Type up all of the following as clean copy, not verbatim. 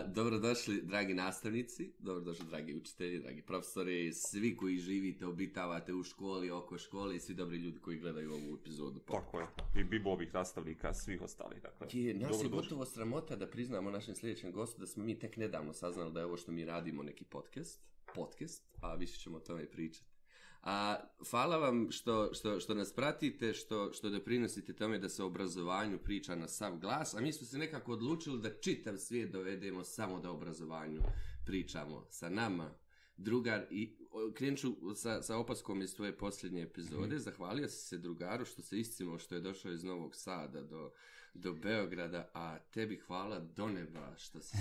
Dobrodošli, dragi nastavnici, dobrodošli, dragi učitelji, dragi profesori, svi koji živite, obitavate u školi, oko škole i svi dobri ljudi koji gledaju ovu epizodu. Tako je, i bibovih nastavnika, svih ostalih. Dakle, nas je gotovo sramota da priznamo našem sljedećem gostu da smo mi tek nedavno saznali da je ovo što mi radimo neki podcast, a više ćemo o tome pričati. Hvala vam što nas pratite, što doprinosite tome da se o obrazovanju priča na sav glas, a mi smo se nekako odlučili da čitav svijet dovedemo samo da o obrazovanju pričamo sa nama. Drugar, i krenut ću sa opaskom iz tvoje posljednje epizode. Zahvalio si se drugaru što se iscimao što je došao iz Novog Sada do Beograda, a tebi hvala do neba što si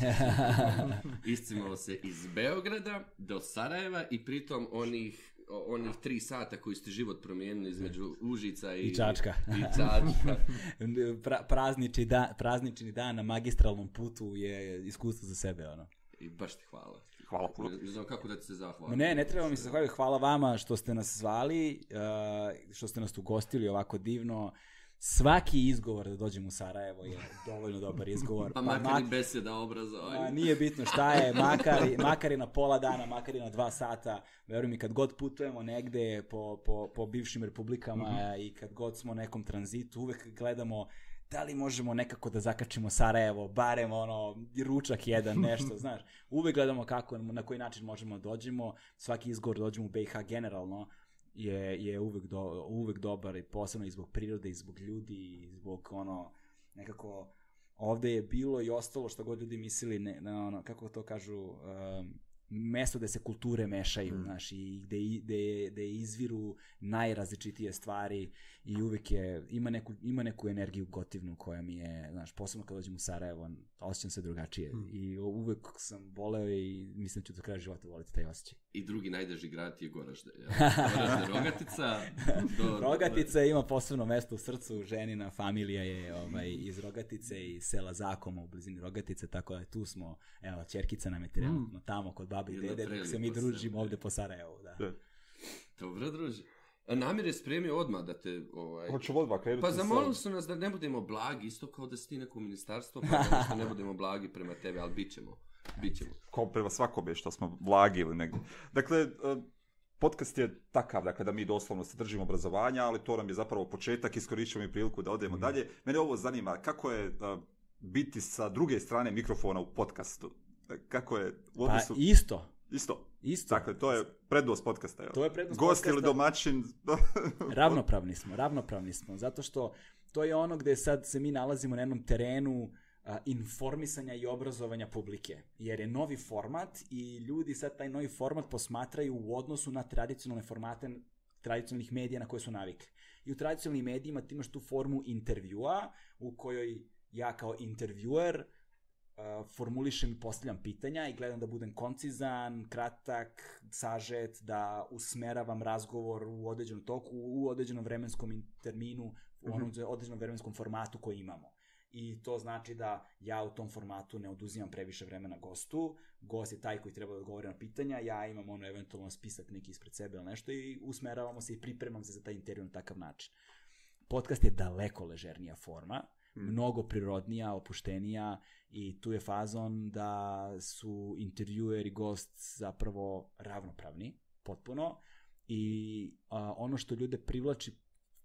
iscimao se iz Beograda do Sarajeva i pritom onih 3 sata koji ste život promijenili između Užica i Čačka. Praznični dan na magistralnom putu je iskustvo za sebe, ono. I baš ti hvala. Hvala puno. Ne znam kako da ti se zahvalim. Ne treba mi se zahvaliti. Hvala vama što ste nas zvali, što ste nas ugostili ovako divno. Svaki izgovor da dođem u Sarajevo je dovoljno dobar izgovor. Pa makar i beseda obrazovanja. Nije bitno šta je, makar i na pola dana, makar i na 2 sata. Veruj mi, kad god putujemo negde po bivšim republikama i kad god smo u nekom tranzitu, uvek gledamo da li možemo nekako da zakačimo Sarajevo, barem ručak jedan, nešto, znaš. Uvek gledamo kako, na koji način možemo da dođemo. Svaki izgovor dođemo u BiH generalno je uvek dobar, i posebno i zbog prirode, i zbog ljudi, i zbog nekako ovde je bilo i ostalo što god ljudi mislili, kako to kažu, mesto gde se kulture mešaju, znaš, i gde izviru najrazličitije stvari i uvek ima neku energiju gotivnu koja mi je, znaš, posebno kad dođem u Sarajevo, osjećam se drugačije i uvek sam voleo i mislim da ću do kraja života voliti taj osjećaj. I drugi najdraži grad je Goražde, Rogatica. Rogatica ima posebno mesto u srcu, ženina familija je iz Rogatice i sela Zakoma u blizini Rogatice, tako da tu smo, evo, ćerkica nam je trenutno tamo kod babi i dede, dok se mi družimo ovde po Sarajevu, da. Dobro, druži. Namir je spremio odmah da te... Hoću odmah krenuti. Pa zamolili su nas da ne budemo blagi, isto kao da si ti neko ministarstvo, pa da ne budemo blagi prema tebi, ali bit ćemo. Kao prema svakome što smo blagi ili negdje. Dakle, podcast je takav, dakle, da mi doslovno se držimo obrazovanja, ali to nam je zapravo početak, iskorišćamo i priliku da odemo dalje. Mene ovo zanima, kako je biti sa druge strane mikrofona u podcastu? Kako je u odnosu... Pa isto. Dakle, to je prednost podcasta. To je prednost gost podcasta. Ili domaćin. Ravnopravni smo, zato što to je ono gde sad se mi nalazimo na jednom terenu informisanja i obrazovanja publike. Jer je novi format i ljudi sad taj novi format posmatraju u odnosu na tradicionalne formate tradicionalnih medija na koje su navikli. I u tradicionalnim medijima ti imaš tu formu intervjua u kojoj ja kao intervjuer formulišem i postavljam pitanja i gledam da budem koncizan, kratak, sažet, da usmeravam razgovor u određenom toku, u određenom vremenskom terminu, u onom određenom vremenskom formatu koji imamo. I to znači da ja u tom formatu ne oduzimam previše vremena gostu, gost je taj koji treba da odgovori na pitanja, ja imam eventualno spisak neki ispred sebe ili nešto i usmeravamo se i pripremam se za taj intervju na takav način. Podcast je daleko ležernija forma, mnogo prirodnija, opuštenija i tu je fazon da su intervjuer i gost zapravo ravnopravni, potpuno, i ono što ljude privlači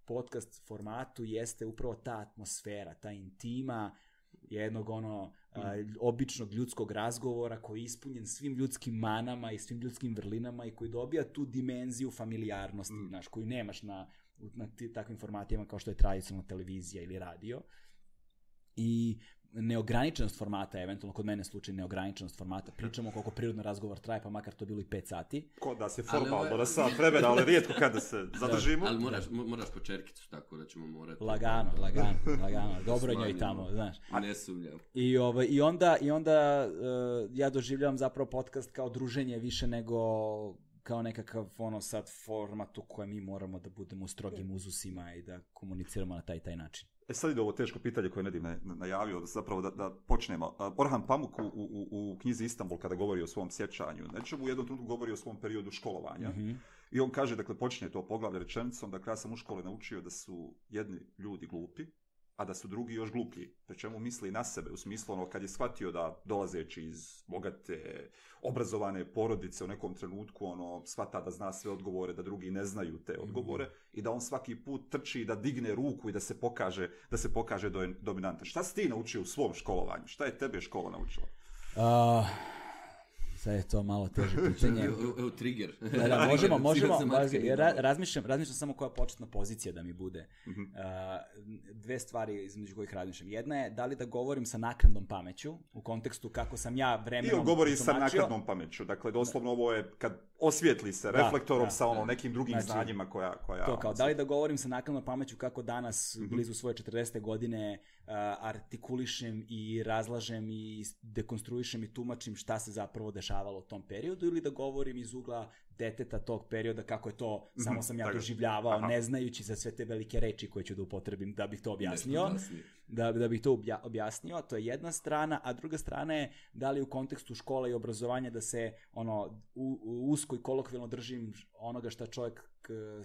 podcast formatu jeste upravo ta atmosfera, ta intima jednog običnog ljudskog razgovora koji je ispunjen svim ljudskim manama i svim ljudskim vrlinama i koji dobija tu dimenziju familijarnosti, znaš, koju nemaš na takvim formatima kao što je tradicionalna televizija ili radio. I neograničenost formata, eventualno kod mene slučaj neograničenost formata, pričamo koliko prirodno razgovor traje, pa makar to bilo i 5 sati. Ko da se formalno na sat vremena, ali rijetko kada se zadržimo. Ali moraš po čerkicu, tako da ćemo morati... Lagano, dobro je njoj tamo, znaš. A ne sumnjam. I onda ja doživljavam zapravo podcast kao druženje više nego kao nekakav sad format u kojem mi moramo da budemo u strogim uzusima i da komuniciramo na taj način. Sad ide ovo teško pitanje koje Nedim najavio, zapravo da počnemo. Orhan Pamuk u knjizi Istanbul, kada govori o svom sjećanju, u jednom trenutku govori o svom periodu školovanja. I on kaže, dakle, počinje to poglavlje rečenicom, dakle, ja sam u škole naučio da su jedni ljudi glupi, a da su drugi još gluplji. Pri čemu misli na sebe, u smislu ono kad je shvatio da dolazeći iz bogate, obrazovane porodice u nekom trenutku ono shvata da zna sve odgovore, da drugi ne znaju te odgovore i da on svaki put trči da digne ruku i da se pokaže dominantan. Šta si ti naučio u svom školovanju? Šta je tebe škola naučila? Sad je to malo teže pitanje. Evo trigger. Da, možemo. Razmišljam samo koja početna pozicija da mi bude. Dve stvari između kojih razmišljam. Jedna je da li da govorim sa naknadnom pameću, u kontekstu kako sam ja vremenom govori sa naknadnom pameću. Dakle, doslovno ovo je kad osvijetli se reflektorom sa ono nekim drugim znanjima koja... To kao, da li da govorim sa naknadnom pameću kako danas, blizu svoje 40. godine, artikulišem i razlažem i dekonstruišem i tumačim šta se zapravo dešavalo u tom periodu, ili da govorim iz ugla deteta tog perioda kako je to, samo sam ja doživljavao, ne znajući za sve te velike reči koje ću da upotrebim da bih to objasnio. Da bih to objasnio, to je jedna strana, a druga strana je da li u kontekstu škola i obrazovanja da se usko i kolokvijalno držim onoga šta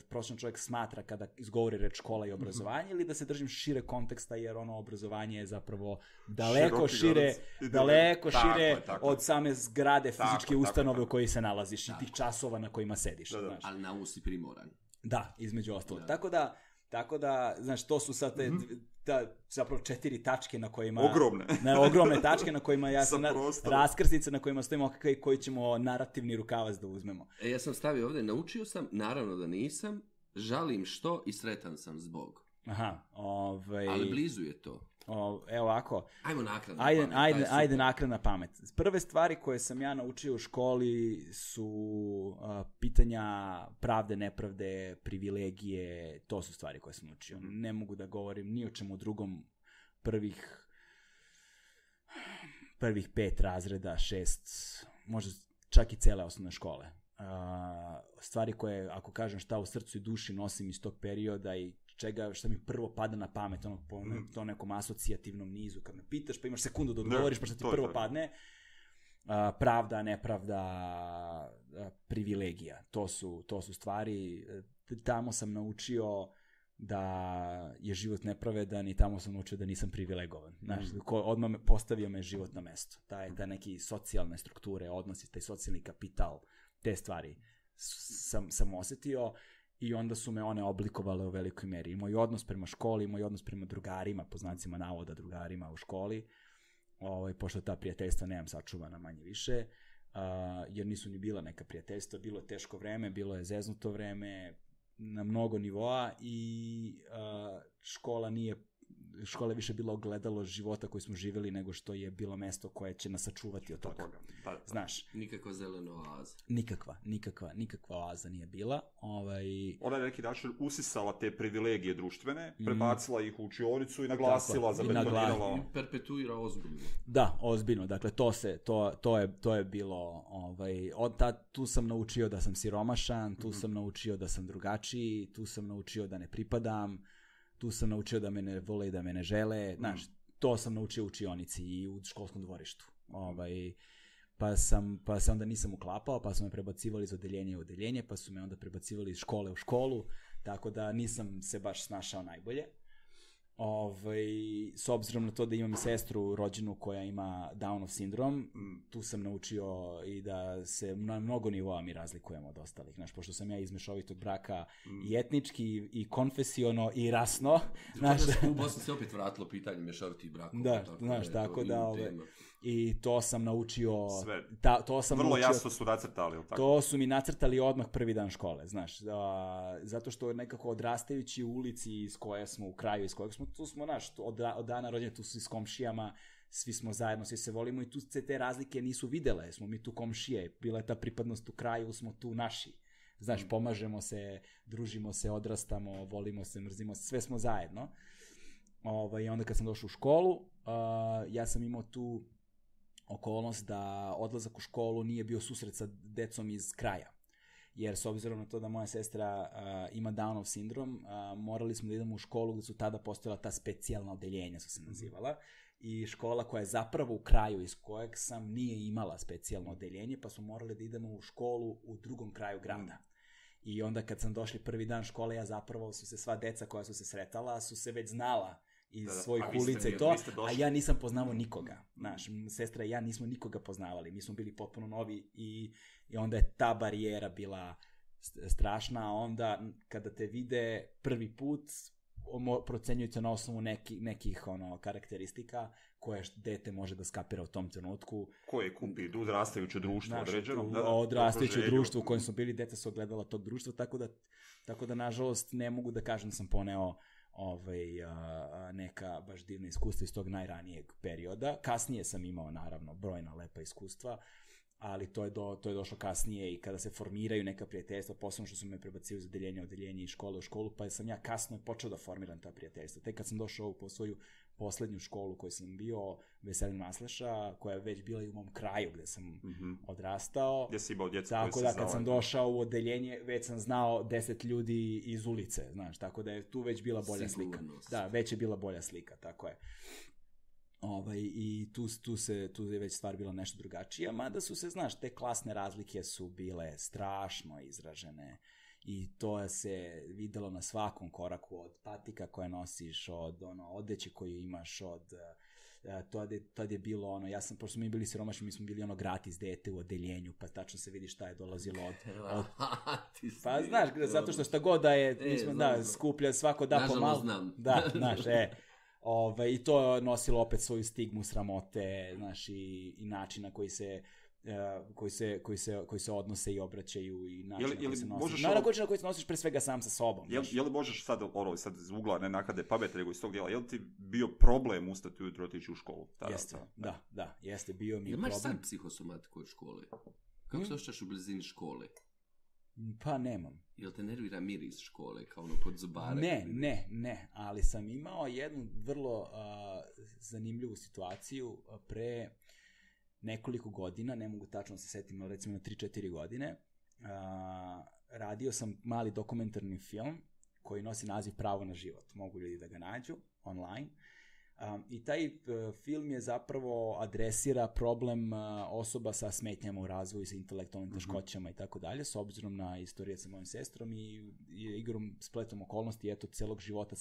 prosječan čovjek smatra kada izgovori reč škola i obrazovanje, ili da se držim šire konteksta, jer ono obrazovanje je zapravo daleko šire od same zgrade fizičke ustanove u kojoj se nalaziš i tih časova na kojima sediš. Ali na usi primoran. Da, između ostalog. Tako da, znaš, to su sad zapravo 4 tačke na kojima... Ogromne tačke na kojima ja sam... Raskrsnice na kojima stojimo koji ćemo narativni rukavac da uzmemo. Ja sam stavio ovdje, naučio sam, naravno da nisam, žalim što i sretan sam zbog. Ali blizu je to. Evo ovako. Ajmo naknadna pamet. Ajde naknadna pamet. Prve stvari koje sam ja naučio u školi su pitanja pravde, nepravde, privilegije, to su stvari koje sam naučio. Ne mogu da govorim ni o čemu drugom prvih 5 razreda, 6, možda čak i cele osnovne škole. Stvari koje, ako kažem šta u srcu i duši nosim iz tog perioda i što mi prvo pada na pamet, po tom nekom asocijativnom nizu, kad me pitaš pa imaš sekundu da odgovoriš pa što ti prvo padne, pravda, nepravda, privilegija, to su stvari, tamo sam naučio da je život nepravedan i tamo sam naučio da nisam privilegovan. Znaš, odmah postavio me život na mesto. Taj neki socijalne strukture, odnosi, taj socijalni kapital, te stvari sam osjetio. I onda su me one oblikovale u velikoj meri. I moj odnos prema školi, i moj odnos prema drugarima, po znacima navoda drugarima u školi, pošto ta prijateljstva nemam sačuvana manje više, jer nisu ni bila neka prijateljstva, bilo je teško vreme, bilo je zeznuto vreme na mnogo nivoa i škola je više bila ogledalo života koji smo živjeli nego što je bilo mesto koje će nas sačuvati od toga. Znaš. Nikakva zelena oaza. Nikakva oaza nije bila. Ona je neki način usisala te privilegije društvene, prebacila ih u učionicu i naglasila, zabetonirala. I perpetuira ozbiljno. Da, ozbiljno. Dakle, to je bilo... tu sam naučio da sam siromašan, tu sam naučio da sam drugačiji, tu sam naučio da ne pripadam, tu sam naučio da me ne vole i da me ne žele, znaš, to sam naučio u učionici i u školskom dvorištu. Pa se onda nisam uklapao, pa su me prebacivali iz odeljenja u odeljenje, pa su me onda prebacivali iz škole u školu, tako da nisam se baš snašao najbolje. S obzirom na to da imam sestru rođenu koja ima Downov sindrom, tu sam naučio i da se na mnogo nivoa mi razlikujemo od ostalih. Znaš, pošto sam ja iz mešovitog braka i etnički, i konfesiono, i rasno. U Bosni se opet vratilo pitanje mešovitih brakova. Da, znaš, tako da... I to sam naučio... Sve. Vrlo jasno su nacrtali, tako? To su mi nacrtali odmah prvi dan škole, znaš. Zato što nekako odrastajući u ulici iz koje smo, u kraju iz kojeg smo, tu smo, znaš, od dana rođenja, tu su s komšijama, svi smo zajedno, svi se volimo i tu se te razlike nisu videle. Smo mi tu komšije, bila je ta pripadnost u kraju, smo tu naši. Znaš, pomažemo se, družimo se, odrastamo, volimo se, mrzimo se, sve smo zajedno. I onda kad sam došao u školu, ja sam imao tu okolnost da odlazak u školu nije bio susret sa decom iz kraja. Jer s obzirom na to da moja sestra ima Downov sindrom, morali smo da idemo u školu gdje su tada postojala ta specijalna odeljenja, su se nazivala, i škola koja je zapravo u kraju iz kojeg sam nije imala specijalno odeljenje, pa smo morali da idemo u školu u drugom kraju grada. I onda kad sam došli prvi dan škole, ja zapravo su se sva deca koja su se sretala, su se već znala iz svojih ulica i to, a ja nisam poznavao nikoga. Znaš, sestra i ja nismo nikoga poznavali, mi smo bili potpuno novi i onda je ta barijera bila strašna, a onda kada te vide prvi put, procenjuju te na osnovu nekih karakteristika koje dete može da skapira u tom trenutku. Koje kupi odrastajuće društvo određeno. Odrastajuće društvo u kojem smo bili, deca su ogledala tog društva, tako da nažalost ne mogu da kažem da sam poneo neka baš divna iskustva iz tog najranijeg perioda. Kasnije sam imao, naravno, brojna lepa iskustva, ali to je došlo kasnije i kada se formiraju neka prijateljstva, posebno što su me prebacili iz odeljenja iz škole u školu, pa sam ja kasno počeo da formiram ta prijateljstva. Tek kad sam došao po svoju poslednju školu koju sam bio, Veselin Masleša, koja je već bila i u mom kraju gde sam odrastao. Gde si imao djecu koje se znao. Tako da kad sam došao u odeljenje, već sam znao 10 ljudi iz ulice, znaš, tako da je tu već bila bolja slika. Da, već je bila bolja slika, tako je. I tu je već stvar bila nešto drugačija, mada su se, znaš, te klasne razlike su bile strašno izražene i to se videlo na svakom koraku, od patika koje nosiš, od odeće koju imaš, tad je bilo pošto smo mi bili siromašni, mi smo bili gratis dete u odeljenju, pa tačno se vidi šta je dolazilo pa znaš, zato što šta god da je, mi smo skuplja, svako da pomalo. Nažalost znam. Da, znaš, i to je nosilo opet svoju stigmu sramote, znaš, i način na koji se odnose i obraćaju i način na koji se nosiš. Naravno, na koji se nosiš pre svega sam sa sobom. Je li možeš sad iz ugla ne nakade pameti, nego iz tog dijela, je li ti bio problem ustati ujutro otići u školu? Jeste, da, jeste, bio mi je problem. Imaš sad psihosomatiku od škole? Kako se osjećaš u blizini škole? Pa nemam. Jel te nervira miris škole, kao pod zubare? Ne, ali sam imao jednu vrlo zanimljivu situaciju pre nekoliko godina, ne mogu tačno se setim, ali recimo na 3-4 godine, radio sam mali dokumentarni film koji nosi naziv Pravo na život. Mogu ljudi da ga nađu online. I taj film je zapravo adresira problem osoba sa smetnjama u razvoju, sa intelektualnim teškoćama i tako dalje, s obzirom na istorije sa mojim sestrom i igrom, spletom okolnosti, eto, celog života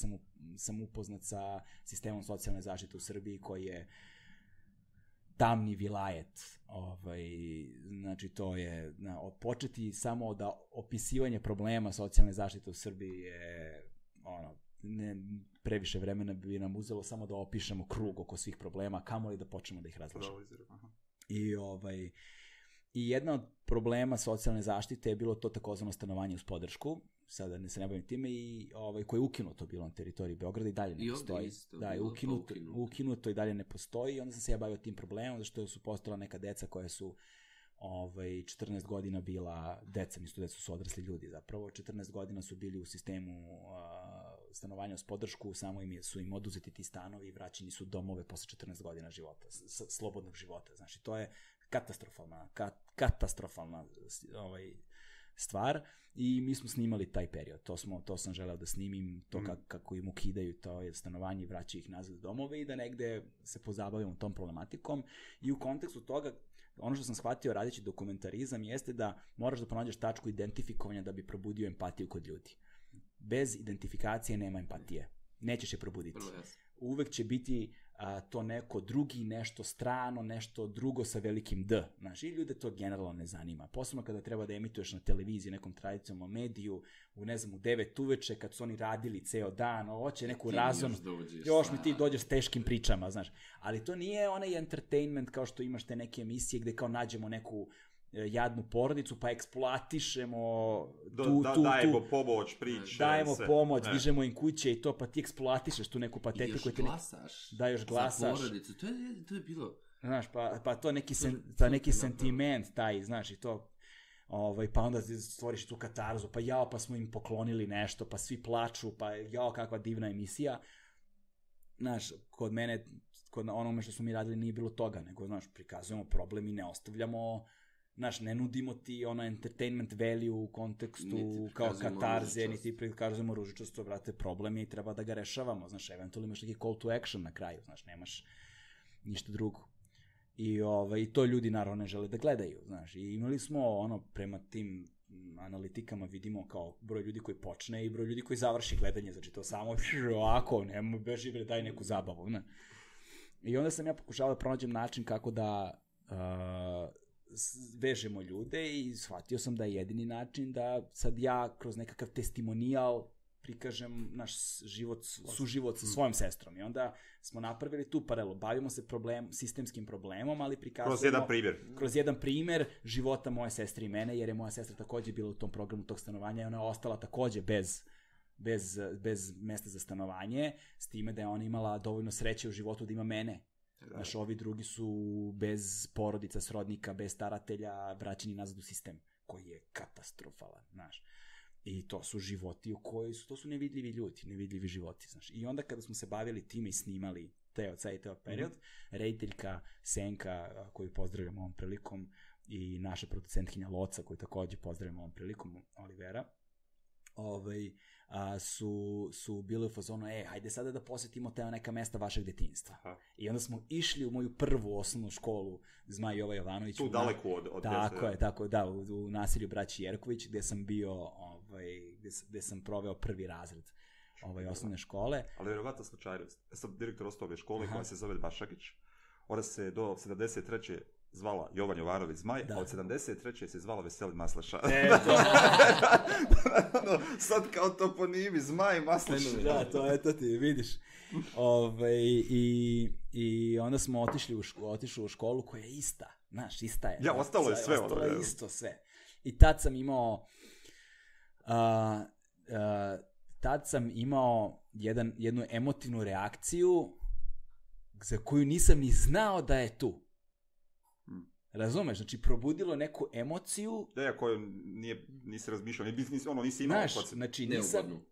sam upoznat sa sistemom socijalne zaštite u Srbiji koji je tamni vilajet. Znači, to je početi samo da opisivanje problema socijalne zaštite u Srbiji je previše vremena bi nam uzelo samo da opišemo krug oko svih problema, kamoli da počnemo da ih razlažemo. I jedna od problema socijalne zaštite je bilo to takozvano stanovanje uz podršku, sada se ne bavim time, i koje je ukinuto bilo na teritoriji Beograda i dalje ne postoji. Da, je ukinuto i dalje ne postoji, i onda sam se ja bavio tim problemom, zato što su postojala neka deca koja su 14 godina bila deca, nisu deca, su odrasli ljudi zapravo, 14 godina su bili u sistemu stanovanja uz podršku, samo su im oduzeti ti stanovi i vraćeni su domove posle 14 godina života, slobodnog života. Znači, to je katastrofalna stvar i mi smo snimali taj period, to sam želeo da snimim, to kako im ukidaju to je stanovanje i vraćaju ih nazad u domove i da negde se pozabavimo tom problematikom. I u kontekstu toga, ono što sam shvatio radeći dokumentarizam jeste da moraš da pronađeš tačku identifikovanja da bi probudio empatiju kod ljudi. Bez identifikacije nema empatije. Nećeš je probuditi. Uvek će biti to neko drugi, nešto strano, nešto drugo sa velikim D. Znaš, i ljude to generalno ne zanima. Posebno kada treba da emituješ na televiziji, nekom tradicionalnom mediju, u 9 uveče, kad su oni radili ceo dan, hoće neku razon, još mi ti dođeš s teškim pričama, znaš. Ali to nije onaj entertainment kao što imaš te neke emisije gde kao nađemo neku jadnu porodicu, pa eksploatišemo dajemo pomoć, priče. Dajemo pomoć, dižemo im kuće i to, pa ti eksploatišeš tu neku patetiku. Još glasaš. Da, još glasaš. Za porodicu, to je bilo... Znaš, pa to neki sentiment taj, znaš, i to... Pa onda stvoriš tu katarzu, pa smo im poklonili nešto, pa svi plaču, pa kakva divna emisija. Znaš, kod mene, kod onome što smo mi radili nije bilo toga, nego, znaš, prikazujemo problem i ne ostavljamo... Znaš, ne nudimo ti entertainment value u kontekstu kao katarze, niti prikazujemo ružičasto, brate, problem je i treba da ga rešavamo, znaš, eventualno imaš neki call to action na kraju, znaš, nemaš ništa drugo. I to ljudi naravno ne žele da gledaju, znaš, i imali smo, prema tim analitikama vidimo kao broj ljudi koji počne i broj ljudi koji završi gledanje, znači to samo ovako, nemo beži bre, daj neku zabavu, ne. I onda sam ja pokušao da pronađem način kako da vežemo ljude i shvatio sam da je jedini način da sad ja kroz nekakav testimonijal prikažem naš suživot sa svojom sestrom. I onda smo napravili tu paralelu. Bavimo se sistemskim problemom, ali prikazujemo... Kroz jedan primjer života moje sestre i mene, jer je moja sestra takođe bila u tom programu tog stanovanja i ona je ostala takođe bez mesta za stanovanje, s time da je ona imala dovoljno sreće u životu da ima mene. Znaš, ovi drugi su bez porodica, srodnika, bez staratelja, vraćeni nazad u sistem, koji je katastrofalan, znaš. I to su životi u koji su, to su nevidljivi ljudi, nevidljivi životi, znaš. I onda kada smo se bavili time i snimali ceo period, rediteljka Senka, koju pozdravljam ovom prilikom, i naša producentkinja Loca, koju takođe pozdravljam ovom prilikom, Olivera, su bili u fazonu, hajde sada da posjetimo te neka mesta vašeg detinjstva. Aha. I onda smo išli u moju prvu osnovnu školu Zmaj Jova Jovanović. Tu daleko od Tako, u naselju braći Jerković, gde sam bio, gde sam proveo prvi razred osnovne škole. Ali vjerovatno slučajnost. Ja sam direktor osnovne škole koja se zove Bašakić. Ona se do 73. zvala Jovan Jovanović Zmaj, a od 73. se zvala Veselin Maslaša. Sad kao toponimi, Zmaj, Maslaša. Da, to ti vidiš. I onda smo otišli u školu koja je ista. Znaš, ista je. Ja, ostalo je sve. Ostalo je isto sve. I tad sam imao jednu emotivnu reakciju za koju nisam ni znao da je tu. Razumeš? Znači, probudilo neku emociju... Da, koju nisi razmišljao, nisi imao... Znači, nisam...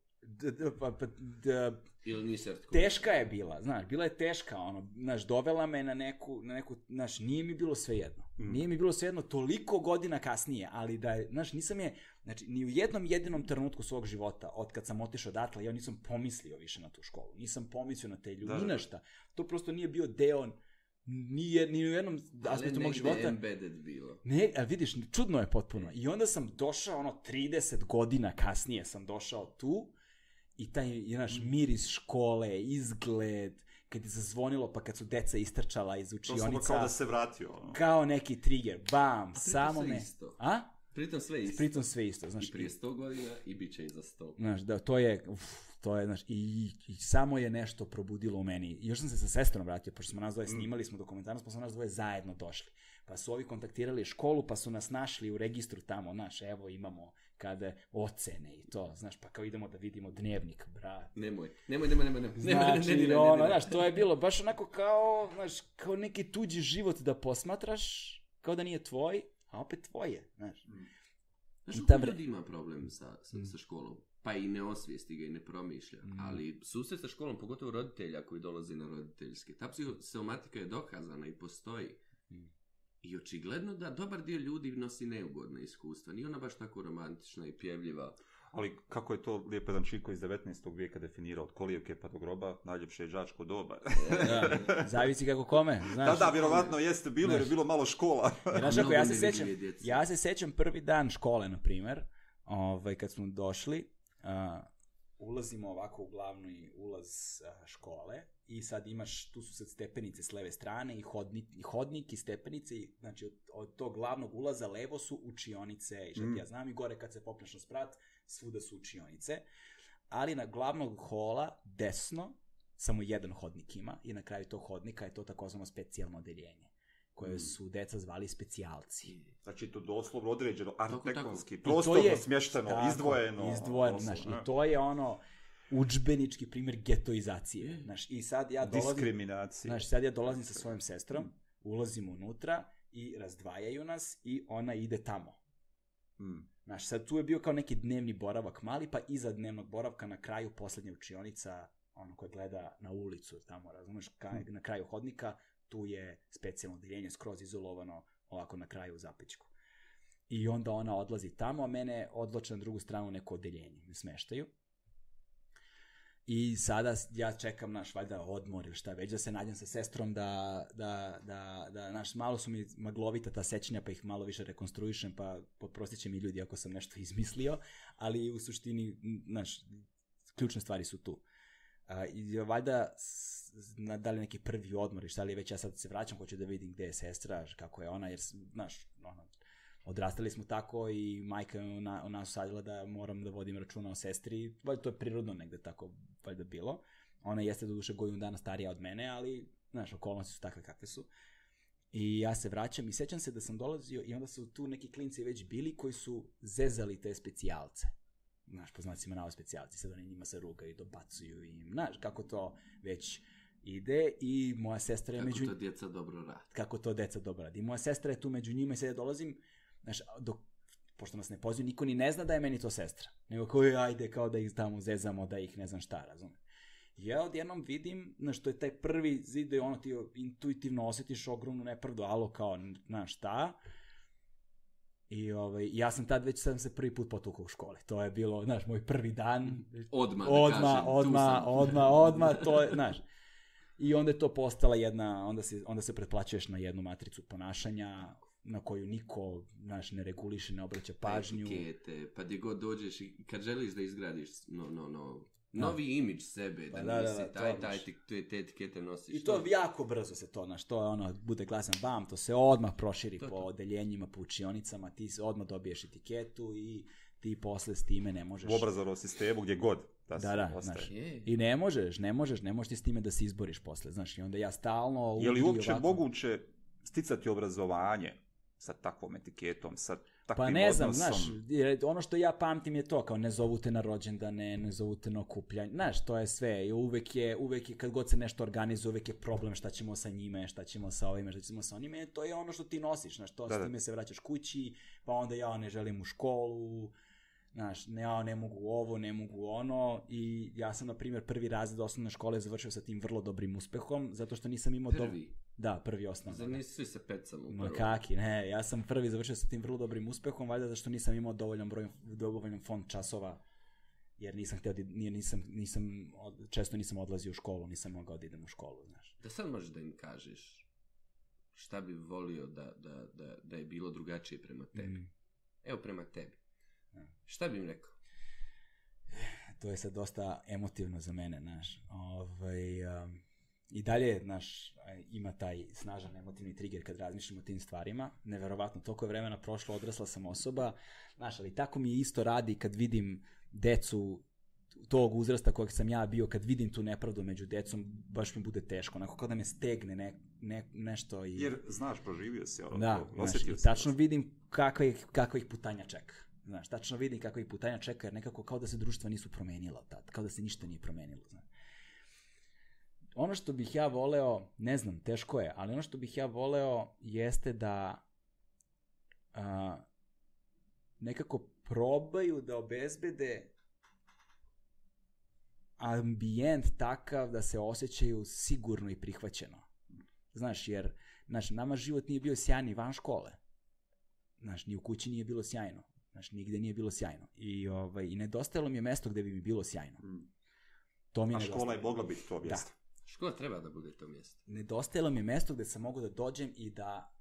Ili nisi teška je bila, znaš, bila je teška, znaš, dovela me na neku, znaš, nije mi bilo svejedno. Nije mi bilo svejedno toliko godina kasnije, ali da je, znaš, nisam je, znači, ni u jednom jedinom trenutku svog života, od kad sam otišao odatle, ja nisam pomislio više na tu školu, nisam pomislio na te ljudi, ni na šta. To prosto nije bio deo... Ni u jednom aspektu mog života. Ali negde embedded bilo. Ne, vidiš, čudno je potpuno. I onda sam došao, 30 godina kasnije sam došao tu i taj, naš, miris škole, izgled, kad je zazvonilo, pa kad su deca istrčala iz učionica. To samo kao da se vratio. Kao neki trigger, bam, samo me... Pritom sve isto. Znaš, i prije 100 godina i bit će i za 100. Znaš, da, to je, znaš, i samo je nešto probudilo u meni. I još sam se sa sestrom vratio, pošto smo nas dvoje snimali smo dokumentarnost, pa smo nas dvoje zajedno došli. Pa su ovi kontaktirali školu, pa su nas našli u registru tamo, znaš, evo imamo kada ocene i to, znaš, pa kao idemo da vidimo dnevnik, brat. Nemoj. Znači, znaš, to je bilo baš onako kao, znaš, kao neki tuđi život da posmatraš, kao da nije tvoj, a opet tvoje, znaš. Znaš, kako ljudi ima problem sa školom? Pa i ne osvijesti ga i ne promišlja, ali susret sa školom, pogotovo roditelja koji dolazi na roditeljske, ta psihosomatika je dokazana i postoji. I očigledno da dobar dio ljudi nosi neugodna iskustva, nije ona baš tako romantična i pjevljiva. Ali kako je to lijepo jedan Čiko iz 19. vijeka definirao, od kolijevke pa do groba, najljepše je đačko doba. Zavisi kako kome, znaš. Da, vjerovatno jeste bilo, jer je bilo malo škola. Znaš, ja se sećam prvi dan škole, na primjer, kad smo došli, ulazimo ovako u glavni ulaz škole i sad imaš, tu su sad stepenice s leve strane i hodnik i stepenice, znači od tog glavnog ulaza levo su učionice i šta ti ja znam, i gore kad se popneš na sprat, svuda su učionice, ali na glavnog hola desno samo jedan hodnik ima i na kraju tog hodnika je to takozvano specijalno odeljenje, koje su deca zvali specijalci. Znači to doslovno određeno, arhitektonski, prostorno smješteno, izdvojeno. Znaš, i to je udžbenički primjer getoizacije. Znaš, i sad ja dolazim... Diskriminacije. Znaš, sad ja dolazim sa svojom sestrom, ulazim unutra i razdvajaju nas i ona ide tamo. Znaš, sad tu je bio kao neki dnevni boravak mali, pa iza dnevnog boravka na kraju poslednja učionica, koja gleda na ulicu tamo, razumeš, na kraju hodnika, tu je specijalno odeljenje skroz izolovano ovako na kraju u zapećku. I onda ona odlazi tamo, a mene odvlače na drugu stranu neko odeljenje, me smeštaju. I sada ja čekam naš valjda odmor ili šta već, da se nađem sa sestrom da naš, malo su mi maglovita ta sećanja pa ih malo više rekonstruišem, pa poprostit će mi ljudi ako sam nešto izmislio, ali u suštini naš, ključne stvari su tu. I valjda da li neki prvi odmor i šta li već, ja sad se vraćam, hoću da vidim gde je sestra, kako je ona, jer znaš, odrastali smo tako i majka je u nas usadila da moram da vodim računa o sestri, valjda to je prirodno negde tako valjda bilo. Ona jeste do duše godinu dana starija od mene, ali znaš, okolnosti su takve kakve su. I ja se vraćam i sećam se da sam dolazio i onda su tu neki klinci već bili koji su zezali te specijalce. Znaš, po znacima navod specijalci, sad oni njima se rugaju i dobacuju im, znaš, kako to već ide i moja sestra je Kako to djeca dobro radi. Kako to djeca dobro radi. I moja sestra je tu među njima i sad ja dolazim, znaš, pošto nas ne pozivaju, niko ni ne zna da je meni to sestra. Nego koji ajde kao da ih tamo zezamo, da ih ne znam šta, razumem. I ja odjednom vidim, znaš, to je taj prvi zid da ono ti intuitivno osjetiš ogromnu nepravdu, alo kao, znaš šta. I ja sam tad već sam se prvi put potukao u školi. To je bilo, znaš, moj prvi dan. Odmah, to je, znaš. I onda je to postala jedna, onda se pretplaćuješ na jednu matricu ponašanja na koju niko, znaš, ne reguliše, ne obraća pažnju. Etikete, pa gdje god dođeš i kad želiš da izgradiš novi imidž sebe, da nisi te etikete nosiš. I to jako brzo se to, znaš, to je bude glasan bam, to se odmah proširi po odeljenjima, po učionicama, ti se odmah dobiješ etiketu i ti posle s time ne možeš... U obrazovnom sistemu gdje god znaš, i ne možeš ti s time da se izboriš posle, znaš, i onda ja stalno... Je li uopće moguće sticati obrazovanje sa takvom etiketom, sa takvim odnosom? Pa ne znam, znaš, ono što ja pamtim je to, kao ne zovu te na rođendane, ne zovu te na okupljanje, znaš, to je sve, i uvek je, kad god se nešto organizuje, uvek je problem šta ćemo sa njime, šta ćemo sa ovime, šta ćemo sa onime, to je ono što ti nosiš, znaš, to s time se vraćaš kući, pa onda ja ne želim u školu, znaš, ja ne mogu ovo, ne mogu ono, i ja sam, na primjer, prvi razred osnovne škole završio sa tim vrlo dobrim uspehom, zato što nisam imao... Da, prvi osnovno. Zar nisi svi sa pecama u prvom? Ma kaki, ne, ja sam prvi završio sa tim vrlo dobrim uspehom, valjda zato što nisam imao dovoljan fond časova, jer često nisam odlazio u školu, nisam mogao da idem u školu, znaš. Da sad možeš da im kažeš šta bi volio da je bilo drugačije prema tebi. Evo prema tebi. Šta bi im rekao? To je sad dosta emotivno za mene, znaš. I dalje, znaš, ima taj snažan emotivni trigger kad razmišljam o tim stvarima. Neverovatno, toliko je vremena prošlo, odrasla sam osoba. Znaš, ali tako mi isto radi kad vidim decu tog uzrasta kojeg sam ja bio, kad vidim tu nepravdu među decom, baš mi bude teško. Onako kao da me stegne nešto. Jer, znaš, proživio si ono. Da, znaš, i tačno vidim kakva ih putanja čeka. Znaš, tačno vidim kakva ih putanja čeka, jer nekako kao da se društva nisu promenila tad, kao da se ništa nije promenilo, znaš. Ono što bih ja voleo, ne znam, teško je, ali ono što bih ja voleo jeste da nekako probaju da obezbede ambijent takav da se osjećaju sigurno i prihvaćeno. Znaš, jer nama život nije bio sjajni van škole. Znaš, ni u kući nije bilo sjajno. Znaš, nigde nije bilo sjajno. I nedostajalo mi je mesto gde bi mi bilo sjajno. To mi je nedostajalo. Škola je mogla biti to mjesto. Škola treba da bude to mjesto. Nedostajalo mi je mesto gde sam mogu da dođem i da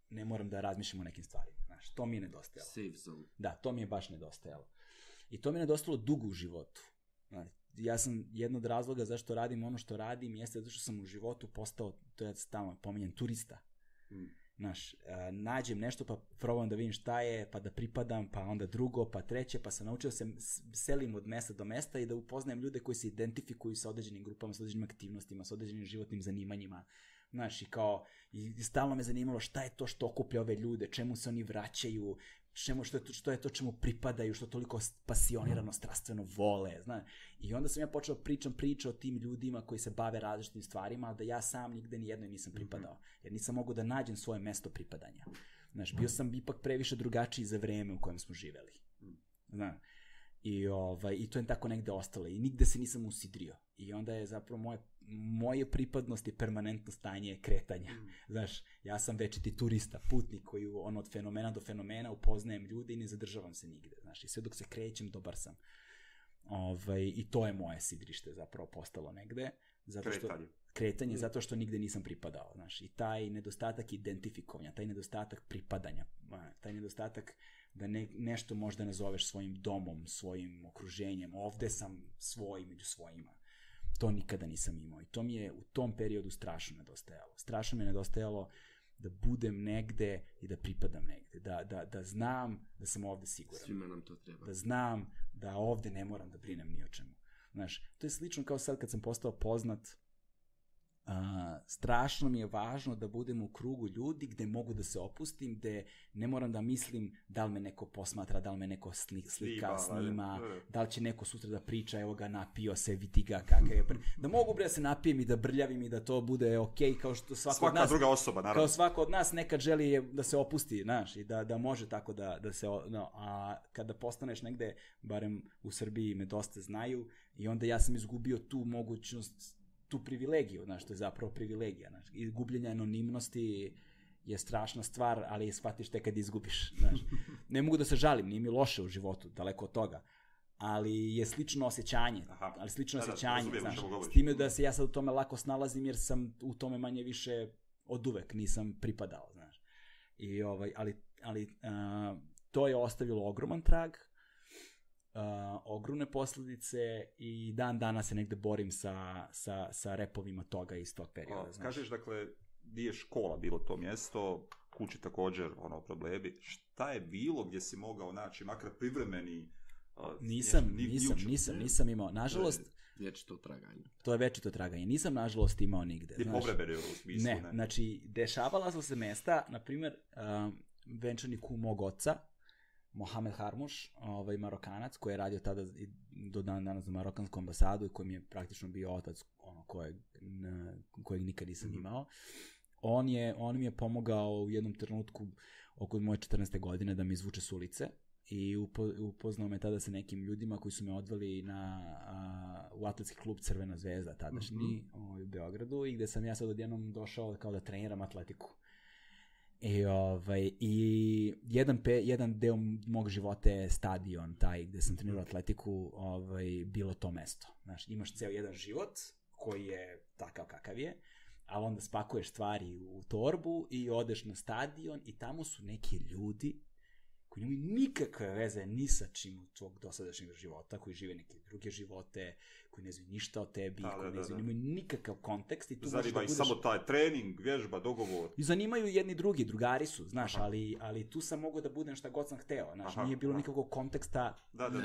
ne moram da razmišljam o nekim stvarima. Znaš, to mi je nedostajalo. Safe zone. Da, to mi je baš nedostajalo. I to mi je nedostajalo dugo u životu. Znaš, ja sam jedno od razloga zašto radim ono što radim jeste zato što sam u životu postao, to je stalno pominjem, turista. Znaš, nađem nešto pa probam da vidim šta je, pa da pripadam, pa onda drugo, pa treće, pa sam naučio se selim od mesta do mesta i da upoznajem ljude koji se identifikuju sa određenim grupama, sa određenim aktivnostima, sa određenim životnim zanimanjima. Znaš, i stalno me zanimalo šta je to što okuplja ove ljude, čemu se oni vraćaju, što je to čemu pripadaju, što toliko pasionirano, strastveno vole, znaš. I onda sam ja počeo priča o tim ljudima koji se bave različitim stvarima, ali da ja sam nigde ni jednoj nisam pripadao, jer nisam mogao da nađem svoje mesto pripadanja. Znaš, bio sam ipak previše drugačiji za vreme u kojem smo živeli. Znaš. I to je tako negde ostalo i nigde se nisam usidrio. I onda je zapravo moje pripadnost i permanentno stanje kretanja. Znaš, ja sam večiti turista, putnik koji od fenomena do fenomena upoznajem ljude i ne zadržavam se nigde. Znaš, i sve dok se krećem, dobar sam. I to je moje sidrište zapravo postalo negde. Zato što, kretanje, zato što nigde nisam pripadao. Znaš, i taj nedostatak identifikovanja, taj nedostatak pripadanja, taj nedostatak da nešto možda nazoveš svojim domom, svojim okruženjem, ovde sam svoj među svojima. To nikada nisam imao i to mi je u tom periodu strašno nedostajalo. Strašno mi je nedostajalo da budem negde i da pripadam negde, da znam da sam ovde siguran. Svima nam to treba. Da znam da ovde ne moram da brinem ni o čemu. Znaš, to je slično kao sad kad sam postao poznat, strašno mi je važno da budem u krugu ljudi gde mogu da se opustim, gde ne moram da mislim da li me neko posmatra, da li me neko slika, snima, da li će neko sutra da priča, evo ga napio se, vidi ga kakav je. Da mogu da se napijem i da brljavim i da to bude okej, kao što svaka druga osoba, naravno. Kao svako od nas nekad želi da se opusti, znaš, i da može tako da se, a kada postaneš negde, barem u Srbiji me dosta znaju, i onda ja sam izgubio tu mogućnost, tu privilegiju, znaš, to je zapravo privilegija, znaš, i gubljenje anonimnosti je strašna stvar, ali shvatiš te kad izgubiš, znaš. Ne mogu da se žalim, nije mi loše u životu, daleko od toga, ali je slično osjećanje, znaš, s time da se ja sad u tome lako snalazim, jer sam u tome manje više od uvek nisam pripadao, znaš. Ali to je ostavilo ogroman trag, ogromne posledice i dan danas se negde borim sa repovima toga iz tog perioda. Kažeš, dakle, gdje je škola bilo to mjesto, kući također, problemi. Šta je bilo gdje si mogao naći, makar privremeni... Nisam imao. Nažalost... Vječito traganje. To je vječito traganje. Nisam, nažalost, imao nigde. I povrebere u smislu, ne? Znači, dešavala su se mesta, na primjer, venčani kum mog oca, Mohamed Harmuš, Marokanac, koji je radio tada do dan danas za Marokansku ambasadu i koji mi je praktično bio otac kojeg nikad nisam imao. On mi je pomogao u jednom trenutku oko moje 14. godine da me izvuče s ulice i upoznao me tada sa nekim ljudima koji su me odveli u atletski klub Crvena zvezda, tadašnji u Beogradu, i gde sam ja sad odjednom došao kao da treniram atletiku. I jedan deo mog života je stadion, taj gde sam trenirao atletiku, bilo to mesto. Znaš, imaš ceo jedan život koji je takav kakav je, ali onda spakuješ stvari u torbu i odeš na stadion i tamo su neki ljudi koji nemaju nikakve veze ni sa čim od tvog dosadašnjeg života, koji žive neke druge živote, koji ne znaju ništa o tebi, koji ne znaju, nemaju nikakav kontekst. Zanima i samo taj trening, vježba, dogovor. I zanimaju jedni drugi, drugari su, znaš, ali tu sam mogao da budem šta god sam hteo, znaš, nije bilo nikakvog konteksta.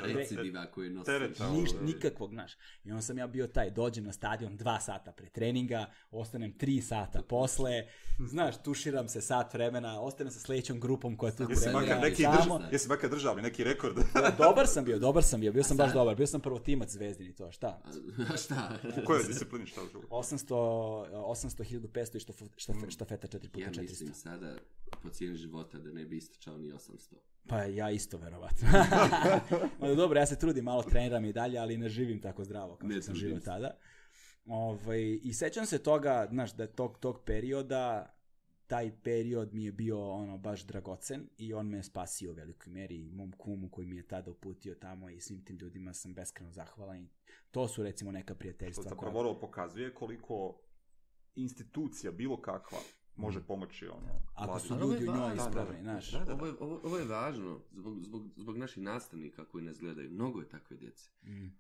Recidiva koji nosiš. Nikakvog, znaš. I onda sam ja bio taj, dođem na stadion 2 sata pre treninga, ostanem 3 sata posle, znaš, tuširam se sat vremena, ostanem sa sledećom grupom koja tu trenira. Jesi makar držao neki rekord? Dobar sam bio sam baš dobar, bio sam prvotimac Zvezdini, to, šta? Šta? U kojoj disciplini šta užu? 800, 1500 i štafeta 4x400. Ja mislim sada po cijeni života da ne bi istračao ni 800. Pa ja isto, verovatno. Dobro, ja se trudim, malo treniram i dalje, ali ne živim tako zdravo kao što sam živio tada. I sećam se toga, znaš, da tog perioda, taj period mi je bio baš dragocen i on me spasio u velikoj meri, mom kumu koji mi je tada uputio tamo i svim tim ljudima sam beskreno zahvalan i to su recimo neka prijateljstva. To zapravo pokazuje koliko institucija bilo kakva može pomoći ako su ljudi u njoj ispravni, znaš. Ovo je važno zbog naših nastavnika koji nas gledaju. Mnogo je takve djece.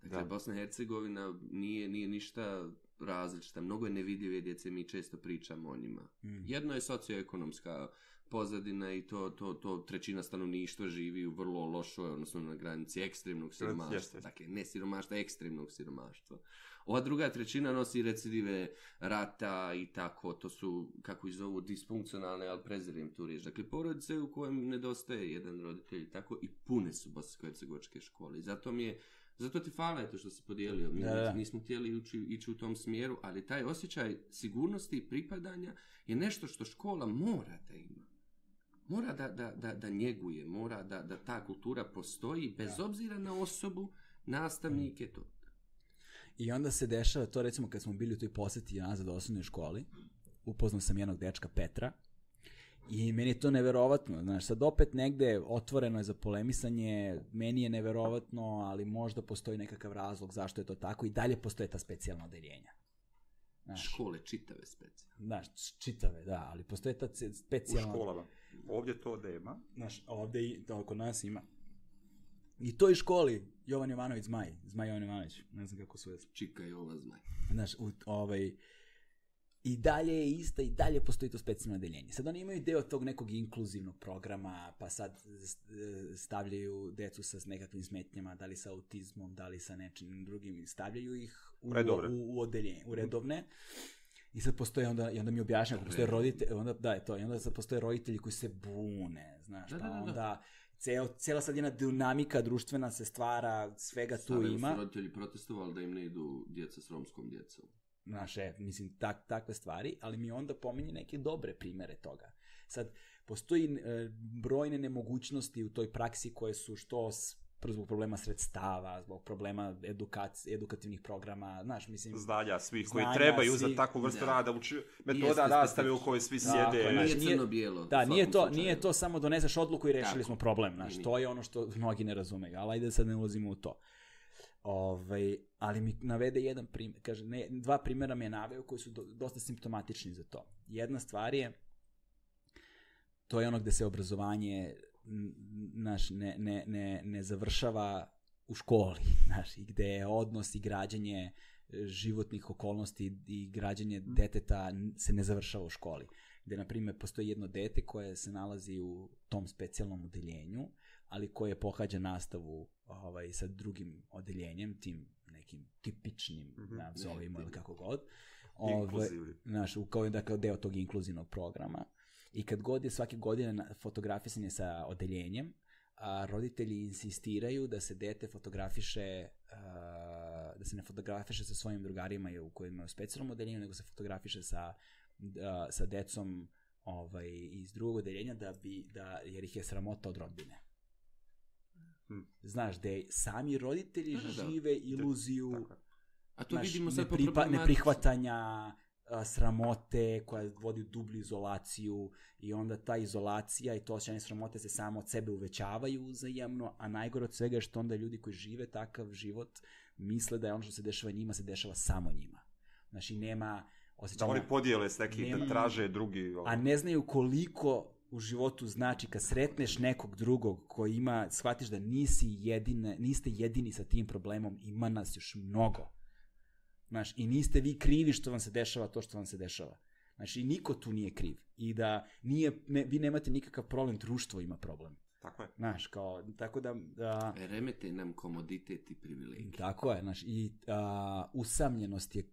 Dakle, Bosna i Hercegovina nije ništa različita. Mnogo je nevidljive djece, mi često pričamo o njima. Jedno je socioekonomska pozadina i to trećina stanovništva živi u vrlo lošoj, odnosno na granici ekstremnog siromaštva. Dakle, ne siromaštva, ekstremnog siromaštva. Ova druga trećina nosi recidive rata i tako, to su, kako ih zovu, disfunkcionalne, ali prezirim tu riječ. Dakle, porodice u kojem nedostaje jedan roditelj i tako, i pune su bosansko-hercegovačke škole. I zato ti hvala to što si podijelio. Mi nismo htjeli ići u tom smjeru, ali taj osjećaj sigurnosti i pripadanja je nešto što škola mora da ima. Mora da njeguje, mora da ta kultura postoji, bez obzira na osobu, nastavnike, to. I onda se dešava to, recimo, kad smo bili u toj posjeti nazad u osnovnoj školi, upoznao sam jednog dečka, Petra, I meni je to neverovatno, znaš, sad opet negde otvoreno je za polemisanje, meni je neverovatno, ali možda postoji nekakav razlog zašto je to tako i dalje postoje ta specijalna odeljenja. Znaš, škole čitave specijalne. Znaš, čitave, da, ali postoje ta specijalna... U školama. Ovdje to nema. Znaš, ovdje i to oko nas ima. I toj školi, Jovan Jovanović Zmaj Jovan Jovanović, ne znam kako su je. Čika Jova Zmaj. Znaš, i dalje je ista, i dalje postoji to specijalno odeljenje. Sad oni imaju deo tog nekog inkluzivnog programa, pa sad stavljaju decu sa nekakvim smetnjama, da li sa autizmom, da li sa nečim drugim, stavljaju ih u odeljenje, u redovne. I sad postoje, onda mi objašnjaju, ako postoje roditelji, onda sad postoje roditelji koji se bune, znaš, pa onda cijela sad jedna dinamika društvena se stvara, svega tu ima. Su roditelji protestovali da im ne idu djeca s romskom djecom. Znaš, mislim, takve stvari, ali mi onda pominje neke dobre primere toga. Sad, postoji brojne nemogućnosti u toj praksi koje su zbog problema sredstava, zbog problema edukativnih programa, znaš, mislim... Znanja svih koji trebaju za takvu vrstu rada, metoda nastave u kojoj svi sjede. Nije crno-bijelo. Da, nije to samo doneseš odluku i rešili smo problem, znaš, to je ono što mnogi ne razumeju, ali ajde sad ne ulazimo u to. Ali mi navede jedan primjer, kaže, dva primjera mi je naveo koji su dosta simptomatični za to. Jedna stvar je, to je ono gde se obrazovanje ne završava u školi, znaš, i gde je odnos i građenje životnih okolnosti i građenje deteta se ne završava u školi. Gde, na primjer, postoji jedno dete koje se nalazi u tom specijalnom odeljenju, ali koje pohađa nastavu sa drugim odeljenjem, tim nekim tipičnim, nazovimo ili kako god. Znaš, kao deo tog inkluzivnog programa. I kad god je svake godine fotografisanje sa odeljenjem, roditelji insistiraju da se dete fotografiše, da se ne fotografiše sa svojim drugarima u kojima je u specijalnom odeljenju, nego se fotografiše sa decom iz drugog odeljenja, jer ih je sramota od rodbine. Znaš, da sami roditelji žive iluziju neprihvatanja, sramote koja vodi u dublju izolaciju i onda ta izolacija i to osjećanje sramote se samo od sebe uvećavaju uzajamno, a najgore od svega je što onda ljudi koji žive takav život misle da je ono što se dešava njima se dešava samo njima. Znači nema osjećanja... Da oni podijele s nekim, da traže drugi... A ne znaju koliko u životu znači kad sretneš nekog drugog koji ima, shvatiš da niste jedini sa tim problemom, ima nas još mnogo. Znaš, i niste vi krivi što vam se dešava to što vam se dešava. Znači, i niko tu nije kriv. I da vi nemate nikakav problem, društvo ima problem. Tako je. Znaš, tako da... Remete nam komoditet i privilegije. Tako je, znaš, i usamljenost je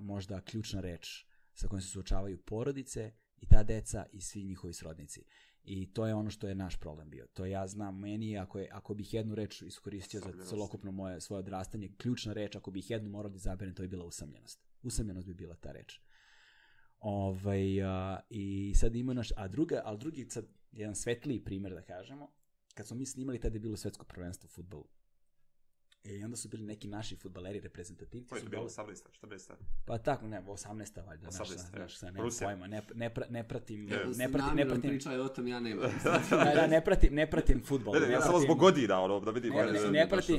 možda ključna reč sa kojom se suočavaju porodice i ta deca i svi njihovi srodnici. I to je ono što je naš problem bio. To ja znam, meni ako bih jednu reč iskoristio za celokupno svoje odrastanje, ključna reč, ako bih jednu morao da izaberem, to je bila usamljenost. Usamljenost bi bila ta reč. I sad ima ali drugi, sad, jedan svetliji primjer da kažemo, kad smo mi snimali, tada je bilo svetsko prvenstvo u fudbalu. I onda su bili neki naši fudbaleri, reprezentativci. To je bilo 18. 14. Pa tako, 18. valjda. 18. Nemam pojma, ne pratim... Pričaj o tom, ja nemam. Ne pratim fudbal. Ja samo zbog godina, da vidim.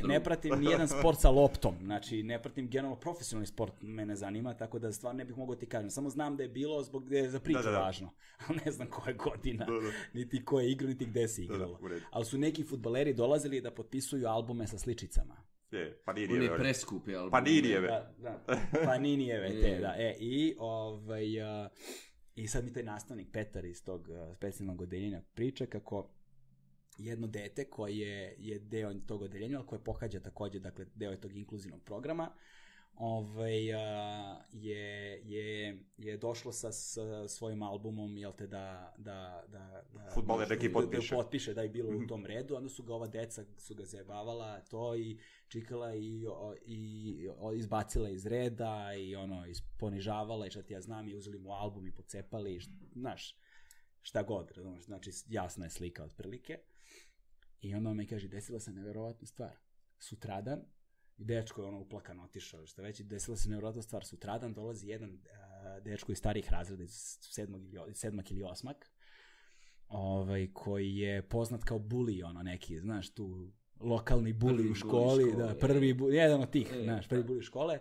Ne pratim nijedan sport sa loptom. Znači, ne pratim generalno profesionalni sport, mene zanima, tako da stvarno ne bih mogao ti kažem. Samo znam da je bilo zbog gde je za priču važno. Ali ne znam koja je godina, niti ko je igrao, niti gde se igralo. Ali su neki fudbaleri dolazili da potpisuju albume sa sličicama. Paninijeve. Oni preskupi albume. Paninijeve. Paninijeve, te, da. I sad mi taj nastavnik Petar iz tog specijalnog odeljenja priča kako jedno dete koje je deo tog odeljenja, ali koje pohađa također, dakle, deo je tog inkluzivnog programa, je došlo sa svojim albumom, jel te, da fudbaler neki potpiše da je bilo u tom redu, onda su ga ova deca zajebavala to i čikala i izbacila iz reda i ponižavala i šta ti ja znam i uzeli mu album i pocepali, znaš, šta god, znači jasna je slika otprilike. I onda on mi kaže, desila se neverovatna stvar. Sutradan, i dečko je uplakan otišao, što već, desila se nevjerojatna stvar. Sutradan dolazi jedan dečko iz starih razreda, iz 7. ili 8. koji je poznat kao bully, neki, znaš, tu lokalni bully Prvi u školi, bully škole, da, prvi bully, jedan od tih, znaš, prvi da. bully škole,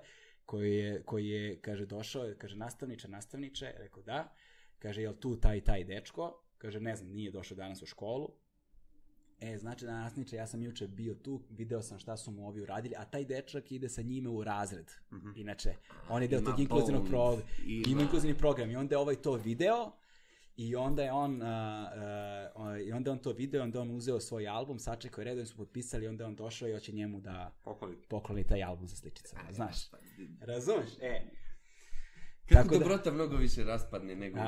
koji je, kaže, došao, kaže, nastavniče, rekao da, kaže, jel tu taj dečko, kaže, ne znam, nije došao danas u školu, znači nastavniče, ja sam juče bio tu, video sam šta su mu ovi uradili, a taj dečak ide sa njime u razred, inače, on je deo tog inkluzivnog programa, ima inkluzivni program, i onda je to video, i onda je on to video, onda on uzeo svoj album, sačekao je redom, su potpisali, onda je on došao i hoće njemu da pokloni taj album sa sličicama, znaš. Razumeš? Kako dobrota mnogo više raspadne nego...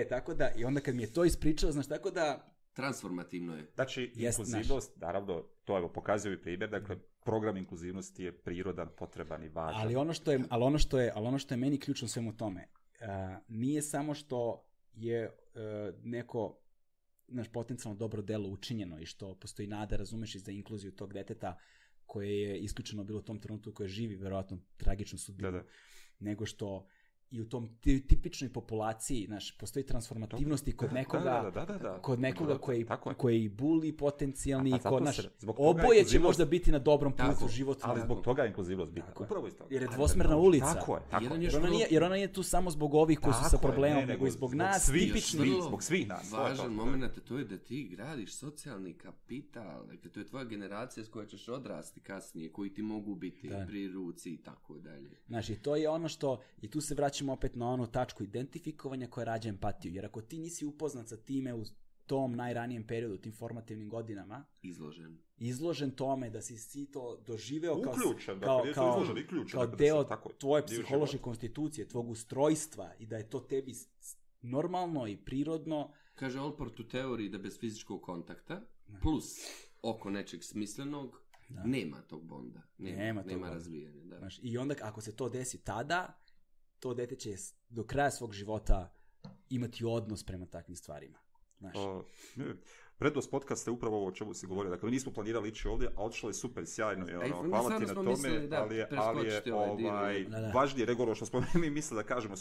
Tako da, i onda kad mi je to ispričao, znaš, tako da... Transformativno je. Znači, inkluzivnost, naravno, to pokazuje i primjer, dakle, program inkluzivnosti je prirodan, potreban i važan. Ali ono što je meni ključno svemu tome, nije samo što je neko potencijalno dobro delo učinjeno i što postoji nada, razumeš, i za inkluziju tog deteta koje je isključeno bilo u tom trenutku, koje živi verovatno tragičnu sudbinu, nego što i u tom tipičnoj populaciji, postoji transformativnosti kod nekoga koji buli potencijalni, oboje će možda biti na dobrom putu u životu. Ali zbog toga je inkluzivnost bitna. Upravo iz toga. Jer je dvosmerna ulica. Tako je. Jer ona nije tu samo zbog ovih koji su sa problemom, nego i zbog nas, tipični. Zbog svih nas. Važan moment, to je da ti gradiš socijalni kapital. Dakle, to je tvoja generacija s koja ćeš odrasti kasnije, koji ti mogu biti pri ruci i tako dalje. Znaš, i to je ono što, i tu se vraćamo opet na onu tačku identifikovanja koja rađa empatiju. Jer ako ti nisi upoznat sa time u tom najranijem periodu, tim formativnim godinama, izložen tome da si to doživeo kao deo tvoje psihološke konstitucije, tvog ustrojstva i da je to tebi normalno i prirodno. Kaže Allport u teoriji da bez fizičkog kontakta plus oko nečeg smislenog nema tog bonda. Nema razvijanja. Da. Znaš, i onda ako se to desi tada, to dete će do kraja svog života imati odnos prema takvim stvarima. Prednost podcasta je upravo ovo o čemu si govorio. Dakle, nismo planirali ići ovdje, a odšlo je super, sjajno. Hvala ti na tome, ali je važnije nego ono što smo mi mislili da kažemo.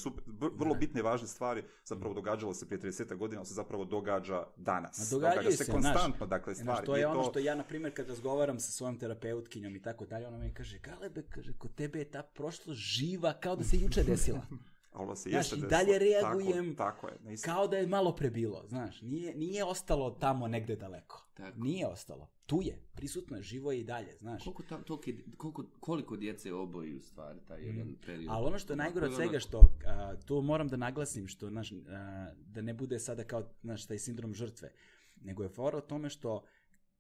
Vrlo bitne i važne stvari zapravo događalo se prije 30 godina, ali se zapravo događa danas. Događa se konstantno, dakle, stvari. To je ono što ja, na primjer, kad razgovaram sa svojom terapeutkinjom i tako dalje, ona mi kaže, Galebe, kod tebe je ta prošlost živa kao da se juče desila. Znaš, i dalje reagujem kao da je malo prebilo, znaš, nije ostalo tamo negde daleko, nije ostalo, tu je, prisutno je, živo je i dalje, znaš. Koliko djece oboji u stvari taj jedan period. Ali ono što je najgore od svega, što to moram da naglasim, što, znaš, da ne bude sada kao, znaš, taj sindrom žrtve, nego je fora o tome što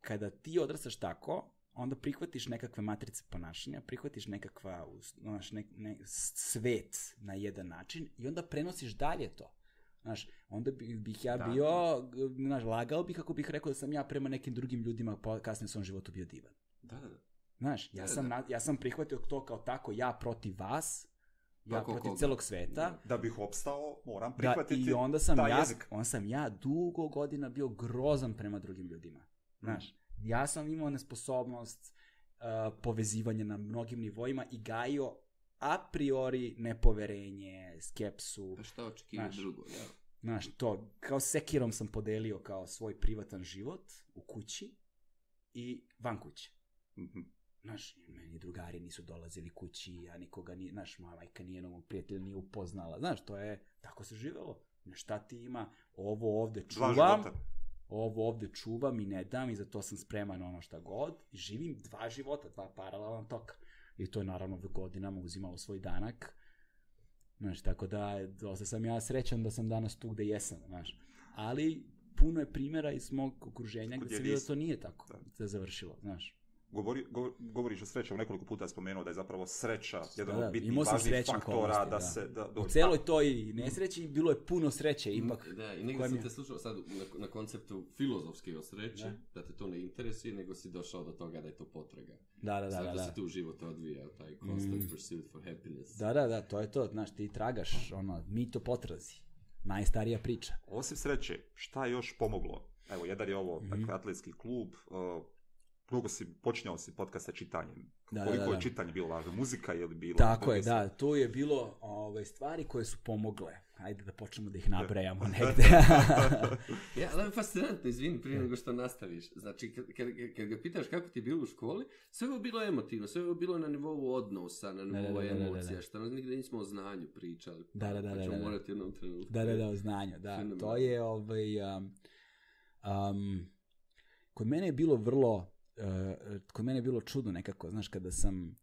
kada ti odrastaš tako, onda prihvatiš nekakve matrice ponašanja, prihvatiš nekakva, znaš, svet na jedan način i onda prenosiš dalje to. Znaš, onda bih ja bio, znaš, lagao bih ako bih rekao da sam ja prema nekim drugim ljudima kasnije u svom životu bio divan. Znaš, ja sam prihvatio to kao tako, ja protiv vas, ja protiv celog sveta. Da bih opstao, moram prihvatiti i onda sam ja dugo godina bio grozan prema drugim ljudima. Znaš, ja sam imao nesposobnost povezivanja na mnogim nivoima i gajio a priori nepoverenje, skepsu. Pa šta očekivati drugo, ja? Znaš, to, kao sekirom sam podelio kao svoj privatan život u kući i van kuće. Znaš, meni drugari nisu dolazili kući, ja nikoga nije, znaš, moja majka nije novog prijatelja nije upoznala. Znaš, to je, tako se živelo. Šta ti ima, ovo ovde čuvam i ne dam i za to sam spreman ono šta god. I živim 2 života, 2 paralelna toka. I to je naravno u godinama uzimalo svoj danak. Znaš, tako da dosta sam ja srećan da sam danas tu gde jesam, znaš. Ali puno je primjera iz mog okruženja gde se vidio da to nije tako da završilo, znaš. Govoriš o sreći, nekoliko puta je spomenuo da je zapravo sreća jedan od bitnih važnih faktora da se... U celoj toj nesreći bilo je puno sreće ipak. Da, i negdje sam te slušao sad na konceptu filozofske o sreći, da te to ne interesuje, nego si došao do toga da je to potraga. Da se tu život odvija, taj constant pursuit for happiness. Da, to je to, znaš, ti tragaš, mi to potrazi. Najstarija priča. Osim sreće, šta je još pomoglo? Evo, jedan je ovo, dakle, atletski klub, počinjao si podcast sa čitanjem. Da, Koliko je čitanje bilo važno? Muzika je li bilo? Tako je, da. Tu je bilo stvari koje su pomogle. Ajde da počnemo da ih nabrajamo negde. Ja, ali je fascinantno, izvini, prije nego što nastaviš. Znači, kad ga pitaš kako ti je bilo u školi, sve je bilo emotivno, sve je bilo na nivou odnosa, na nivou emocija, što nas nigde nismo o znanju pričali. Pa ćemo morati jednom trenutku. Da, o znanju, da. To je, kod mene je bilo kod mene je bilo čudno nekako, znaš, kada sam,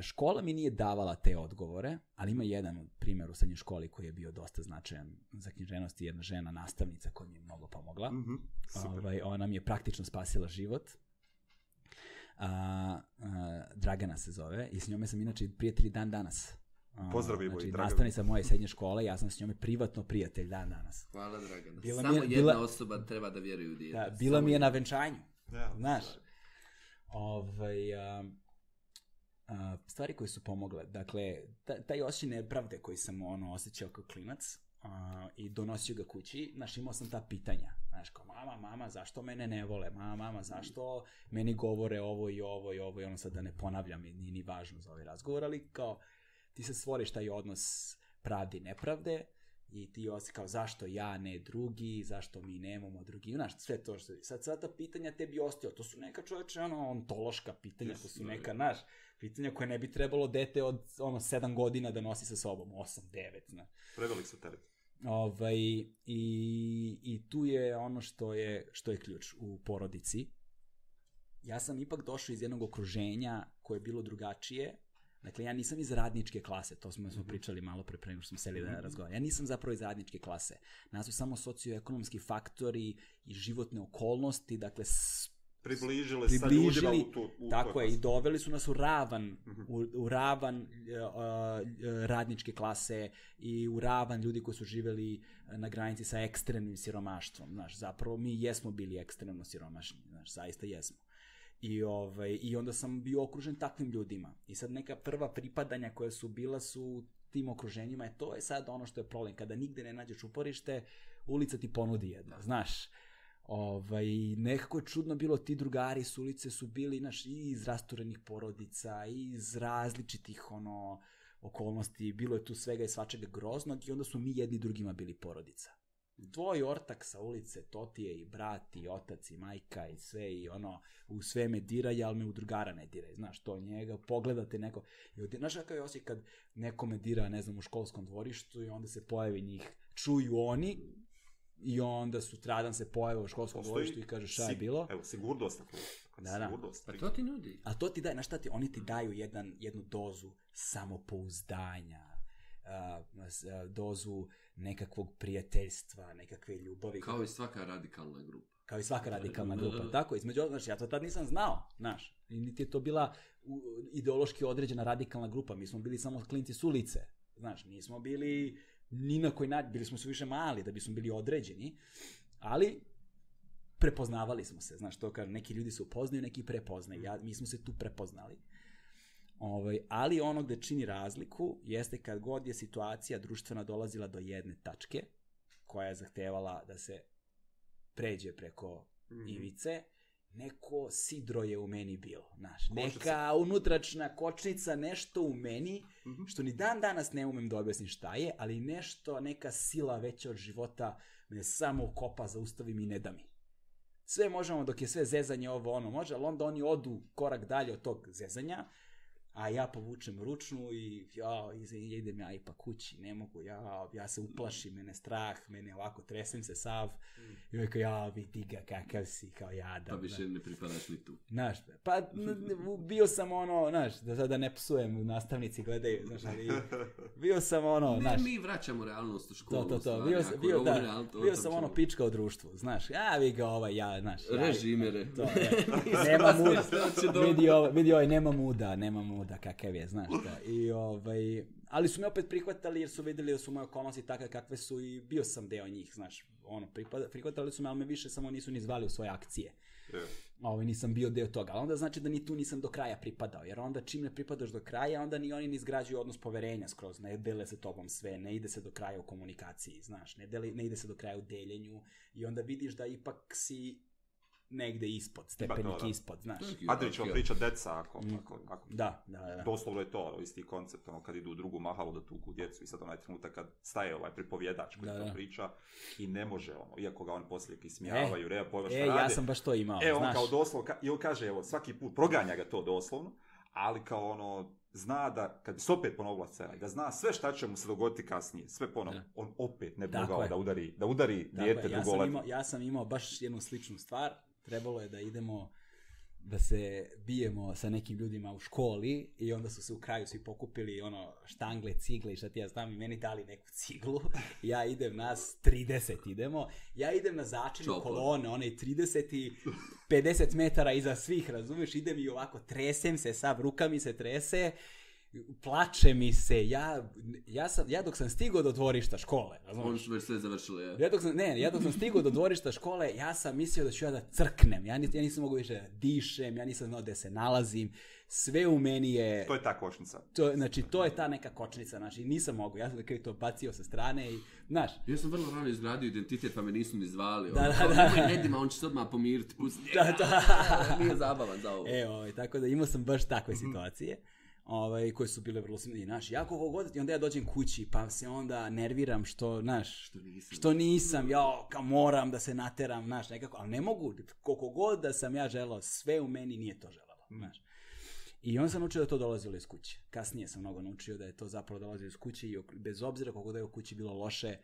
škola mi nije davala te odgovore, ali ima jedan primjer u srednjoj školi koji je bio dosta značajan za književnost i jedna žena, nastavnica koja mi je mnogo pomogla. Ona mi je praktično spasila život. Dragana se zove i s njome sam inače prijatelji dan danas. Pozdravimo znači, i Dragana. Nastavnica moje srednje škole, ja sam s njome privatno prijatelj dan danas. Hvala Dragana. Samo jedna osoba treba da vjeruje u dijete. Da, bila mi je na venčanju. Ja, znaš. Stvari koje su pomogle. Dakle, taj osjećaj nepravde koji sam osjećao kao klinac i donosio ga kući, znaš, imao sam ta pitanja. Znaš, kao, mama, zašto mene ne vole? Mama, zašto meni govore ovo i ovo i ovo i ono, sad da ne ponavljam, nije ni važno za ovaj razgovor, ali kao, ti se stvoriš taj odnos pravde i nepravde i ti osjećaš kao zašto ja, ne drugi, zašto mi nemamo drugi, znaš, sve to što... Sad ta pitanja tebi ostio, to su neka čovječe, ontološka pitanja, to su neka, znaš, pitanja koje ne bi trebalo dete od 7 godina da nosi sa sobom, 8, 9, znaš. Prevelik su teret. I tu je ono što je ključ u porodici. Ja sam ipak došao iz jednog okruženja koje je bilo drugačije. Dakle, ja nisam iz radničke klase, to smo pričali malo pre nego što smo seli da razgovaramo. Ja nisam zapravo iz radničke klase. Nas su samo socioekonomski faktori i životne okolnosti, dakle, približili sa ljudima u tako je, i doveli su nas u ravan radničke klase i u ravan ljudi koji su živjeli na granici sa ekstremnim siromaštvom. Znaš, zapravo mi jesmo bili ekstremno siromašni, znaš, zaista jesmo. I onda sam bio okružen takvim ljudima. I sad neka prva pripadanja koja su bila su tim okruženjima, to je sad ono što je problem. Kada nigde ne nađeš uporište, ulica ti ponudi jedno, znaš. Nekako je čudno bilo, ti drugari s ulice su bili, znaš, i iz rasturenih porodica, i iz različitih okolnosti, bilo je tu svega i svačega groznog i onda su mi jedni drugima bili porodica. Tvoj ortak sa ulice, to ti je i brat, i otac, i majka, i sve, i u sve me diraj, ali me u drugara ne diraj, znaš, to njega, pogledate neko, znaš kakav je osjećaj kad neko me dira, ne znam, u školskom dvorištu i onda se pojavi njih, čuju oni, i onda sutradan se pojave u školskom dvorištu i kaže šta je bilo. Evo, sigurnost. Da. Pa to ti nudi. A to ti daje, znaš šta ti, oni ti daju jednu dozu samopouzdanja, dozu nekakvog prijateljstva, nekakve ljubavi. Kao i svaka radikalna grupa. Tako, između, znači, ja to tad nisam znao, znaš. Niti je to bila ideološki određena radikalna grupa. Mi smo bili samo klinci s ulice, znaš, nismo bili ni na koji način, bili smo su više mali da bismo bili određeni, ali prepoznavali smo se, znaš, to kaže, neki ljudi se upoznaju, neki prepoznaju, mi smo se tu prepoznali. Ali ono gde čini razliku jeste kad god je situacija društvena dolazila do jedne tačke koja je zahtevala da se pređe preko ivice, neko sidro je u meni bilo, znaš, neka unutračna kočnica, nešto u meni, što ni dan danas ne umem da objasnim šta je, ali nešto, neka sila veća od života me samo kopa, zaustavi mi i ne da mi. Sve možemo dok je sve zezanje može, ali onda oni odu korak dalje od tog zezanja, a ja povučem ručnu i idem ja ipak kući, ne mogu, ja se uplašim, mene strah, mene ovako tresem se sav, i rekao, vidi ga kakav si, kao jadan. Pa više ne pripadaš ni tu. Znaš, pa bio sam znaš, da sada ne psujem, nastavnici gledaju, znaš, ali bio sam znaš. Mi vraćamo realnost u školu. To, bio sam pička u društvu, znaš, vi ga znaš. Režimere. Nema muda, vidi nema muda, kakav je, znaš da. Ali su me opet prihvatali jer su vidjeli da su moje okolnosti takve kakve su i bio sam deo njih, znaš, prihvatali su me, ali me više samo nisu ni zvali u svoje akcije. Nisam bio deo toga, ali onda znači da ni tu nisam do kraja pripadao, jer onda čim ne pripadaš do kraja, onda ni oni ne izgrađuju odnos poverenja skroz, ne dele se tobom sve, ne ide se do kraja u komunikaciji, znaš, ne ide se do kraja u deljenju i onda vidiš da ipak si negde ispod, stepenik ispod, znaš. Adrić vam priča deca, ako. Da. Doslovno je to, isti koncept, kad idu u drugu mahalu da tuku djecu i sad onaj trenutak kad staje pripovjedač koji to priča i ne može iako ga on poslije ismijavaju, nema pojma šta rade. Ja sam baš to imao, on kao doslovno, i on kaže, svaki put proganja ga to doslovno, ali kao zna da, kad bi se opet ponovila scena, da zna sve šta će mu se dogoditi kasnije, sve ponovno, on opet ne bi mogao da udari dijete drugoletno. Ja sam imao baš jednu sličnu stvar, trebalo je da idemo, da se bijemo sa nekim ljudima u školi i onda su se u kraju svi pokupili štangle, cigle i šta ti ja znam i meni dali neku ciglu. Ja idem, nas 30 idemo, ja idem na začelju kolone, 30 i 50 metara iza svih, razumiješ, idem i ovako tresem se, sav ruka mi se trese, plače mi se, ja dok sam stigao do dvorišta škole, razumiješ? Oni su već sve završili, ja? Ja dok sam stigao do dvorišta škole, ja sam mislio da ću ja da crknem, ja nisam mogao više da dišem, ja nisam znao gde se nalazim, sve u meni je... To je ta kočnica. To je ta neka kočnica, znači nisam mogao, ja sam da to bacio sa strane i, znaš... Ja sam vrlo rano izgradio identitet, pa me nisu ni zvali, Nedima, on će se odmah pomiriti, pusti, nije zabavan za ovo. Tako da imao sam baš takve situacije. Koje su bile vrlo smiješne. Znaš, ja koliko god, i onda ja dođem kući, pa se onda nerviram što nisam, kao moram da se nateram, znaš, nekako, ali ne mogu, koliko god da sam ja želao, sve u meni nije to želalo, znaš. I on sam naučio da to dolazilo iz kuće. Kasnije sam mnogo naučio da je to zapravo dolazilo iz kuće i bez obzira koliko da je u kući bilo loše,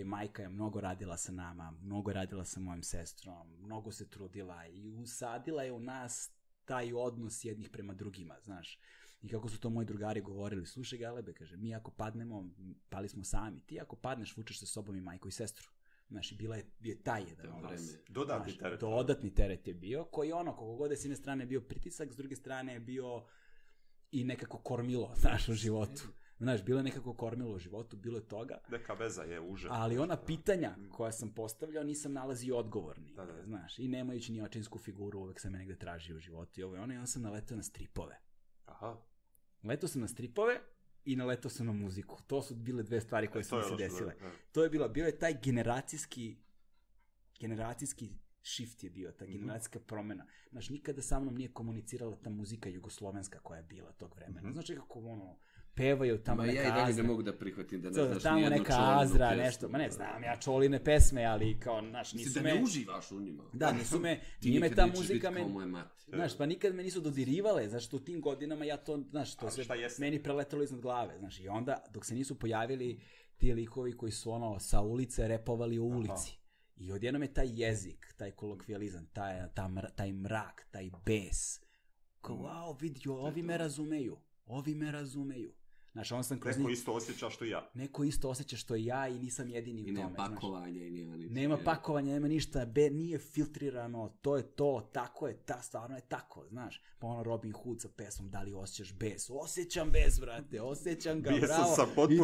majka je mnogo radila sa nama, mnogo radila sa mojom sestrom, mnogo se trudila i usadila je u nas taj odnos jednih prema drugima, znaš. I kako su to moji drugari govorili, slušaj Galebe, kaže, mi ako padnemo, pali smo sami, ti ako padneš, vučeš sa sobom i majku i sestru. Znaš, i bila je taj jedan odnos. Dodatni teret je bio, koji koliko god je s jedne strane bio pritisak, s druge strane je bio i nekako kormilo, znaš, u životu. Znaš, bilo je nekako kormilo u životu, bilo je toga. Neka veza je uže. Ali ona pitanja koja sam postavljao nisam nalazio odgovorni. Znaš, i nemajući ni očinsku figuru, uvek sam me negde tražio u životu i onda sam naletao na stripove. Aha. Naletao sam na stripove i naletao sam na muziku. To su bile dve stvari koje su mi se desile. To je bio je taj generacijski shift je bio, ta generacijska promjena. Znaš, nikada sa mnom nije komunicirala ta muzika jugoslovenska koja je bila tog vremena. Znaš, kako pevaju tamo neka Azra. Ja i dalje ne mogu da prihvatim da ne znaš tamo nijednu neka Čolinu Azra, pesmu. nešto. Ma ne znam, ja Čoline pesme, ali kao, znaš, nisu da ne uživaš u njima. Da, nisu me, nije me ta muzika znaš, pa nikad me nisu dodirivale, zašto u tim godinama ja to, znaš, to se meni preletalo iznad glave, znaš, i onda, dok se nisu pojavili ti likovi koji su sa ulice repovali u ulici. I odjednom je taj jezik, taj kolokvijalizam, taj mrak, taj bes. Kao, wow, vidi, ovi me razumeju. Znaš, neko isto osjeća što i ja. Neko isto osjeća što i ja i nisam jedini u tome. I nema pakovanja i nema ništa. Nema pakovanja, nema ništa, nije filtrirano, to je to, tako je, stvarno je tako, znaš. Pa Robin Hood sa pesmom, da li osjećaš bes? Osjećam bes, brate, osjećam ga,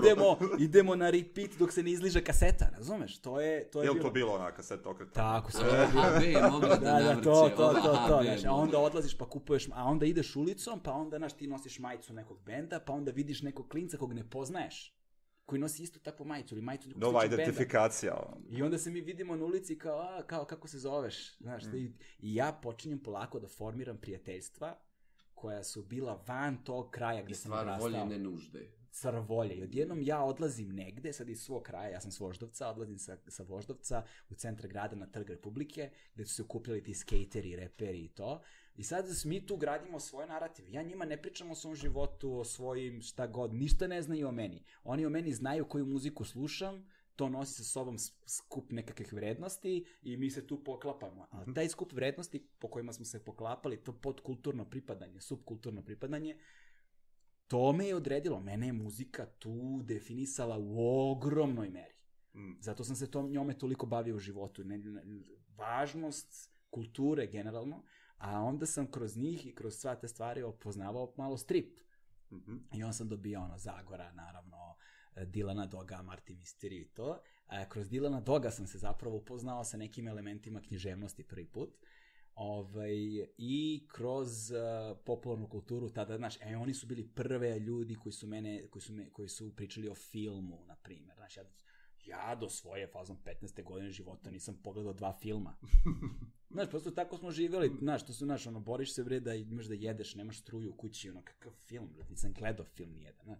bravo. Idemo na repeat dok se ne izliže kaseta, razumeš? To je bilo. Je to bilo ona kaseta okretana? Tako, sve je mogla da navrće. To, znaš, a onda odlaziš pa kupuješ, a onda ideš ulicom, pa onda, znaš, ti nosiš majicu nekog benda, pa onda vidiš nekog klinca kog ne poznaješ, koji nosi isto takvu majicu ili majicu nekog nova identifikacija. I onda se mi vidimo na ulici kao kako se zoveš, znaš, i ja počinjem polako da formiram prijateljstva koja su bila van tog kraja gdje sam odrastao. I stvar volje ne nužde. Stvar volje. I odjednom ja odlazim negde, sad iz svog kraja, ja sam s Voždovca, odlazim sa Voždovca u centar grada na Trg Republike, gdje su se okupljali ti skejteri, reperi i to. I sad mi tu gradimo svoje narative. Ja njima ne pričam o svom životu, o svojim šta god, ništa ne znaju o meni. Oni o meni znaju koju muziku slušam, to nosi sa sobom skup nekakvih vrednosti i mi se tu poklapamo. Ali taj skup vrednosti po kojima smo se poklapali, to podkulturno pripadanje, subkulturno pripadanje, to me je odredilo. Mene je muzika tu definisala u ogromnoj meri. Zato sam se njome toliko bavio u životu. Važnost kulture generalno, a onda sam kroz njih i kroz sva te stvari opoznavao malo strip. I onda sam dobio Zagora, naravno, Dilana Doga, Martin Mystery i to. Kroz Dilana Doga sam se zapravo upoznao sa nekim elementima književnosti prvi put. I kroz popularnu kulturu tada, znaš, oni su bili prve ljudi koji su pričali o filmu, na primjer. Znaš, ja do svoje fazom 15. godine života nisam pogledao 2 filma. Znaš, prosto tako smo živjeli, znaš, to su, znaš, ono, boriš se, bre, da imaš da jedeš, nemaš struju u kući, ono, kakav film, bre, nisam gledao film nijedan, znaš.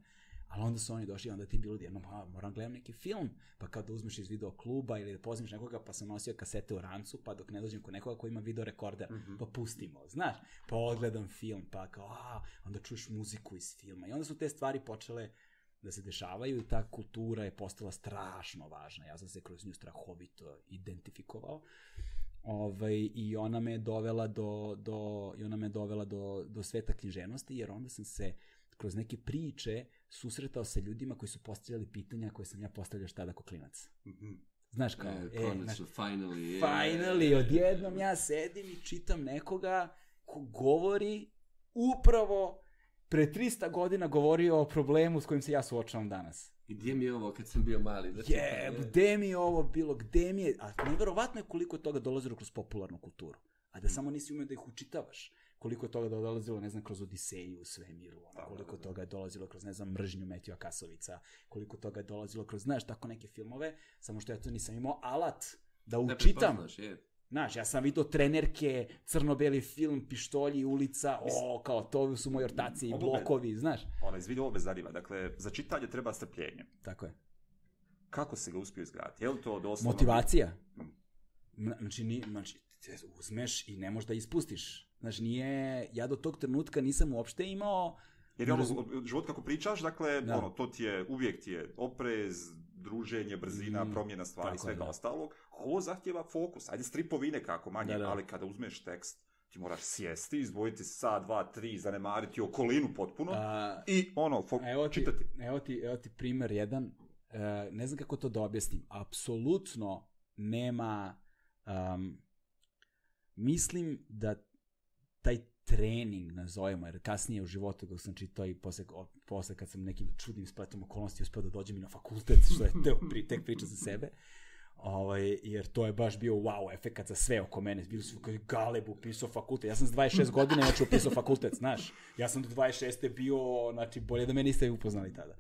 Ali onda su oni došli, onda ti bilo jedno, moram gledam neki film, pa kao da uzmeš iz video kluba ili da pozimiš nekoga, pa sam nosio kasete u rancu, pa dok ne dođem kod nekoga ko ima video rekorder, pa pustimo, znaš, pa odgledam film, pa kao, onda čuješ muziku iz filma i onda su te stvari počele da se dešavaju i ta kultura je postala strašno važna. Ja sam se kroz nju strahovito identifikovao. I ona me dovela do sveta književnosti, jer onda sam se kroz neke priče susretao sa ljudima koji su postavljali pitanja koje sam ja postavljao šta da ko klinac. Znaš kao, finally, odjednom ja sedim i čitam nekoga ko govori upravo pre 300 godina govorio o problemu s kojim se ja suočavam danas. I gdje mi je ovo kad sam bio mali? Gdje mi je ovo bilo, gdje mi je... A nevjerovatno je koliko je toga dolazilo kroz popularnu kulturu. A da samo nisi umeo da ih učitavaš. Koliko je toga dolazilo, ne znam, kroz Odiseju u svemiru. Koliko toga je dolazilo kroz, ne znam, Mržnju Metija Kasovica. Koliko toga je dolazilo kroz, znaš, tako neke filmove. Samo što ja to nisam imao alat da učitam. Znaš, ja sam vidio trenerke, crno-beli film, pištolji, ulica, kao to su moji ortaci i blokovi, znaš. Izvidi, ovo me zanima. Dakle, za čitanje treba strpljenje. Tako je. Kako se ga uspio izgraditi? Je li to doslovno... Motivacija. Znači, uzmeš i ne možeš da ispustiš. Znači, ja do tog trenutka nisam uopšte imao... Jer je život kako pričaš, dakle, uvijek ti je oprez, druženje, brzina, promjena stvari, svega ostalog. Ovo zahtjeva fokus. Ajde, stripovi nekako manje, ali kada uzmeš tekst, ti moraš sjesti, izdvojiti sat, 2, 3, zanemariti okolinu potpuno i čitati. Evo ti primjer jedan. Ne znam kako to da objasnim. Apsolutno nema... mislim da taj trening, nazovemo, jer kasnije u životu dok sam čitao i posle kad sam nekim čudnim spletom okolnosti uspio da dođem i na fakultet, što je tek priča za sebe, jer to je baš bio wow efekat za sve oko mene. Bili su kao Galeb upisao fakultet. Ja sam s 26 godina upisao fakultet, znaš. Ja sam do 26. bio, znači bolje da me niste upoznali tada.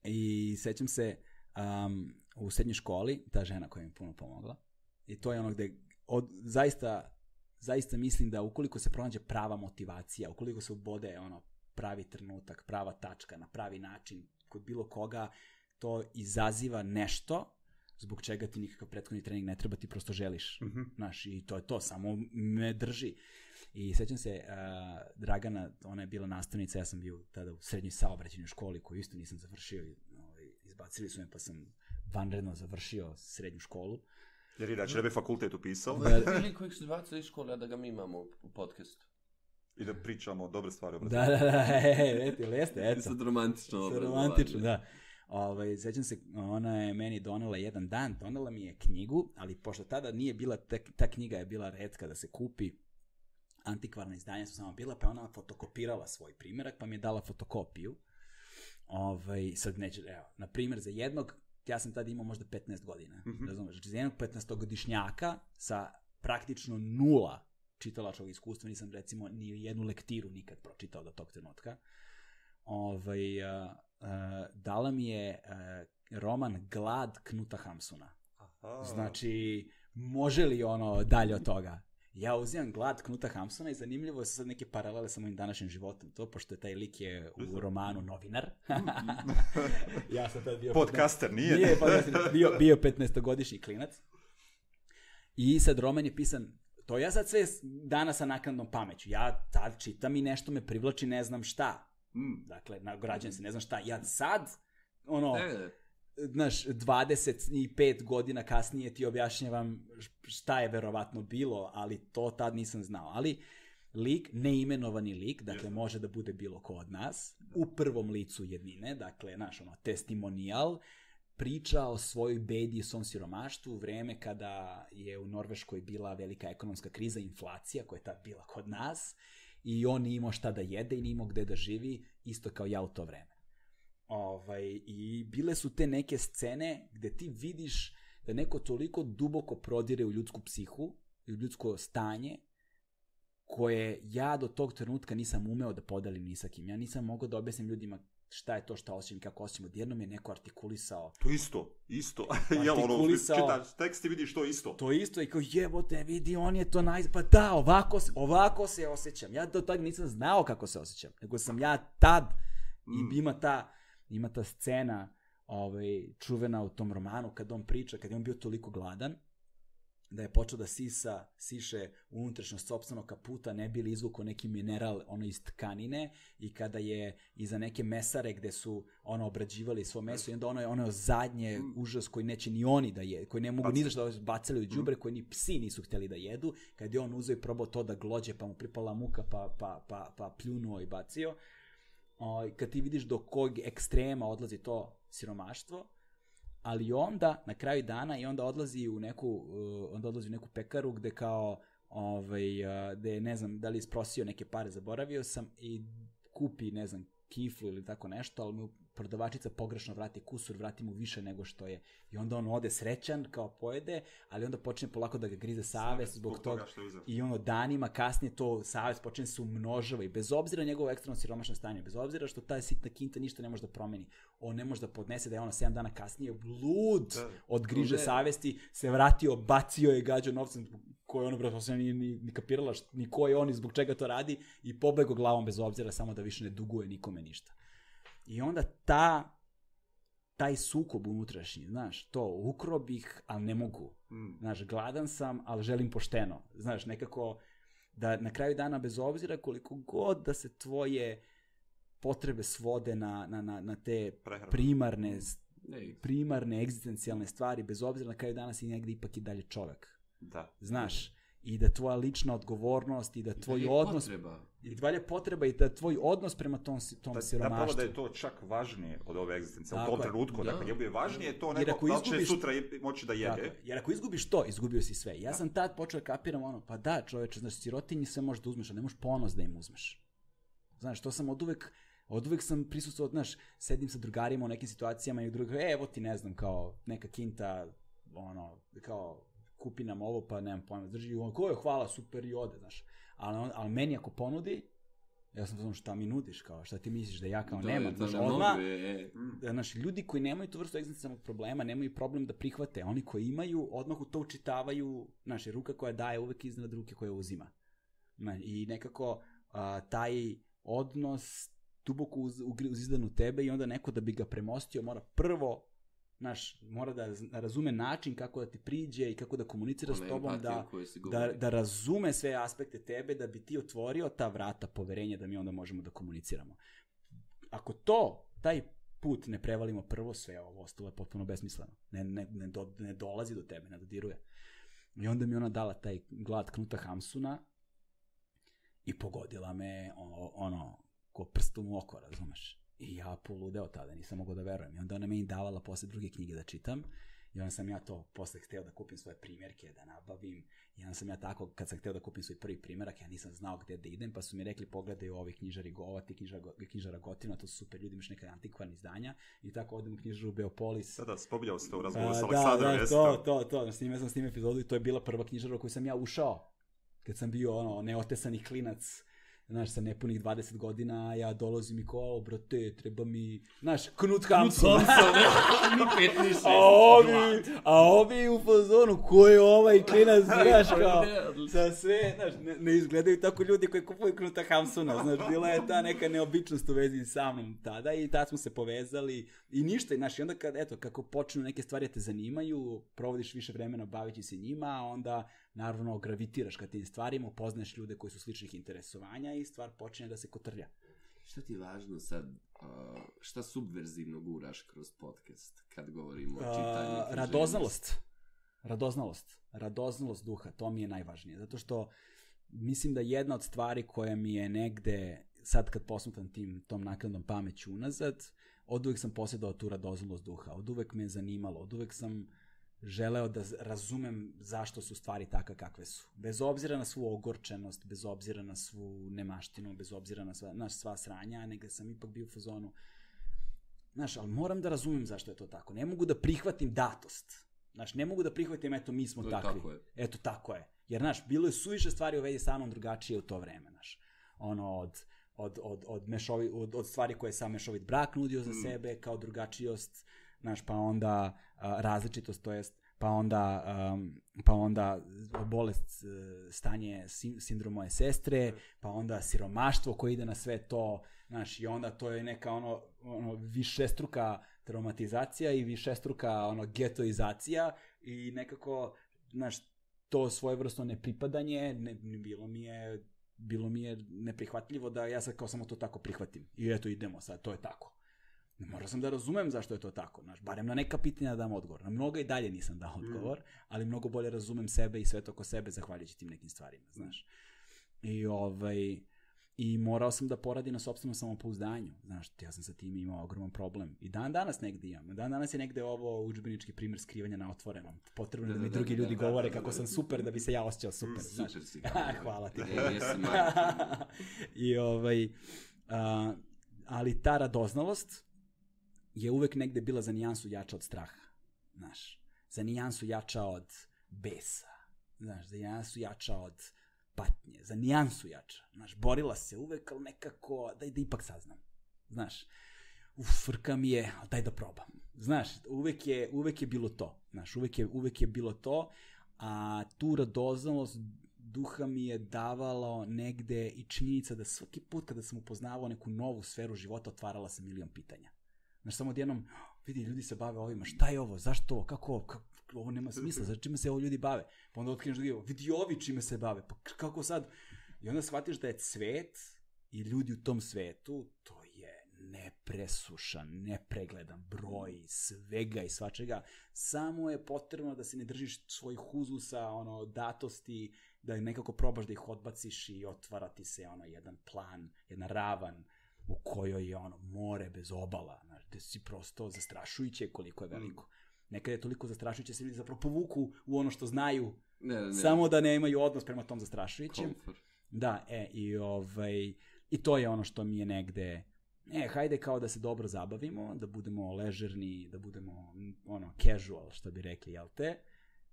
I sećam se u srednjoj školi, ta žena koja mi puno pomogla, i to je ono gde zaista mislim da ukoliko se pronađe prava motivacija, ukoliko se ubode pravi trenutak, prava tačka, na pravi način, kod bilo koga, to izaziva nešto zbog čega ti nikakav prethodni trening ne treba, ti prosto želiš. Znaš, i to je to, samo me drži. I sećam se, Dragana, ona je bila nastavnica, ja sam bio tada u srednjoj saobraćajnoj školi koju isto nisam završio, izbacili su me pa sam vanredno završio srednju školu. Jer inače ne bi fakultet upisao. Ili kojeg su izbacili iz škole, a da ga mi imamo u podcastu. I da pričamo o dobre stvari. Jeste. Sad romantično. Romantično, da. Sećam se, ona je meni donela jedan dan, donela mi je knjigu, ali pošto tada nije bila, ta knjiga je bila retka da se kupi, antikvarna izdanja su samo bila, pa ona fotokopirala svoj primjerak, pa mi je dala fotokopiju. Sad neću, na primjer za jednog, ja sam tada imao možda 15 godina, razumeš, znači za jednog 15-godišnjaka sa praktično 0 čitalačkog iskustva, nisam recimo ni jednu lektiru nikad pročitao do tog trenutka, dala mi je roman Glad Knuta Hamsuna. Znači, može li dalje od toga? Ja uzimam Glad Knuta Hamsuna i zanimljivo je sad neke paralele sa mojim današnjim životom, to, pošto je taj lik je u romanu novinar. Ja sam tad bio... Podcaster, nije? Bio 15-godišnji klinac. I sad roman je pisan, to ja sad sve danas sa naknadnom pameću. Ja tad čitam i nešto me privlači, ne znam šta. Dakle, nagrađujem se, ne znam šta. Ja sad, znaš, 25 godina kasnije ti objašnjavam šta je verovatno bilo, ali to tad nisam znao. Ali lik, neimenovani lik, dakle može da bude bilo ko od nas, u prvom licu jednine, dakle, znaš, testimonijal, priča o svojoj bedi i svom siromaštvu u vreme kada je u Norveškoj bila velika ekonomska kriza, inflacija koja je tad bila kod nas, i on nije imao šta da jede i nije imao gde da živi, isto kao ja u to vreme. I bile su te neke scene gde ti vidiš da neko toliko duboko prodire u ljudsku psihu i u ljudsko stanje koje ja do tog trenutka nisam umeo da podelim ni sa kim. Ja nisam mogao da objasnim ljudima šta je to šta osjećam, kako osjećam. Odjednom je neko artikulisao. To isto. Jel, ono, čitaš tekst i vidiš to isto. To isto i kao jebote, vidi, on je to pa da, ovako se osjećam. Ja do tad nisam znao kako se osjećam, nego sam ja tad, i ima ta scena čuvena u tom romanu, kad on priča, kad je on bio toliko gladan, da je počeo da siše unutrašnjost sopstvenog kaputa, ne bi li izvukao neki mineral iz tkanine, i kada je iza neke mesare gde su obrađivali svo meso, i onda ono zadnje užas koji neće ni oni da je, koji ne mogu ni zašto da bacali u đubre, koji ni psi nisu hteli da jedu, kad je on uzeo i probao to da glođe, pa mu pripala muka, pa pljunuo i bacio. Kad ti vidiš do kog ekstrema odlazi to siromaštvo, ali onda, na kraju dana, i onda odlazi u neku pekaru gde kao, gde ne znam da li isprosio neke pare, zaboravio sam, i kupi, ne znam, kiflu ili tako nešto, ali mu prodavačica pogrešno vrati kusur, vrati mu više nego što je. I onda on ode srećan, kao pojede, ali onda počne polako da ga grize savest zbog toga. I danima kasnije to savest počne se umnožava, i bez obzira na njegovo ekstremno siromašno stanje, bez obzira što ta sitna kinta ništa ne može da promeni, on ne može da podnese da je 7 dana kasnije lud od griže savesti, se vratio, bacio je gađo novcem koji ni kapirala ni ko je on i zbog čega to radi, i pobego glavom bez obzira, samo da više ne duguje nikome ništa. I onda taj sukob unutrašnji, znaš, to ukro bih, ali ne mogu. Znaš, gladan sam, ali želim pošteno. Znaš, nekako da na kraju dana, bez obzira koliko god da se tvoje potrebe svode na te primarne egzistencijalne stvari, bez obzira na kraju dana si negdje ipak i dalje čovjek. Da. Znaš, i da tvoja lična odgovornost i da tvoj odnos... I dalje potreba i da tvoj odnos prema tom siromaštvu. Napravo da je to čak važnije od ove egzistencije, u tom trenutku. Dakle, je važnije to neko da će sutra moći da jede. Jer ako izgubiš to, izgubio si sve. Ja sam tad počeo kapiram pa da, čoveče, znaš, sirotinji sve možeš da uzmeš, ali ne možeš ponos da im uzmeš. Znaš, to sam oduvek sam prisustvovao, znaš, sedim sa drugarima u nekim situacijama i drugi, evo ti, ne znam, kao neka kinta, kao kupi nam ovo, pa nemam pojma, drži, ko je, hvala, super, i ode, znaš. Ali meni ako ponudi, ja sam znam šta mi nudiš, kao šta ti misliš da ja kao nemam, znaš, odmah, znaš, ljudi koji nemaju tu vrstu egzistencijalnog problema, nemaju problem da prihvate, oni koji imaju, odmah u to učitavaju, znaš, ruka koja daje uvek iznad ruke koja uzima. I nekako taj odnos duboko uzizdan u tebe, i onda neko da bi ga premostio mora prvo, znaš, mora da razume način kako da ti priđe i kako da komunicira s tobom, da razume sve aspekte tebe, da bi ti otvorio ta vrata poverenja da mi onda možemo da komuniciramo. Ako taj put ne prevalimo prvo, sve ovo ostalo je potpuno besmisleno. Ne dolazi do tebe, ne dodiruje. I onda mi ona dala taj glad Knuta Hamsuna i pogodila me ko prstom u oko, razumeš? I ja poludeo tada, nisam mogao da verujem. I onda ona meni davala posle druge knjige da čitam. I onda sam ja to posle hteo da kupim svoje primjerke, da nabavim. I onda sam ja tako, kad sam hteo da kupim svoj prvi primjerak, ja nisam znao gde da idem, pa su mi rekli pogledaj ovi knjižari Gova, ti knjižara Gotina, to su super ljudi, imaš neka antikvarna izdanja. I tako odem u knjižaru Beopolis. Da, spominjao se to u razgovoru s Aleksandrom. To. Snimao sam s tim epizodu i to je bila prva knjižara u koju sam ja ušao. Kad sam bio neotesani klinac, znaš, sa nepunih 20 godina, ja dolazim i kao, brate, treba mi, znaš, Knut Hamsun. A ovi u fazonu, ko je ovaj klinac, znaš, kao, sa sve, znaš, ne izgledaju tako ljudi koji kupuju Knuta Hamsuna, znaš, bila je ta neka neobičnost u vezi sa mnom tada, i tad smo se povezali i ništa, znaš, i onda kako počnu neke stvari te zanimaju, provodiš više vremena baveći se njima, onda naravno gravitiraš ka tim stvarima, upoznaješ ljude koji su sličnih interesovanja i stvar počinje da se kotrlja. Šta ti je važno sad, šta subverzivno guraš kroz podcast kad govorimo o čitanju? Radoznalost duha, to mi je najvažnije, zato što mislim da jedna od stvari koja mi je negde, sad kad posmatram tom naknadnom pameću unazad, oduvek sam posjedao tu radoznalost duha, oduvek me je zanimalo, oduvek sam želeo da razumem zašto su stvari takve kakve su. Bez obzira na svu ogorčenost, bez obzira na svu nemaštinu, bez obzira na sva sranja, nego sam ipak bio u fazonu. Znaš, ali moram da razumem zašto je to tako. Ne mogu da prihvatim datost. Znaš, ne mogu da prihvatim, eto, mi smo takvi. Eto, tako je. Jer, znaš, bilo je suviše stvari u vezi sa mnom drugačije u to vreme, znaš. Od od stvari koje je sam mešovit brak nudio za sebe, kao drugačijost, znaš, pa onda različitost, to jest, pa onda bolest, stanje sindrom moje sestre, pa onda siromaštvo koje ide na sve to, znaš, i onda to je neka ono višestruka traumatizacija i višestruka getoizacija i nekako, znaš, to svojevrsno nepripadanje, bilo mi je neprihvatljivo da ja sad kao samo to tako prihvatim. I eto, idemo sad, to je tako. Morao sam da razumem zašto je to tako, znaš, barem na neka pitanja dam odgovor. Na mnoga i dalje nisam dao odgovor, ali mnogo bolje razumem sebe i sve to oko sebe zahvaljujući tim nekim stvarima, znaš. I morao sam da poradim na sopstvenom samopouzdanju, znaš, ja sam sa tim imao ogroman problem. I dan danas negdje imam. Dan danas je negde ovo udžbenički primjer skrivanja na otvorenom. Potrebno da mi drugi ljudi govore kako sam super, da bi se ja osjećao super, znaš. Super si. Hvala ti. Ali ta radoznalost je uvek negde bila za nijansu jača od straha, znaš. Za nijansu jača od besa, znaš, za nijansu jača od patnje, za nijansu jača. Znaš, borila se uvek, ali nekako, daj da ipak saznam. Znaš, frka mi je, daj da probam. Znaš, uvek je bilo to. Znaš, uvek je bilo to, a tu radoznalost duha mi je davalo negde i činjenica da svaki put kada sam upoznavao neku novu sferu života, otvarala sam milion pitanja. Znaš, samo odjednom, vidi, ljudi se bave ovima, šta je ovo, zašto ovo, kako ovo nema smisla, za čime se ovo ljudi bave? Pa onda otkriješ drugi, vidi ovi čime se bave, pa kako sad? I onda shvatiš da je cvet i ljudi u tom svetu, to je nepresušan, nepregledan broj svega i svačega. Samo je potrebno da se ne držiš svojih uzusa, datosti, da nekako probaš da ih odbaciš i otvara ti se jedan plan, jedna ravan u kojoj je more bez obala, znaš, gde si prosto zastrašujuće koliko je veliko. Nekada je toliko zastrašujuće se ljudi zapravo povuku u ono što znaju, samo da ne imaju odnos prema tom zastrašujućem. Da, i to je ono što mi je negde, hajde kao da se dobro zabavimo, da budemo ležerni, da budemo casual, što bi rekli, jel te?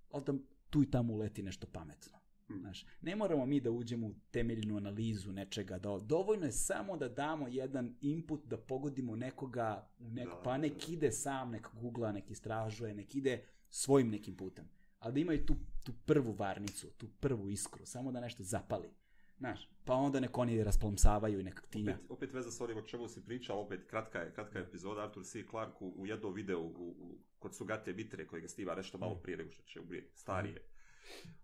Ali da tu i tamo uleti nešto pametno. Znaš, ne moramo mi da uđemo u temeljnu analizu nečega, dovoljno je samo da damo jedan input, da pogodimo nekoga, pa nek ide sam, nek googla, nek istražuje, nek ide svojim nekim putem. Ali da imaju tu prvu varnicu, tu prvu iskru, samo da nešto zapali. Znaš, pa onda nek oni rasplomsavaju i nekak tinja. Opet veza s onim o čemu si pričao, opet kratka epizoda, Arthur C. Clarke u jednom videu kod Sugate Mitre, koji ga stiva nešto malo prije nego što će umrijeti, starije.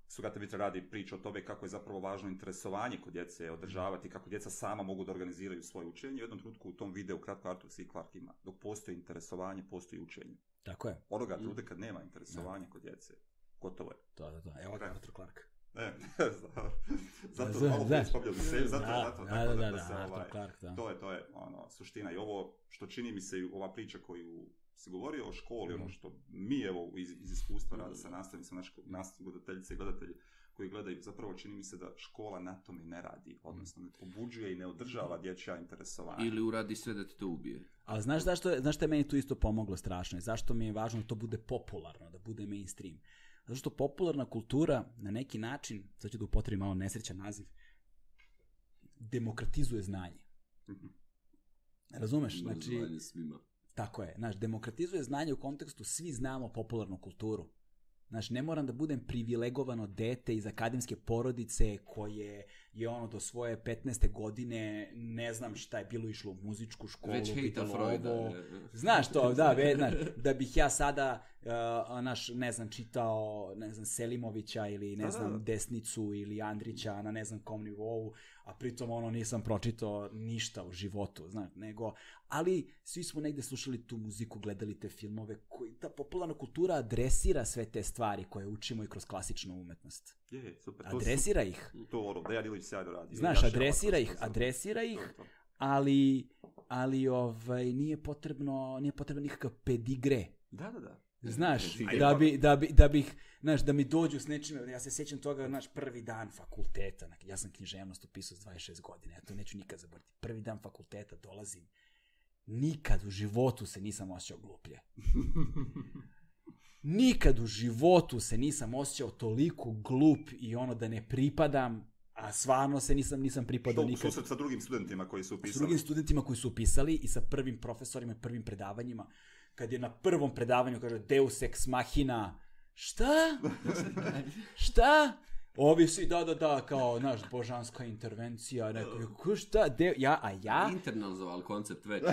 Sugata Mitra radi priču o tome kako je zapravo važno interesovanje kod djece održavati, kako djeca sama mogu da organiziraju svoje učenje. U jednom trenutku u tom videu kratko Arthur C. Clarke ima, dok postoji interesovanje, postoji učenje. Tako je. Onoga trenutka kad nema interesovanja kod djece, gotovo je. To. Evo ga Arthur Clarke. Zato malo prije spomljali se, zato to je suština. I ovo što čini mi se, ova priča koju se govori o školi, ono što mi evo iz iskustva rada sa nastavnicima, nastavnici, gledateljice i gledatelji koji gledaju, zapravo čini mi se da škola na tome ne radi, odnosno ne pobuđuje i ne održava dječja interesovanja. Ili uradi sve da ti to ubije. Ali znaš što je meni tu isto pomoglo strašno i zašto mi je važno da to bude popularno, da bude mainstream? Zato što popularna kultura na neki način, sad ću da upotrebim malo nesrećan naziv, demokratizuje znanje. Razumeš? Znači, tako je. Znaš, demokratizuje znanje u kontekstu svi znamo popularnu kulturu. Znaš, ne moram da budem privilegovano dete iz akademske porodice koje je do svoje 15. godine, ne znam šta je bilo, išlo u muzičku školu, pitalo ovo. Znaš to, da bih ja sada, ne znam, čitao, Selimovića ili, Desnicu ili Andrića na ne znam kom nivou, a pritom nisam pročitao ništa u životu, znaš, ali svi smo negde slušali tu muziku, gledali te filmove, ta popularna kultura adresira sve te stvari koje učimo i kroz klasičnu umetnost. Super. Adresira ih. To Dejan Ilić sjajno radi. Znaš, adresira ih, ali nije potrebno nikakav pedigre. Da. Znaš, da mi dođu s nečime, ja se sjećam toga, prvi dan fakulteta, ja sam književnost upisao s 26 godina, ja to neću nikad zaboraviti. Prvi dan fakulteta dolazim, nikad u životu se nisam osjećao gluplje. Nikad u životu se nisam osjećao toliko glup i da ne pripadam, A stvarno se nisam pripadao nikad. Susret sa drugim studentima koji su upisali. S drugim studentima koji su upisali i sa prvim profesorima, prvim predavanjima. Kad je na prvom predavanju, kaže, Deus ex machina. Šta? Šta? Ovi svi, da, kao, naš, božanska intervencija, neko, šta, ja? Internalizoval koncept već.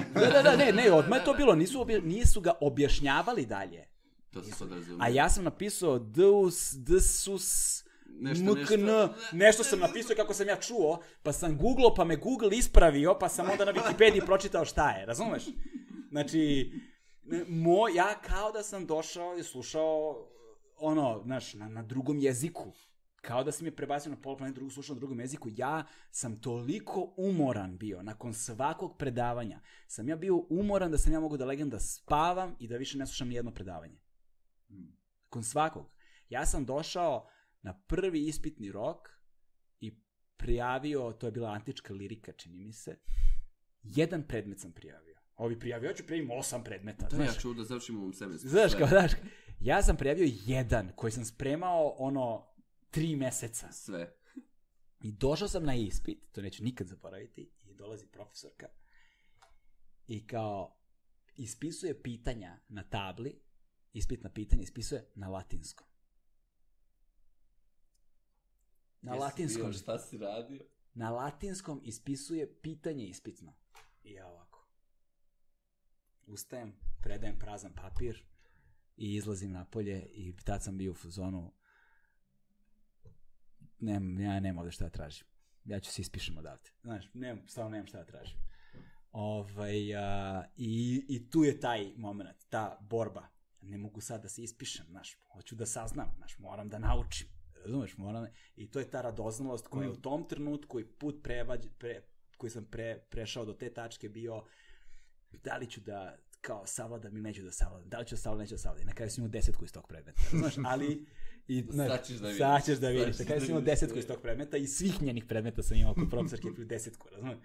Ne, odmah je to bilo, nisu ga objašnjavali dalje. To se sad razumije. A ja sam napisao Deus, nešto sam napisao kako sam ja čuo, pa sam googlao, pa me Google ispravio, pa sam onda na Wikipediji pročitao šta je, razumeš? Znači, ja kao da sam došao i slušao, znaš, na drugom jeziku. Kao da sam je prebacio na pola planeta, slušao na drugom jeziku. Ja sam toliko umoran bio, nakon svakog predavanja, sam ja bio umoran da sam ja mogu da legnem da spavam i da više ne slušam nijedno predavanje. Nakon svakog. Ja sam došao na prvi ispitni rok i prijavio, to je bila antička lirika, čini mi se, 1 predmet sam prijavio. Ovi prijavio, ja ću prijavim 8 predmeta. To ja ću da završim u ovom semestru. Znaš, ja sam prijavio 1 koji sam spremao 3 meseca. Sve. I došao sam na ispit, to neću nikad zaboraviti, i dolazi profesorka i kao ispisuje pitanja na tabli, ispitna pitanja ispisuje na latinskom. Na latinskom. Šta si radio? Na latinskom ispisuje pitanje ispitno. I ja ovako. Ustajem, predajem prazan papir i izlazim napolje i tad sam bio u fazonu. Ja nemam ovdje šta da tražim. Ja ću se ispišem odavde. Znaš, stvarno nemam šta da tražim. I tu je taj moment, ta borba. Ne mogu sad da se ispišem, znaš, hoću da saznam, znaš, moram da naučim. Razumeš, i to je ta radoznalost koja je u tom trenutku i put koji sam prešao do te tačke bio da li ću da kao savladam ili neću da savladam, da li ću da savladam, neću da savladam. I na kraju sam imao 10 iz tog predmeta, znaš, ali sad ćeš da vidiš. Na kraju sam imao 10 iz tog predmeta i svih njenih predmeta sam imao kod profesorke 10, razumeš.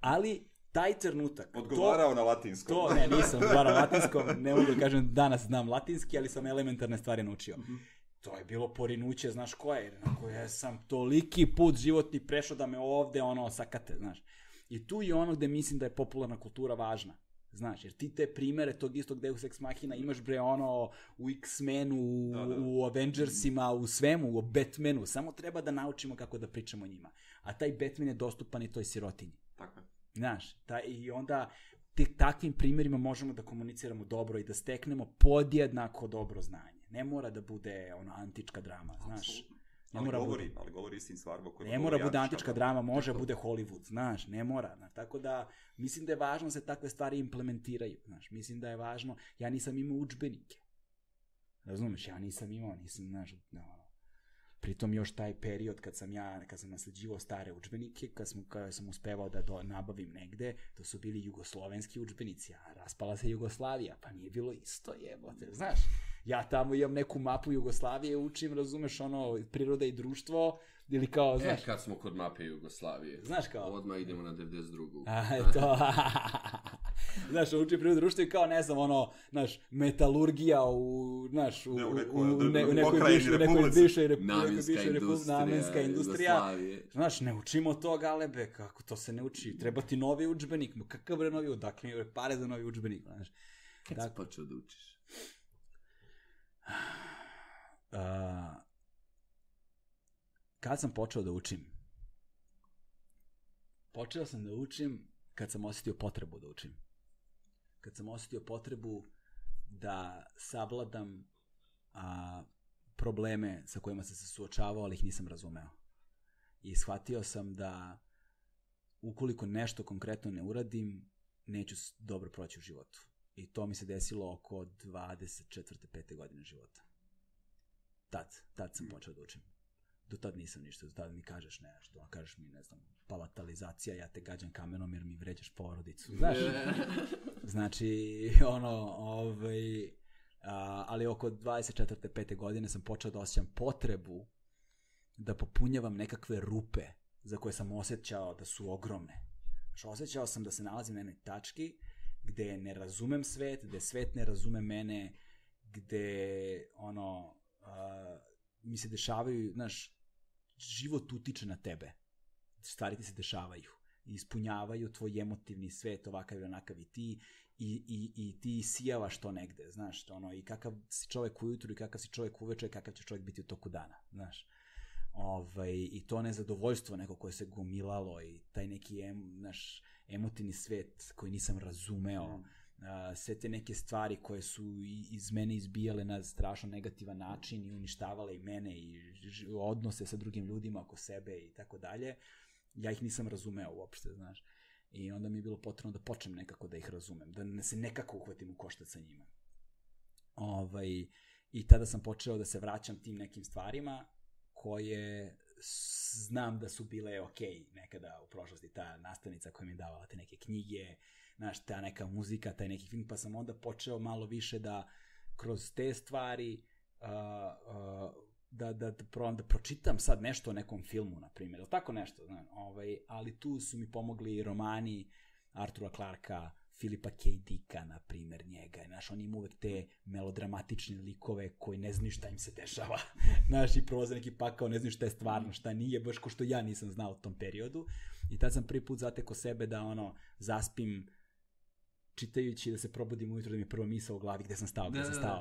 Ali taj trenutak... Odgovarao na latinskom. Nisam odgovarao na latinskom, ne mogu da kažem danas znam latinski, ali sam elementarne stvari naučio. To je bilo porinuće, znaš koje, na koje sam toliki put životni prešao da me ovde sakate, znaš. I tu je ono gde mislim da je popularna kultura važna, znaš, jer ti te primere tog istog Deus Ex Machina imaš u X-menu, u Avengersima, u svemu, u Batmanu, samo treba da naučimo kako da pričamo o njima. A taj Batman je dostupan i toj sirotinji. Tako je. Znaš, i onda takvim primjerima možemo da komuniciramo dobro i da steknemo podjednako dobro znanje. Ne mora da bude antička drama, znaš. Ali govori istim stvarima. Ne mora bude antička drama, može bude Hollywood, znaš, ne mora. Znaš, tako da, mislim da je važno da se takve stvari implementiraju, znaš, mislim da je važno, ja nisam imao udžbenike. Razumeš, ja nisam imao, znaš, pritom još taj period kad sam nasleđivao stare udžbenike, kad sam uspevao da nabavim negde, to su bili jugoslovenski udžbenici, a raspala se Jugoslavija, pa nije bilo isto, jebote, znaš. Ja tamo imam neku mapu Jugoslavije, učim, razumeš, priroda i društvo, ili kao, znaš... Kad smo kod mape Jugoslavije. Znaš kao... Odmah idemo na 92. To... Znaš, učim prirodu i društvo i kao, ne znam, znaš, metalurgija u nekoj bivšoj republici, namenska industrija. Znaš, ne učimo to, galebe, kako to se ne uči. Treba ti novi udžbenik, kakav je novi, odakle mi je pare za novi udžbenik, znaš. Kad si počeo da učiš? Kad sam počeo da učim? Počeo sam da učim kad sam osjetio potrebu da učim. Kad sam osjetio potrebu da savladam probleme sa kojima sam se suočavao, ali ih nisam razumeo. I shvatio sam da ukoliko nešto konkretno ne uradim, neću dobro proći u životu. I to mi se desilo oko 24. 5. godine života. Tad sam počeo da učim. Do tad nisam ništa, do tad mi kažeš nešto, kažeš mi, ne znam, palatalizacija, ja te gađam kamenom jer mi vređaš porodicu, znaš? Znači, ali oko 24. 5. godine sam počeo da osjećam potrebu da popunjavam nekakve rupe za koje sam osjećao da su ogromne. Znači, osjećao sam da se nalazim na jednoj tački gde ne razumem svet, gde svet ne razume mene, gde mi se dešavaju, znaš, život utiče na tebe. stvari ti se dešavaju. Ispunjavaju tvoj emotivni svet, ovakav i onakav i ti, i ti sijavaš to negde, znaš, ono, i kakav si čovjek ujutru i kakav si čovjek uveče, kakav će čovjek biti u toku dana, znaš. I to nezadovoljstvo neko koje se gomilalo i taj neki naš emotivni svet koji nisam razumeo, sve te neke stvari koje su iz mene izbijale na strašno negativan način i uništavale i mene i odnose sa drugim ljudima oko sebe i tako dalje, ja ih nisam razumeo uopšte, znaš. I onda mi je bilo potrebno da počnem nekako da ih razumem, da se nekako uhvatim u koštac sa njima. I tada sam počeo da se vraćam tim nekim stvarima koje znam da su bile okej nekada u prošlosti, ta nastavnica koja mi je davala te neke knjige, znaš, ta neka muzika, taj neki film, pa sam onda počeo malo više da kroz te stvari da pročitam sad nešto o nekom filmu, na primjer, ili tako nešto, znam, ali tu su mi pomogli romani Artura Clarka, Philipa K. Dicka, na primjer, njega, znaš, on ima uvek te melodramatične likove koji ne znaju šta im se dešava, znaš, i prolaze neki pakao, ne znaju šta je stvarno, šta nije, baš ko što ja nisam znao u tom periodu, i tad sam prvi put zatekao sebe da, zaspim čitajući, da se probudim ujutro, da mi je prva misao u glavi gde sam stao,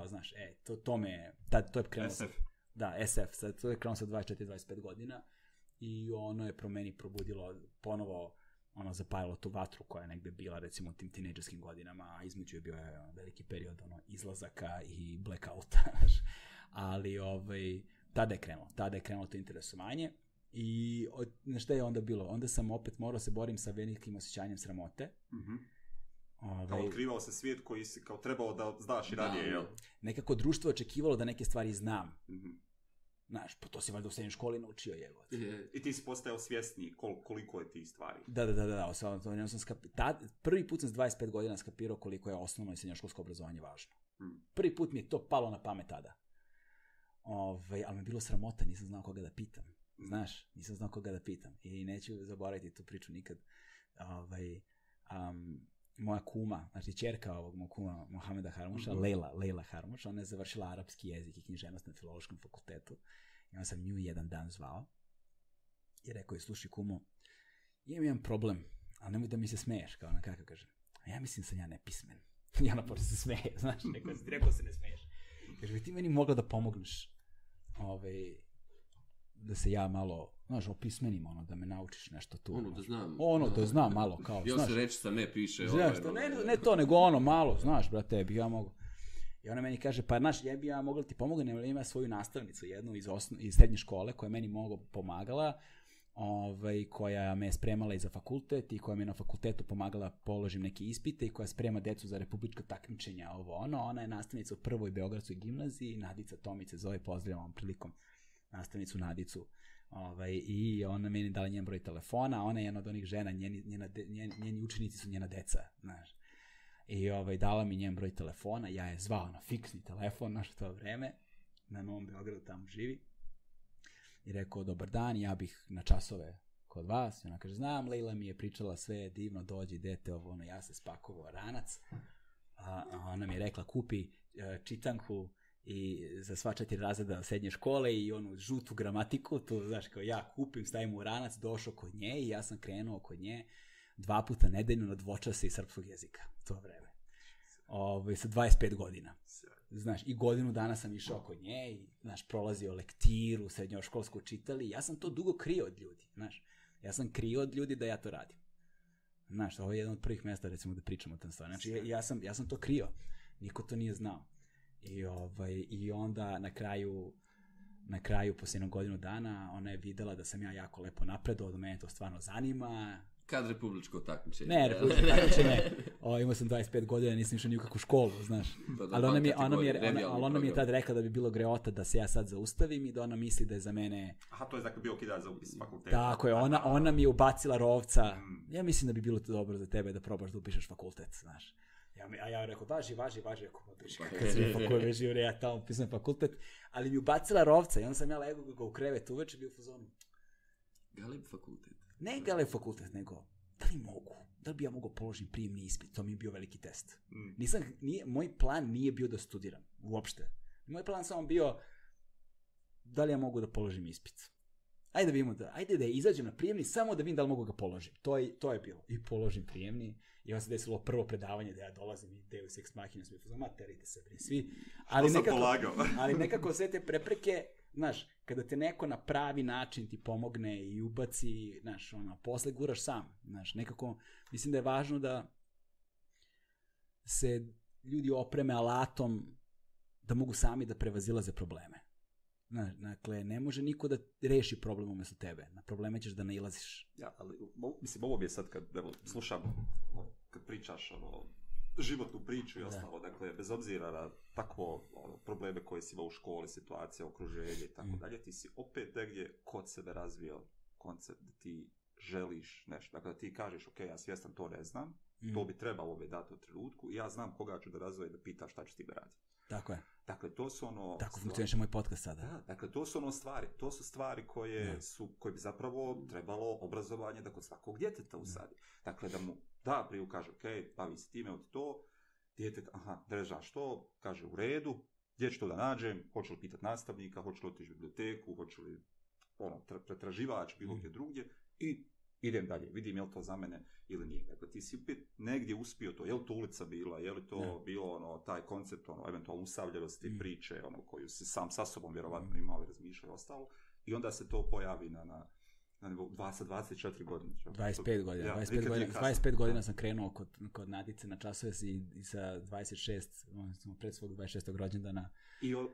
znaš, to je krenuo. SF. Da, SF, to je krenuo sa 24-25 godina i ono je meni probudilo ponovo, zapalilo tu vatru koja je negde bila, recimo, u tim tinejdžerskim godinama, a između je bio veliki period izlazaka i blackouta, ali tada je krenulo to interesovanje i šta je onda bilo? Onda sam opet morao se borim sa velikim osjećanjem sramote. Kao otkrivao se svijet koji si kao trebao da znaš i ranije, jel? Nekako društvo očekivalo da neke stvari znam. Znaš, pa to si valjda u srednjoj školi naučio, jebote. I ti si postajao svjesniji koliko je ti stvari. Da. Prvi put sam s 25 godina skapirao koliko je osnovno i srednjoškolsko obrazovanje važno. Prvi put mi je to palo na pamet tada. Ali mi je bilo sramota, nisam znao koga da pitam. Znaš, nisam znao koga da pitam. I neću zaboraviti tu priču nikad. Moja kuma, znači ćerka ovog moj kuma Mohameda Harmuša, Leila Harmuš, ona je završila arapski jezik i književnost na Filološkom fakultetu. I onda sam nju jedan dan zvao i rekao je, slušaj kumo, imam jedan problem, ali nemoj da mi se smeješ, kao ona kako kaže. A ja mislim sam ja nepismen. I ona počne se smeje, znaš, rekao se ne smeješ. Kaže, bi ti meni mogla da pomogneš da se ja malo, znaš, opismenim, da me naučiš nešto tu. Da znam. Da znam malo, kao, znaš. se reći sam ne piše. Znaš, ne to, nego malo, znaš, brate, bi ja mogu. I ona meni kaže, pa znaš, ja bi ja mogla ti pomoći, nego ima svoju nastavnicu, jednu iz srednje škole, koja je meni pomagala, koja me je spremala i za fakultet i koja me je na fakultetu pomagala položim neke ispite i koja sprema decu za republička takmičenja, ona je nastavnica u prvoj Beogradskoj gimnaziji, Nadica Tomice zove, pozdravljam ovom prilikom nastavnicu Nadicu, i ona meni dala njen broj telefona, ona je jedna od onih žena, njeni učenici su njena deca, znaš. I dala mi njen broj telefona, ja je zvao na fiksni telefon, naš to vreme, na Novom Beogradu tamo živi, i rekao, dobar dan, ja bih na časove kod vas, i ona kaže, znam, Leila mi je pričala sve divno, dođi, dete, ja se spakovao ranac, a ona mi je rekla, kupi čitanku i za sva 4 razreda srednje škole i onu žutu gramatiku, to znaš, kao ja kupim, stavim u ranac, došao kod nje i ja sam krenuo kod nje 2 puta nedeljno na dvočase iz srpskog jezika, to vreme. Sa 25 godina. Znaš, i godinu dana sam išao kod nje i, znaš, prolazio lektiru, srednjoškolsku čitali, ja sam to dugo krio od ljudi, znaš. Ja sam krio od ljudi da ja to radim. Znaš, ovo je jedan od prvih mjesta, recimo, da pričamo o tom stvari. Znači, ja sam to krio. Niko to nije znao. I onda na kraju, poslije jednog godinu dana, ona je videla da sam ja jako lepo napredovao, da mene to stvarno zanima. Kad republičko takmičenje? Ne, republičko takmičenje. Imao sam 25 godina, nisam išao ni u kakvu školu, znaš. Ali ona mi je tad rekla da bi bilo greota da se ja sad zaustavim i da ona misli da je za mene... Aha, to je dakle bio kidač za upis fakulteta. Tako je, ona mi je ubacila rovca. Ja mislim da bi bilo to dobro za tebe da probaš da upišeš fakultet, znaš. A ja rekao, važi, ako piši, kad si pa koji veži, ja tamo upisujem fakultet, ali mi ubacila rovca i onda sam ja legao ga u krevet uveče, bio u fazonu. Galeb fakultet? Ne Galeb fakultet, nego, da li bi ja mogao položiti prijemni ispit, to mi je bio veliki test. Moj plan nije bio da studiram, uopšte. Moj plan samo bio, da li ja mogu da položim ispit. ajde da vidimo ajde da izađem na prijemni samo da vidim da li mogu ga položim. To je bilo. I položim prijemni. I onda se desilo prvo predavanje da ja dolazim i Deus Ex Machina svi terite se svi. Ali nekako sve te prepreke, znaš, kada te neko na pravi način ti pomogne i ubaci, znaš, posle guraš sam, znaš, nekako mislim da je važno da se ljudi opreme alatom da mogu sami da prevazilaze probleme. Znaš, dakle, ne može niko da reši problem umjesto tebe. Na probleme ćeš da nailaziš. Ja, ali mislim, ovo mi je sad kad slušam, kad pričaš životnu priču i ostalo, dakle, bez obzira na takvo probleme koje si imao u školi, situacija, okruženje i tako dalje, ti si opet negdje kod sebe razvio koncept da ti želiš nešto. Dakle, da ti kažeš, ok, ja svjestan to ne znam, to bi trebalo me dati u trenutku i ja znam koga ću da razvojem da pitaš šta ću ti da radi. Tako je. Dakle, to su tako funkcioniše moj podcast sada. Da, dakle, to su stvari koje bi zapravo trebalo obrazovanje da kod svakog djeteta usadi. Dakle, da mu prije kaže, ok, bavi se time od to, dijete, ne znaš što, kaže u redu, gdje ću to da nađem, hoću li pitati nastavnika, hoću li otići u biblioteku, hoću li pretraživač, bilo gdje drugdje i idem dalje, vidim je li to za mene ili nije. Dakle, ti si opet negdje uspio to, je li to ulica bila, je li to bilo taj koncept, eventualno usamljenosti priče, koju si sam sa sobom vjerovatno imao i razmišljao i ostalo, i onda se to pojavi na nivou 24 godine. 25 godina. Ja, 25 godina sam krenuo kod Nadice na časove i sa 26, pred svog 26. rođendana.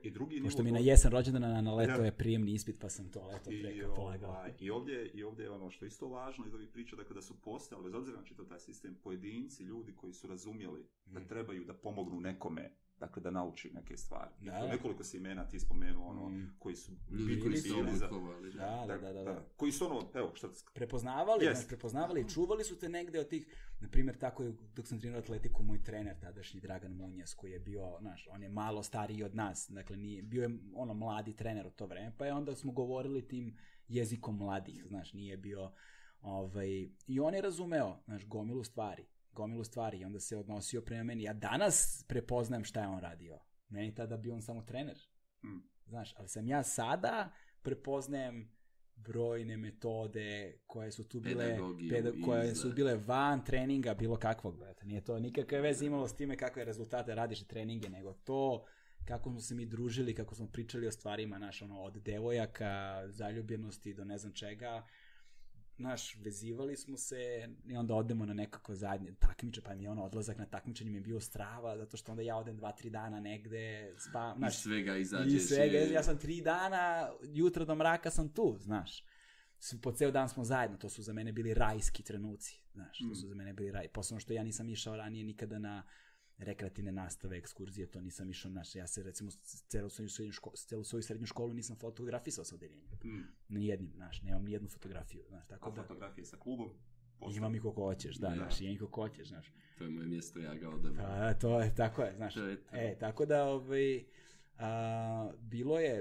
I drugi nivo... Pošto mi na jesen rođendana na leto je prijemni ispit, pa sam to leto preko polagao. I ovdje je ono što je isto važno iz ovih priča, dakle da su postojali, bez obzira na čitav taj sistem, pojedinci, ljudi koji su razumjeli da trebaju da pomognu nekome, dakle da nauči neke stvari. Nekoliko si imena ti spomenuo, koji su bili za... Da. Koji su evo, šta... Prepoznavali i čuvali su te negde od tih, na primjer, tako je, dok sam trenirao atletiku, moj trener, tadašnji Dragan Munjas, koji je bio, on je malo stariji od nas, dakle, bio je mladi trener u to vreme, pa je onda smo govorili tim jezikom mladih, nije bio, i on je razumeo, gomilu stvari i onda se odnosio prema meni. Ja danas prepoznajem šta je on radio. Meni tada bio on samo trener. Ali sam ja sada prepoznajem brojne metode koje su tu bile, koje su bile van treninga bilo kakvog. Nije to nikakve veze imalo s time kakve rezultate radiš i treninge, nego to kako smo se mi družili, kako smo pričali o stvarima, od devojaka, zaljubljenosti do ne znam čega. Vezivali smo se i onda odemo na nekako zadnje takmiče, pa mi je odlazak na takmičenje mi je bio strava, zato što onda ja odem 2-3 dana negde, iz svega izađeš. Ja sam 3 dana, jutro do mraka sam tu, po ceo dan smo zajedno, to su za mene bili rajski trenuci, to su za mene bili posebno što ja nisam išao ranije nikada na rekreativne nastave, ekskurzije, to nisam išao, ja se recimo celu svoju srednju školu nisam fotografisao sa odeljenjem. Nijednim, nemam nijednu fotografiju. A fotografije sa klubom? Imam i kako hoćeš, imam i kako hoćeš, To je moje mjesto, ja ga odabiram. To je, tako je, tako da,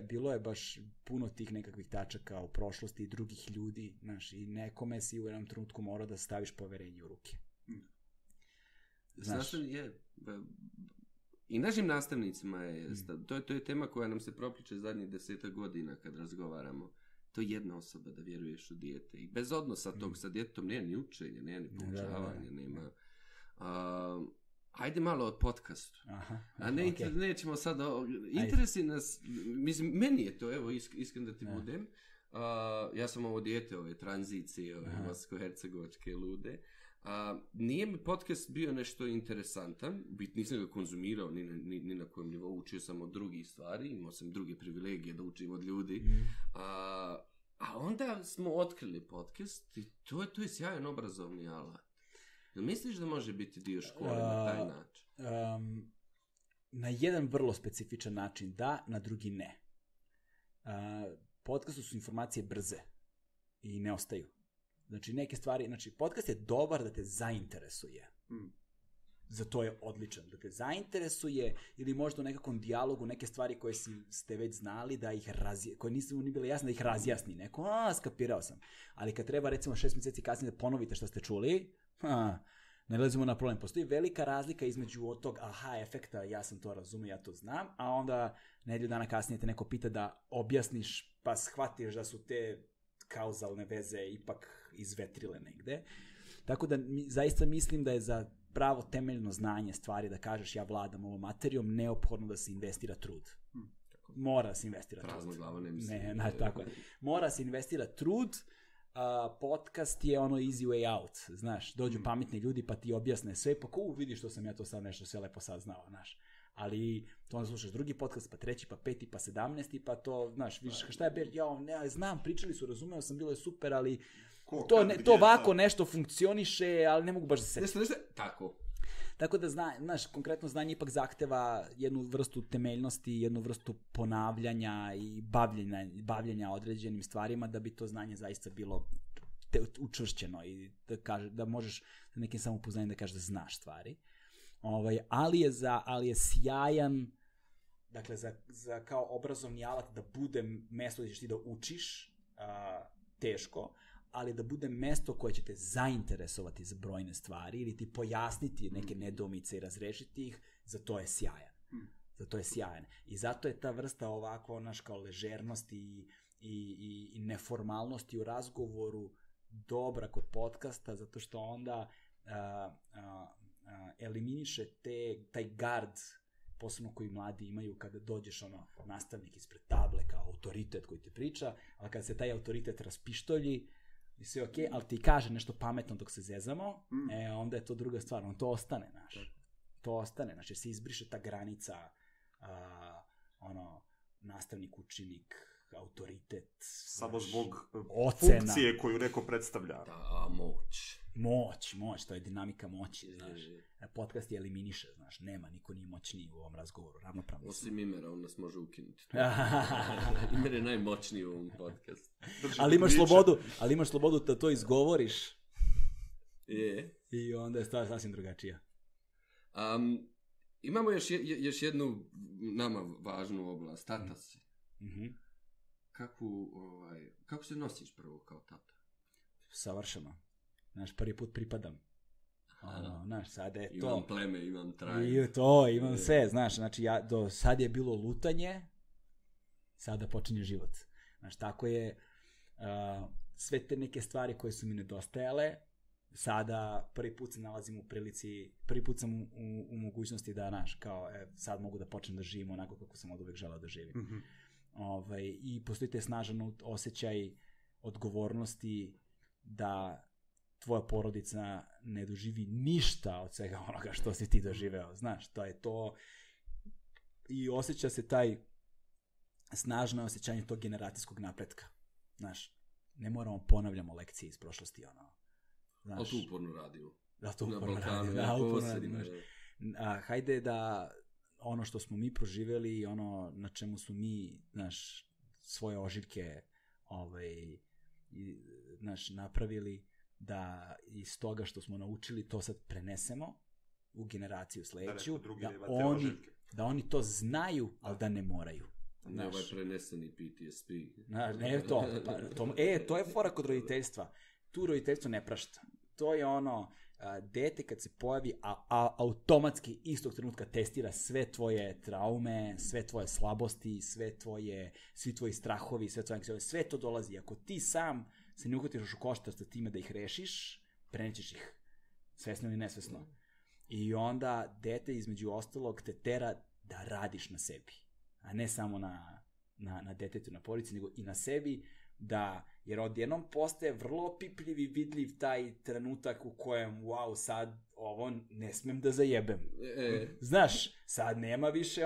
bilo je baš puno tih nekakvih tačaka u prošlosti i drugih ljudi, i nekome si u jednom trenutku morao da staviš poverenje u ruke. I našim nastavnicima to je tema koja nam se propliče zadnjih 10 godina kad razgovaramo. To je jedna osoba da vjeruješ u dijete. I bez odnosa tog sa djetetom nema ni učenja, nema ni poučavanja, nema... Ajde malo o podcastu. Nećemo sad... Interesi nas... Mislim, meni je to, evo, iskren da ti budem. Ja sam ovo dijete, ove tranzicije, ove bosansko-hercegovačke lude. Nije mi podcast bio nešto interesantan, nisam ga konzumirao ni na kojem nivou, učio sam od drugih stvari, imao sam druge privilegije da učim od ljudi, a onda smo otkrili podcast i to je sjajan obrazovni alat. Jel misliš da može biti dio škole na taj način? Na jedan vrlo specifičan način da, na drugi ne. Podcastu su informacije brze i ne ostaju. Neke stvari, podcast je dobar da te zainteresuje. Za to je odličan. Da te zainteresuje ili možda u nekakvom dijalogu neke stvari koje ste već znali da ih koje nisu ni bile jasne da ih razjasni neko. Skapirao sam. Ali kad treba recimo 6 mjeseci kasnije da ponovite što ste čuli, ne lezimo na problem. Postoji velika razlika između od tog efekta, ja sam to razumio, ja to znam, a onda nedelju dana kasnije te neko pita da objasniš pa shvatiš da su te kauzalne veze ipak izvetrile negde. Tako da zaista mislim da je za pravo temeljno znanje stvari da kažeš ja vladam ovom materijom, neophodno da se investira trud. Mora se investira trud. Prazno glavo ne mislim. Ne, tako je. Mora se investira trud. Podcast je ono easy way out, znaš, dođu pametni ljudi pa ti objasne sve, pa vidiš što sam ja to sad nešto sve lepo saznao, znaš. Ali to onda slušaš drugi podcast, pa treći, pa peti, pa 17, pa to, znaš, vidiš šta je, ne, znam, pričali su, razumeo sam, bilo je super, ali to ovako nešto funkcioniše, ali ne mogu baš da se setim. Tako da, znaš, konkretno znanje ipak zahteva jednu vrstu temeljnosti, jednu vrstu ponavljanja i bavljenja određenim stvarima da bi to znanje zaista bilo učvršćeno i da možeš sa nekim samopouzdanjem da kažeš da znaš stvari. Ali je sjajan, dakle, za kao obrazovni alat da bude mesto gdje ćeš ti da učiš, teško, ali da bude mesto koje će te zainteresovati za brojne stvari ili ti pojasniti neke nedoumice i razrešiti ih, za to je sjajan. I zato je ta vrsta ovako, naš, kao ležernosti i neformalnosti u razgovoru dobra kod podcasta, zato što onda eliminiše taj gard, posebno koji mladi imaju kada dođeš nastavnik ispred table kao autoritet koji ti priča, ali kada se taj autoritet raspištolji i sve okej, ali ti kaže nešto pametno dok se zezamo, onda je to druga stvar, on to ostane, znaš. To ostane, znači se izbriše ta granica nastavnik, učenik, autoritet, samo zbog ocena, funkcije koju neko predstavlja. Da, moć, to je dinamika moći, znaš. Podcast je eliminiše, znaš, niko nije moćniji u ovom razgovoru, ravnopravno. Osim Imera, on nas može ukinuti. Imer je najmoćniji u ovom podcastu. Ali imaš slobodu da to izgovoriš. Je. I onda je stvar sasvim drugačija. Imamo još jednu nama važnu oblast, tata si. Kako se nosiš prvo kao tata? Savršeno. Znaš, prvi put pripadam. Znaš, sada je to. Imam pleme, imam trajno. Imam sve, znaš, znači do sad je bilo lutanje, sada počinje život. Znaš, tako je, sve te neke stvari koje su mi nedostajale, sada prvi put se nalazim u prilici, prvi put sam u mogućnosti da, znaš, kao, sad mogu da počnem da živim onako kako sam od uvek želeo da živim. I postoji te snažan osjećaj odgovornosti da tvoja porodica ne doživi ništa od svega onoga što si ti doživeo, znaš, to je to. I osjeća se taj snažno osjećanje tog generacijskog napretka, znaš, ne moramo ponavljamo lekcije iz prošlosti, znaš. Ali tu uporno radimo. Da, tu uporno radimo, hajde da ono što smo mi proživeli, ono na čemu su mi, znaš, svoje ožiljke napravili, da iz toga što smo naučili to sad prenesemo u generaciju sledeću, da oni to znaju, ali da ne moraju. Ne ovaj preneseni PTSD. Ne, to je fora kod roditeljstva. Tu roditeljstvo ne prašta. To je dete kad se pojavi, a automatski istog trenutka testira sve tvoje traume, sve tvoje slabosti, svi tvoji strahovi, sve to dolazi. Ako ti sam se ne uhvatiš u koštac sa time da ih rešiš, prenećeš ih, svesno ili nesvesno. I onda dete između ostalog te tera da radiš na sebi, a ne samo na detetu, na porodici, nego i na sebi, jer odjednom postaje vrlo pipljiv i vidljiv taj trenutak u kojem, wow, sad ovo ne smem da zajebem. Znaš, sad nema više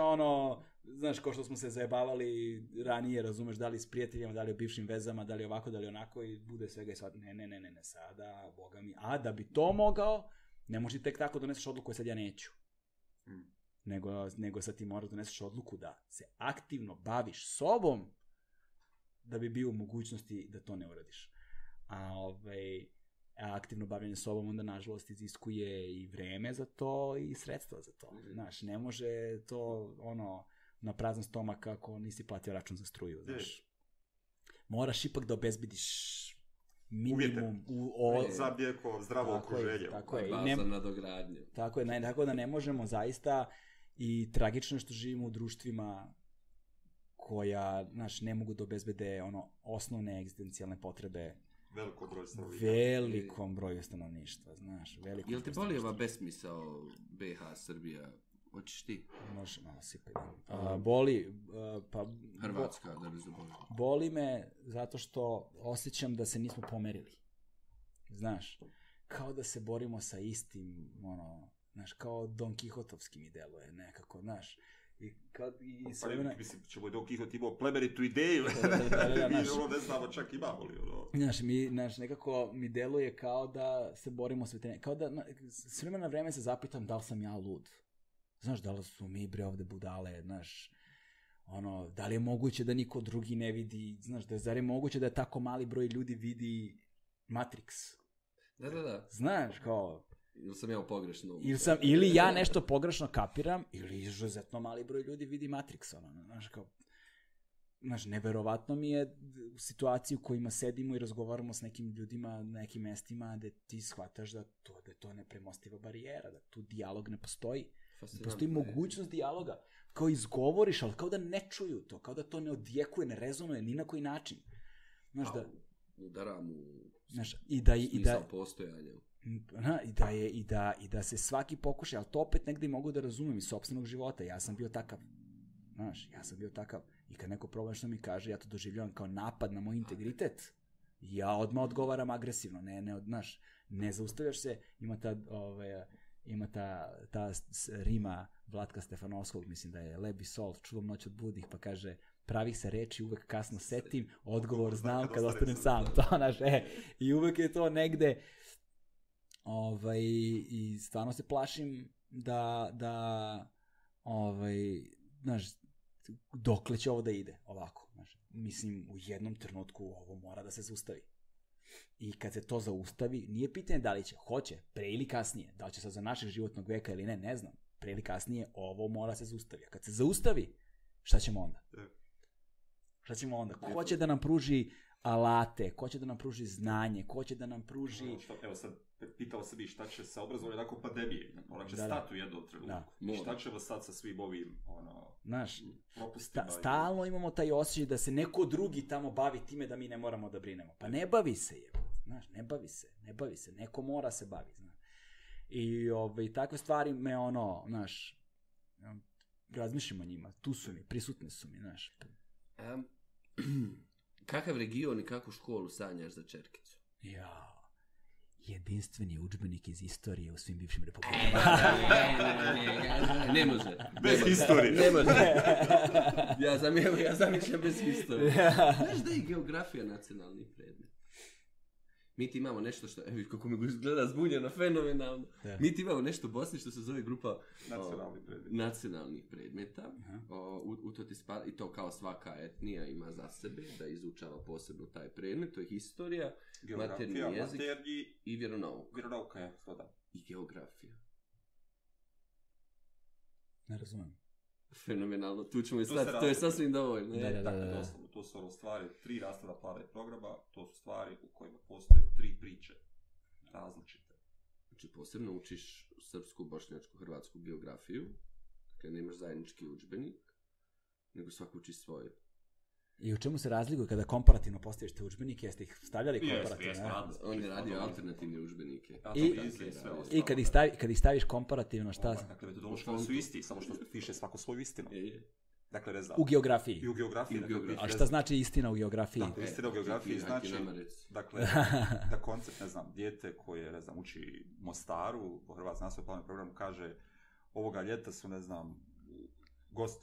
znaš, ko što smo se zajebavali ranije, razumeš, da li s prijateljima, da li o bivšim vezama, da li ovako, da li onako, i bude svega i sad, ne, sada, boga mi, a da bi to mogao, ne možeš tek tako doneseš odluku koju sad ja neću. Nego sad ti moraš doneseš odluku da se aktivno baviš sobom da bi bio u mogućnosti da to ne uradiš. A aktivno bavljanje sobom onda nažalost iziskuje i vreme za to i sredstva za to. Znaš, ne može to na prazan stomak ako nisi platio račun za struju, znaš. Moraš ipak da obezbediš minimum za bijeko zdravo okruženje. Tako je. Baza nadogradnje. Tako je, tako da ne možemo zaista, i tragično što živimo u društvima koja, znaš, ne mogu da obezbede osnovne egzistencijalne potrebe velikom broju stanovništva, znaš, velikom. Jel te boli ova besmisao BiH, Srbija? Hoćeš ti? Može malo sipati. Boli, pa... Hrvatska, da bi zaboravio. Boli me zato što osjećam da se nismo pomerili. Znaš, kao da se borimo sa istim, znaš, kao Don Kihotovski mi deluje nekako, znaš. Mislim, ćemo je Don Kihot imao plemenitu ideju. Mi ne znamo čak imamo li. Znaš, nekako mi deluje kao da se borimo s veterinom. Kao da, s vremena na vreme se zapitam da li sam ja lud. Znaš, da li su mi ovde budale, znaš, da li je moguće da niko drugi ne vidi, znaš, zar je moguće da je tako mali broj ljudi vidi Matrix? Da. Znaš, kao... Ili sam ja pogrešno... Ili ja nešto pogrešno kapiram, ili izuzetno mali broj ljudi vidi Matrix, znaš, kao... Znaš, neverovatno mi je u situaciji u kojima sedimo i razgovaramo s nekim ljudima na nekim mestima gde ti shvataš da je to nepremostiva barijera, da tu dijalog ne postoji. Ne postoji mogućnost dijaloga. Kao izgovoriš, ali kao da ne čuju to, kao da to ne odjekuje, ne rezonuje ni na koji način. Znaš, da... Udaram u smisao postojanja. I da se svaki pokuša, ali to opet negde mogu da razumem iz sopstvenog života. Ja sam bio takav. Znaš, I kad neko problem što mi kaže, ja to doživljavam kao napad na moj integritet. Ja odmah odgovaram agresivno. Ne zaustavljaš se. Ima ta rima Vlatka Stefanovskog, mislim da je Lebi Sol, čuvam noć od budih, pa kaže, pravih se reči uvek kasno setim, odgovor znam kad ostanem sam. I uvek je to negde. I stvarno se plašim znaš, dokle će ovo da ide ovako. Znaš. Mislim, u jednom trenutku ovo mora da se zaustavi. I kad se to zaustavi, nije pitanje da li će, hoće, pre ili kasnije, da li će sad za našeg životnog veka ili ne znam, pre ili kasnije ovo mora se zaustavi. A kad se zaustavi, šta ćemo onda? Ko će da nam pruži alate, ko će da nam pruži znanje, ko će da nam pruži... Evo sad, pitao sam i šta će sa obrazovanjem nakon pandemije. Ona će stati u jednom trenutku. Šta ćemo sad sa svim ovim propustima? Stalno imamo taj osjećaj da se neko drugi tamo bavi time da mi ne moramo da brinemo. Pa ne bavi se, znaš, ne bavi se, neko mora se bavi, znaš. I takve stvari me znaš, razmišljam o njima, tu su mi, prisutne su mi, znaš. Kakav region i kakvu školu sanjaš za čerkicu? Jedinstveni udžbenik iz istorije u svim bivšim republikama. Ne može. Bez historije. Ne može. Ja zamišljam bez historije. Znaš da je geografija nacionalni predmet? Mi ti imamo nešto što, evo kako mi gleda zbunjeno, fenomenalno. Mi ti imamo nešto u Bosni što se zove grupa nacionalnih predmeta. U to ti spada, i to kao svaka etnija ima za sebe da izučava posebno taj predmet. To je historija, maternji jezik i vjeronauka. Vjeronauka je, to da. I geografija. Ne razumijem. Fenomenalno, tu ćemo i stati, to je sasvim dovoljno. Doslovno, to su stvari, 3 rastavna plana i programa, to su stvari u kojima postoje 3 priče različite. Znači, posebno učiš srpsku, bošnjačku, hrvatsku geografiju, kad nemaš zajednički udžbenik, nego svako uči svoje. I u čemu se razlikuje kada komparativno postaviš te udžbenike, jeste ih stavljali komparativno? On je radio alternativne udžbenike. I kad ih staviš komparativno, šta? Dakle, metodološki su isti, samo što piše svako svoju istinu. Dakle, ne znam. U geografiji. I u geografiji. A šta znači istina u geografiji? Istina u geografiji znači, dakle, da koncept, ne znam, dijete koje, ne znam, uči Mostaru, po hrvatskom nastavnom planu programu kaže, ovoga ljeta su, ne znam,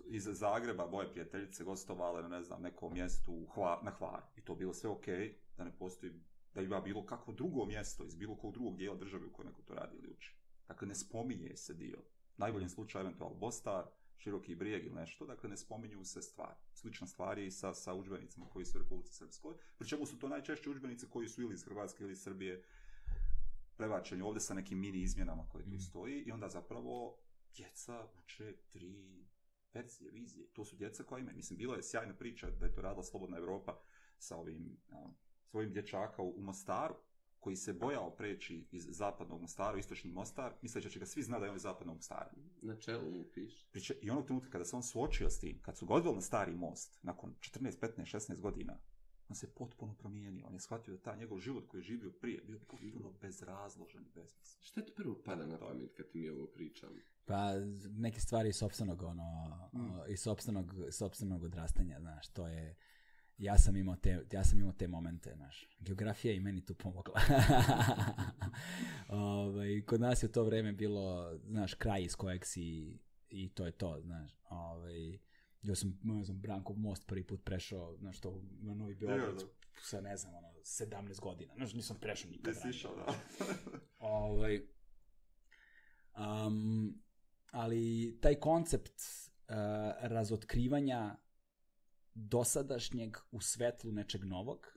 iz Zagreba, moje prijateljice gostovale na, ne znam, nekom mjestu na Hvaru. I to bilo sve okej, da ne postoji, da ima bilo kakvo drugo mjesto iz bilo kog drugog dijela države u kojoj neko to radi ili uči. Dakle, ne spominje se dio. U najboljem slučaju eventualno Bostar, Široki Brijeg ili nešto, dakle ne spominju se stvari. Slična stvar je i sa udžbenicima koji su u Republici Srpskoj. Pričemu su to najčešće udžbenici koji su ili iz Hrvatske ili iz Srbije prebačeni ovdje sa nekim mini izmjenama koje tu stoji i onda zapravo djeca uče 3 verzije, vizije. To su djeca koja imaju. Mislim, bila je sjajna priča da je to radila Slobodna Evropa sa ovim svojim dječaka u Mostaru. koji se bojao preći iz zapadnog Mostara u istočni Mostar, misleći da će ga svi znati da je on iz zapadnog Mostara. Na čelu mu piše. I onog trenutka kada se on suočio s tim, kad su ga odveli na stari most, nakon 14, 15, 16 godina, on se potpuno promijenio. On je shvatio da taj njegov život koji je živio prije bio potpuno bezrazložen i bezmislen. Šta ti prvo pada na pamet kad ti mi ovo pričam? Pa neke stvari iz sopstvenog, iz sopstvenog odrastanja, znaš, to je... Ja sam imao te momente, znaš. Geografija i meni tu pomogla. Kod nas je to vreme bilo, znaš, kraj iz kojeg si i to je to, znaš. Ja sam Brankov most prvi put prešao, znaš, to na Novi Beograd sa, ne znam, 17 godina. Znaš, nisam prešao nikad. Nisi išao, da. Ali taj koncept razotkrivanja dosadašnjeg u svetlu nečeg novog,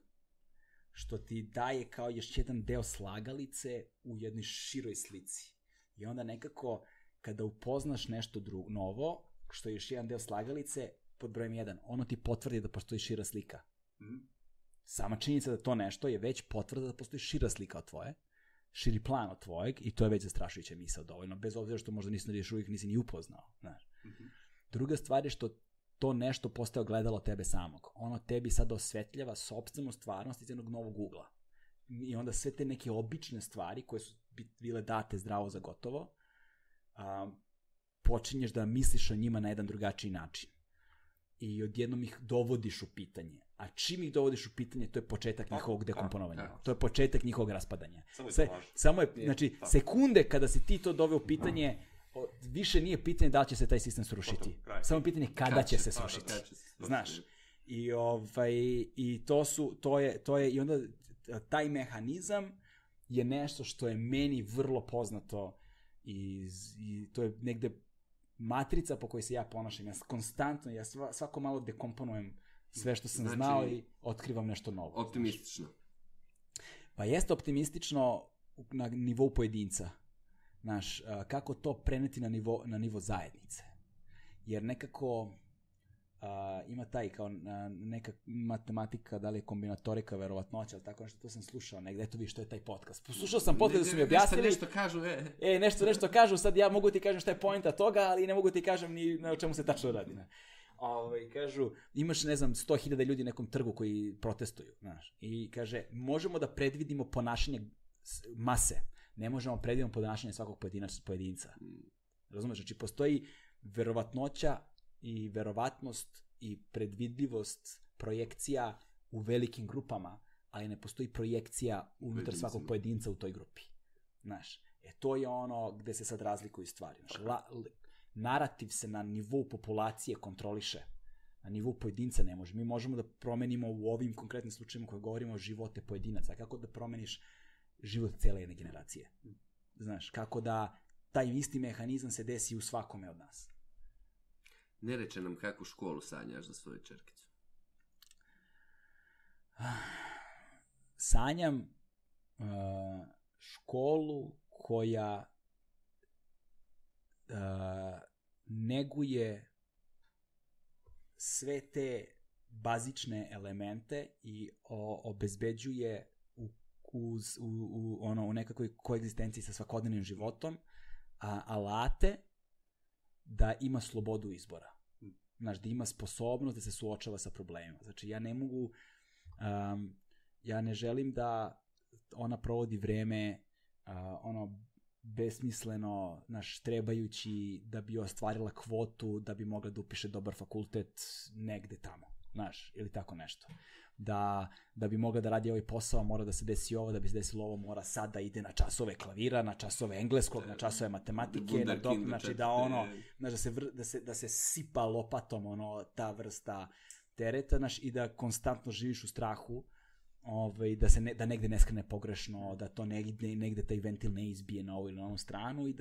što ti daje kao još jedan deo slagalice u jednoj široj slici. I onda nekako, kada upoznaš nešto novo, što je još jedan deo slagalice, pod brojem 1, ono ti potvrdi da postoji šira slika. Sama činjenica da to nešto je već potvrda da postoji šira slika od tvoje, širi plan od tvojeg, i to je već zastrašujuća misao dovoljno, bez obzira što možda još uvijek nisi ni upoznao. Znaš. Druga stvar je što to nešto postaje ogledalo tebe samog. Ono tebi sada osvetljava sopstvenu stvarnost iz jednog novog ugla. I onda sve te neke obične stvari koje su bile date zdravo za gotovo, počinješ da misliš o njima na jedan drugačiji način. I odjednom ih dovodiš u pitanje. A čim ih dovodiš u pitanje, to je početak njihovog dekomponovanja. To je početak njihovog raspadanja. Samo je, znači, sekunde kada si ti to doveo u pitanje, više nije pitanje da li će se taj sistem srušiti. Samo je pitanje kada će se srušiti. Znaš. I to je i onda taj mehanizam je nešto što je meni vrlo poznato i to je negde matrica po kojoj se ja ponašam. Ja konstantno, ja svako malo dekomponujem sve što sam znao i otkrivam nešto novo. Optimistično. Pa jeste optimistično na nivou pojedinca. Znaš, kako to preneti na nivo zajednice. Jer nekako ima taj kao neka matematika, da li je kombinatorika, verovatnoća, ali tako nešto, to sam slušao negdje, eto vi što je taj podcast. Poslušao sam podcast da su mi objasnili. Nešto kažu, nešto kažu, sad ja mogu ti kažem šta je pointa toga, ali ne mogu ti kažem ni na čemu se tačno radi. Ne? Kažu, imaš, ne znam, 100.000 ljudi na nekom trgu koji protestuju, znaš, i kaže, možemo da predvidimo ponašanje mase, ne možemo predvidimo ponašanje svakog pojedinca. Razumeš? Znači, postoji verovatnoća i verovatnost i predvidljivost projekcija u velikim grupama, ali ne postoji projekcija unutar svakog pojedinca u toj grupi. Znaš, to je ono gde se sad razlikuju stvari. Znaš, narativ se na nivou populacije kontroliše, na nivou pojedinca ne može. Mi možemo da promenimo u ovim konkretnim slučajima koje govorimo o živote pojedinaca. Kako da promeniš život cele jedne generacije? Znaš, kako da taj isti mehanizam se desi u svakome od nas. Ne reče nam kakvu školu sanjaš za svoju čerkicu. Sanjam školu koja neguje sve te bazične elemente i obezbeđuje u nekakvoj koegzistenciji sa svakodnevnim životom alate da ima slobodu izbora. Znaš, da ima sposobnost da se suočava sa problemima. Znači, ja ne mogu, ja ne želim da ona provodi vreme besmisleno, trebajući da bi ostvarila kvotu, da bi mogla da upiše dobar fakultet negde tamo, znaš, ili tako nešto. Da bi mogla da radi ovaj posao, mora da se desi ovo, da bi se desilo ovo, mora sad da ide na časove klavira, na časove engleskog, na časove matematike, znači da se sipa lopatom ta vrsta tereta, znaš, i da konstantno živiš u strahu, da negde ne skrene pogrešno, da to negde taj ventil ne izbije na ovu ili na ovu stranu i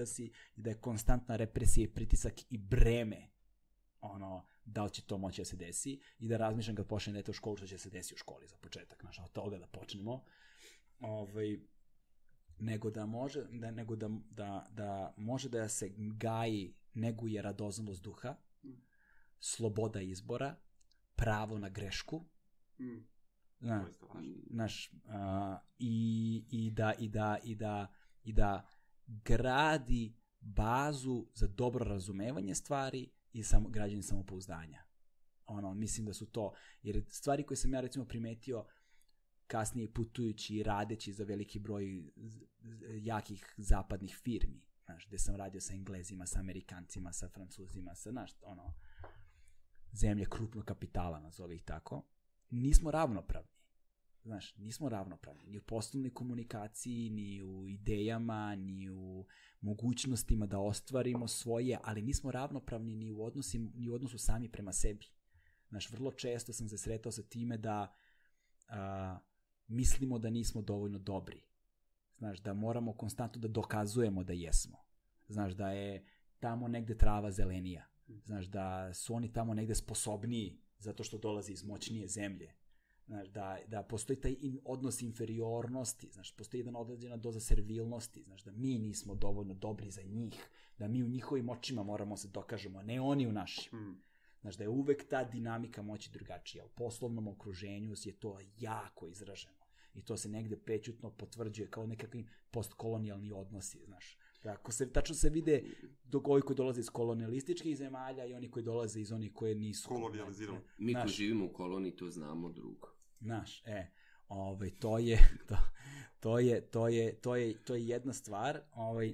da je konstantna represija i pritisak i breme da li će to moći da se desi i da razmišljam kad počne dete u školu što će se desi u školi za početak, znaš, od toga da počnemo, nego da može da se gaji, neguje radoznalost duha, sloboda izbora, pravo na grešku, I da gradi bazu za dobro razumevanje stvari i građenje samopouzdanja. Mislim da su to, jer stvari koje sam ja recimo primetio kasnije putujući i radeći za veliki broj jakih zapadnih firmi, gde sam radio sa Englezima, sa Amerikancima, sa Francuzima, sa zemlje krupnog kapitala, nazovi ih tako, nismo ravnopravni. Nismo ravnopravni ni u poslovnoj komunikaciji, ni u idejama, ni u mogućnostima da ostvarimo svoje, ali nismo ravnopravni ni u odnosu sami prema sebi. Vrlo često sam se sretao sa time da mislimo da nismo dovoljno dobri. Da moramo konstantno da dokazujemo da jesmo. Da je tamo negde trava zelenija. Da su oni tamo negde sposobniji zato što dolaze iz moćnije zemlje. Da postoji taj odnos inferiornosti, postoji jedna određena doza servilnosti, da mi nismo dovoljno dobri za njih, da mi u njihovim očima moramo se dokažemo, a ne oni u našim. Da je uvek ta dinamika moći drugačija. U poslovnom okruženju je to jako izraženo i to se negde prećutno potvrđuje kao nekakvi postkolonijalni odnosi, tačno se vide ovi koji dolaze iz kolonijalističkih zemalja i oni koji dolaze iz onih koje nisu kolonijalizirani. Mi koji živimo u koloniji to znamo drugo. To je jedna stvar.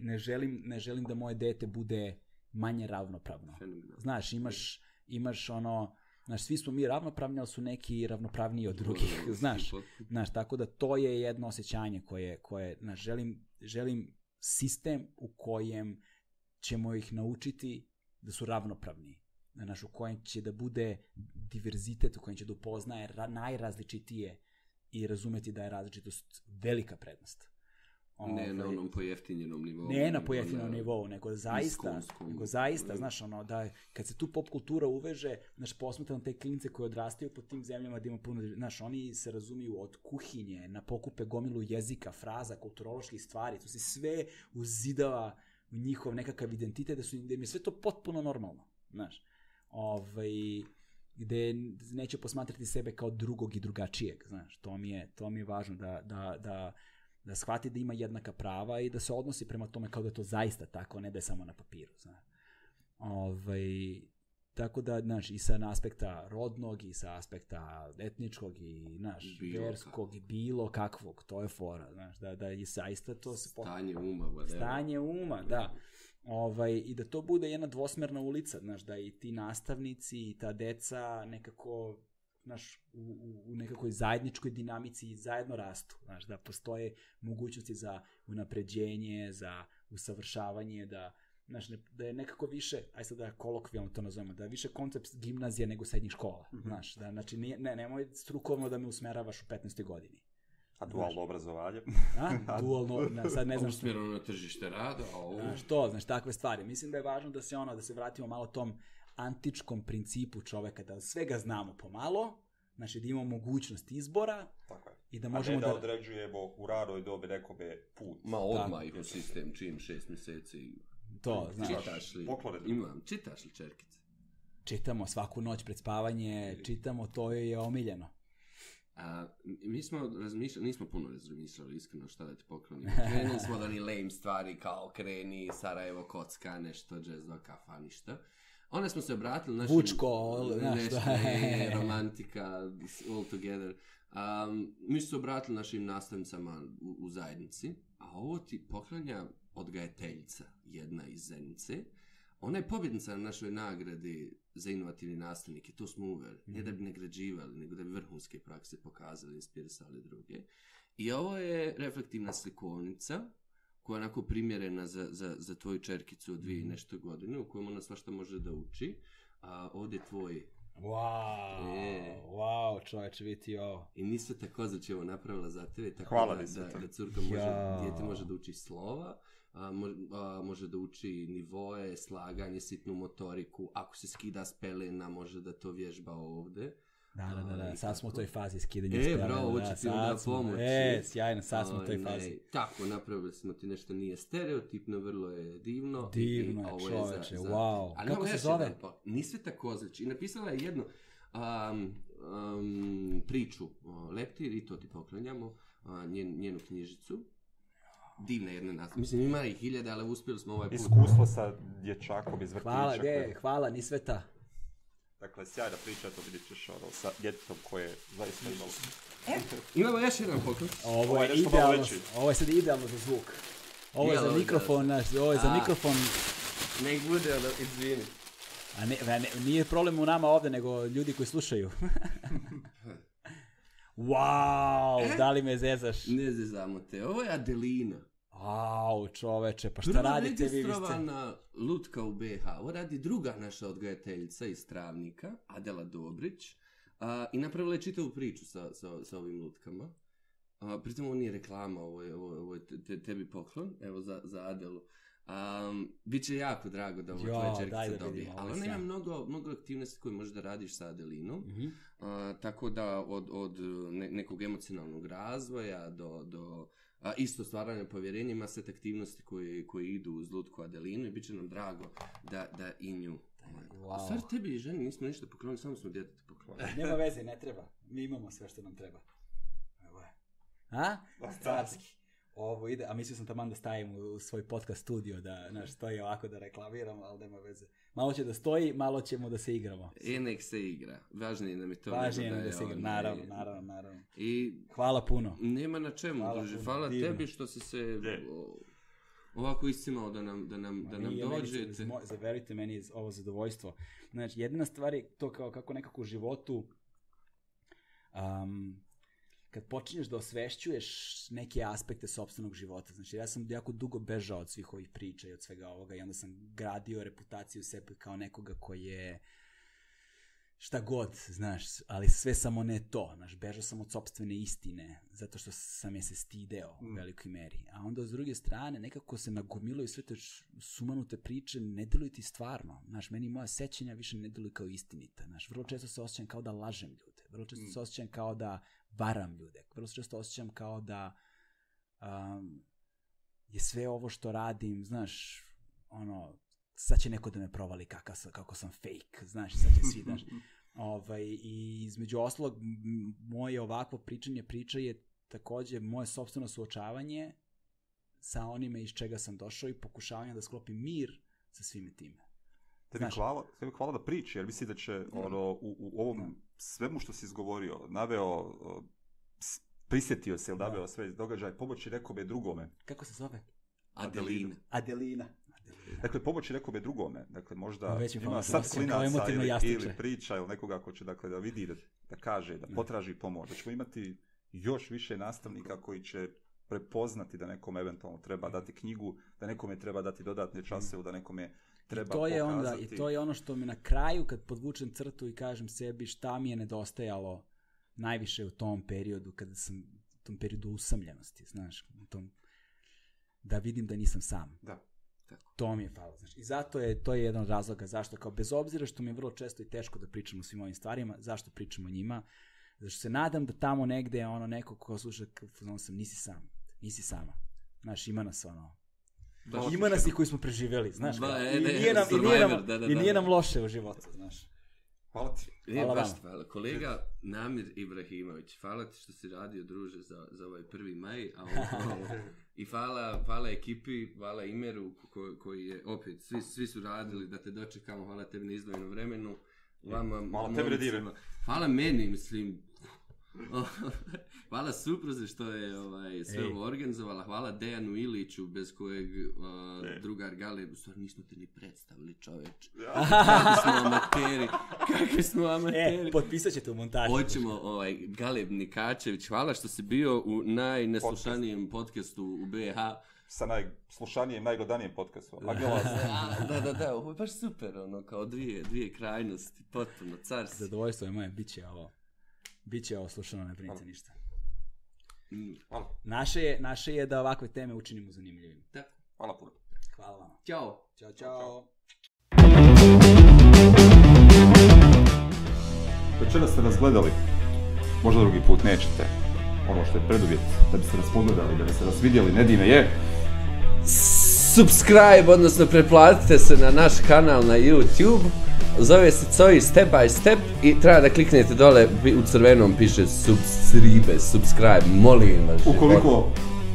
Ne želim da moje dete bude manje ravnopravno. Imaš svi smo mi ravnopravni, ali su neki ravnopravniji od drugih, tako da to je jedno osjećanje koje želim sistem u kojem ćemo ih naučiti da su ravnopravni, u kojem će da bude diverzitet, u kojem će da upoznaje najrazličitije i razumeti da je različitost velika prednost. Ne na onom pojeftinjenom nivou. Ne na pojeftinjenom nivou, nego zaista, da kad se tu pop kultura uveže, posmatram te klinice koje odrastaju po tim zemljama da ima puno, oni se razumiju od kuhinje, na pokupe gomilu jezika, fraza, kulturoloških stvari, to se sve uzidava u njihov nekakav identitet, da im je sve to potpuno normalno, gde neće posmatrati sebe kao drugog i drugačijeg, to mi je važno da shvati da ima jednaka prava i da se odnosi prema tome kao da je to zaista tako, ne da je samo na papiru. Tako da, i sa aspekta rodnog, i sa aspekta etničkog, i verskog, i bilo kakvog, to je fora, da je zaista to... Stanje uma, da. I da to bude jedna dvosmerna ulica, da i ti nastavnici i ta deca nekako... u nekakvoj zajedničkoj dinamici zajedno rastu, da postoje mogućnosti za unapređenje, za usavršavanje, da je nekako više, aj sad da kolokvijalno to nazovemo, da je više koncept gimnazije nego srednjih škola, nemoj strukovno da me usmeravaš u 15. godini. A dualno obrazovanje? Dualno, sad ne znam što... Usmjereno na tržište rada, takve stvari. Mislim da je važno da se vratimo malo tom antičkom principu čoveka, da svega znamo pomalo, da imamo mogućnost izbora i da možemo da određujemo u ranoj dobi nekome put. Odmah ih u sistem čim 6 mjeseci. To, Čitaš li čerkice? Čitamo svaku noć pred spavanje, čitamo, to je omiljeno. Mi smo nismo puno razmišljali iskreno šta da ti poklonimo. Krenuli smo da ni lame stvari kao kreni, Sarajevo, kocka, nešto, jazz, kafa, ništa. Onda smo se obratili našim... Vučko, romantika, all together. Mi smo se obratili našim nastavnicama u zajednici, a ovo ti poklanja odgajateljica, jedna iz Zenice. Ona je pobjednica na našoj nagradi za inovativni nastavnike, to smo uveli. Ne da bi nagrađivali, nego da bi vrhunske prakse pokazali, inspirisali druge. I ovo je reflektivna slikovnica koja je onako primjerena za tvoju čerkicu od 2 i nešto godine, u kojem ona svašta može da uči. A ovdje tvoj... Wow, čovječe, vidi ovo. I nisu tako znači ovo napravila za tebe, tako da curka dijete može da uči slova, može da uči nivoe, slaganje, sitnu motoriku, ako se skida s pelena, može da to vježba ovdje. Da, sad smo u toj fazi skidanja spelena. Bravo, ovo će ti onda pomoći. Sjajno, sad smo u toj fazi. Tako, napravili smo ti nešto nije stereotipno, vrlo je divno. Divno, čoveče, wow. Kako se zove? Nije sve tako, znači, i napisala je jedno, priču Leptir i to ti poklanjamo, njenu knjižicu. Divna jedna naslova. Mislim, ima ih 1000, ali uspjeli smo ovaj put. Iskustvo sa dječakom iz vrtića. Hvala, ni sveta. Dakle, sjajna priča, to vidit ćeš sa djetetom koje zaista imalo. Imamo još jedan poklon. Ovo je idealno, ovo je sad idealno za zvuk. Ovo je za mikrofon, ovo je za mikrofon. Nek bude, izvini. Nije problem u nama ovdje, nego ljudi koji slušaju. Wow, da li me zezaš? Ne zezamo te, ovo je Adelina. Au, čoveče, pa šta radite vi? Prva registrovana lutka u BiH. Ovo radi druga naša odgajateljica iz Travnika, Adela Dobrić. I napravila je čitavu priču sa ovim lutkama. Pritom ovo nije reklama, ovo je tebi poklon, evo za Adelu. Biće jako drago da ovo tvoja čerkica dobije. Ali ona ima mnogo aktivnosti koje možeš da radiš sa Adelinom. Tako da od nekog emocionalnog razvoja do isto stvaranja povjerenja ima set aktivnosti koje idu uz lutku Adelinu i bit će nam drago da i nju. U stvari tebi i ženi nismo ništa poklonili, samo smo djetetu poklonili. Nema veze, ne treba. Mi imamo sve što nam treba. Evo je. Carski. Ovo ide, a mislio sam taman da stavim u svoj podcast studio, da stoji ovako da reklamiramo, ali nema veze. Malo će da stoji, malo ćemo da se igramo. Nek se igra. Važnije nam je to. Važnije nam da se igra, naravno. I hvala puno. Nema na čemu, druže. Hvala tebi što si se ovako iscimao da nam dođete. Verujte, meni je ovo zadovoljstvo. Znači, jedina stvar je to kako nekako u životu... kad počinješ da osvešćuješ neke aspekte sopstvenog života. Znači, ja sam jako dugo bežao od svih ovih priča i od svega ovoga i onda sam gradio reputaciju sebe kao nekoga koji je šta god, znaš, ali sve samo ne to. Znaš, bežao sam od sopstvene istine, zato što sam je se stideo u velikoj meri. A onda, s druge strane, nekako se nagomilaju sve te sumanute priče, ne deluju ti stvarno. Znaš, meni moja sećanja više ne deluju kao istinita. Znaš, vrlo često se osjećam kao da lažem ljude. Vrlo često se osjećam kao da varam ljude. Vrlo često osjećam kao da je sve ovo što radim, znaš, sad će neko da me provali kako sam fake, znaš, sad će svi, znaš. I između ostalog, moje ovakvo priča je također moje sopstveno suočavanje sa onime iz čega sam došao i pokušavanje da sklopim mir sa svime time. Tebi hvala da priči, jer misli da će u ovom svemu što si izgovorio, naveo, prisjetio se ili naveo sve događaje, pomoći nekome drugome. Kako se zove? Adelina. Dakle, pomoći nekome drugome. Dakle, možda ima sad klinaca ili priča ili nekoga ko će da vidi, da kaže, da potraži pomoć. Da ćemo imati još više nastavnika koji će prepoznati da nekome eventualno treba dati knjigu, da nekome treba dati dodatne časeve, da nekome treba pokazati. I to je ono što mi na kraju, kad podvučem crtu i kažem sebi šta mi je nedostajalo najviše u tom periodu, kada sam u tom periodu usamljenosti, znaš, da vidim da nisam sam. Da. Tako. To mi je falo. Znači, i zato to je jedan od razloga zašto, kao bez obzira što mi je vrlo često i teško da pričamo o svim ovim stvarima, zašto pričamo o njima, zašto se nadam da tamo negde neko ko sluša, nisi sama. Znaš, ima nas ima nas i koji smo preživjeli, znaš. I nije nam loše u životu, znaš. Hvala ti. Hvala. Kolega Namir Ibrahimović, hvala ti što si radio, druže, za ovaj 1. maj. I hvala ekipi, hvala Imeru koji je, opet, svi su radili da te dočekamo, hvala tebi na izdvojenom vremenu. Hvala tebi Redire. Hvala meni, mislim. Hvala supruzi što je sve ovo organizovala, hvala Dejanu Iliću bez kojeg drugar Galeb, u stvari nismo te ni predstavili, čoveč. Kakvi smo amateri. Potpisat ćete u montaži. Hoćemo, Galeb Nikačević, hvala što si bio u najneslušanijem podcastu u BiH. Sa najslušanijem, najgledanijem podcastu. Da, ovo je baš super, kao dvije krajnosti, potpuno carski. Zadovoljstvo je moje, bit će ovo slušano, ne brinite ništa. Hvala. Naše je da ovakve teme učinimo zanimljivim. Tako. Hvala puno. Hvala vam. Ćao. Ćao. Večeras ste nas gledali, možda drugi put nećete. Ono što je preduvjet da biste nas pogledali, da biste nas vidjeli, Nedime je... Subscribe, odnosno preplatite se na naš kanal na YouTube. zove se COI Step by Step i treba da kliknete dole, u crvenom piše subscribe, molim vas. Ukoliko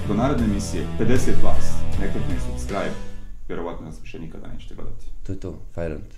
do naredne emisije 50 vas ne klikne subscribe, vjerovatno nas više nikada nećete gledati. To je to, fajrant.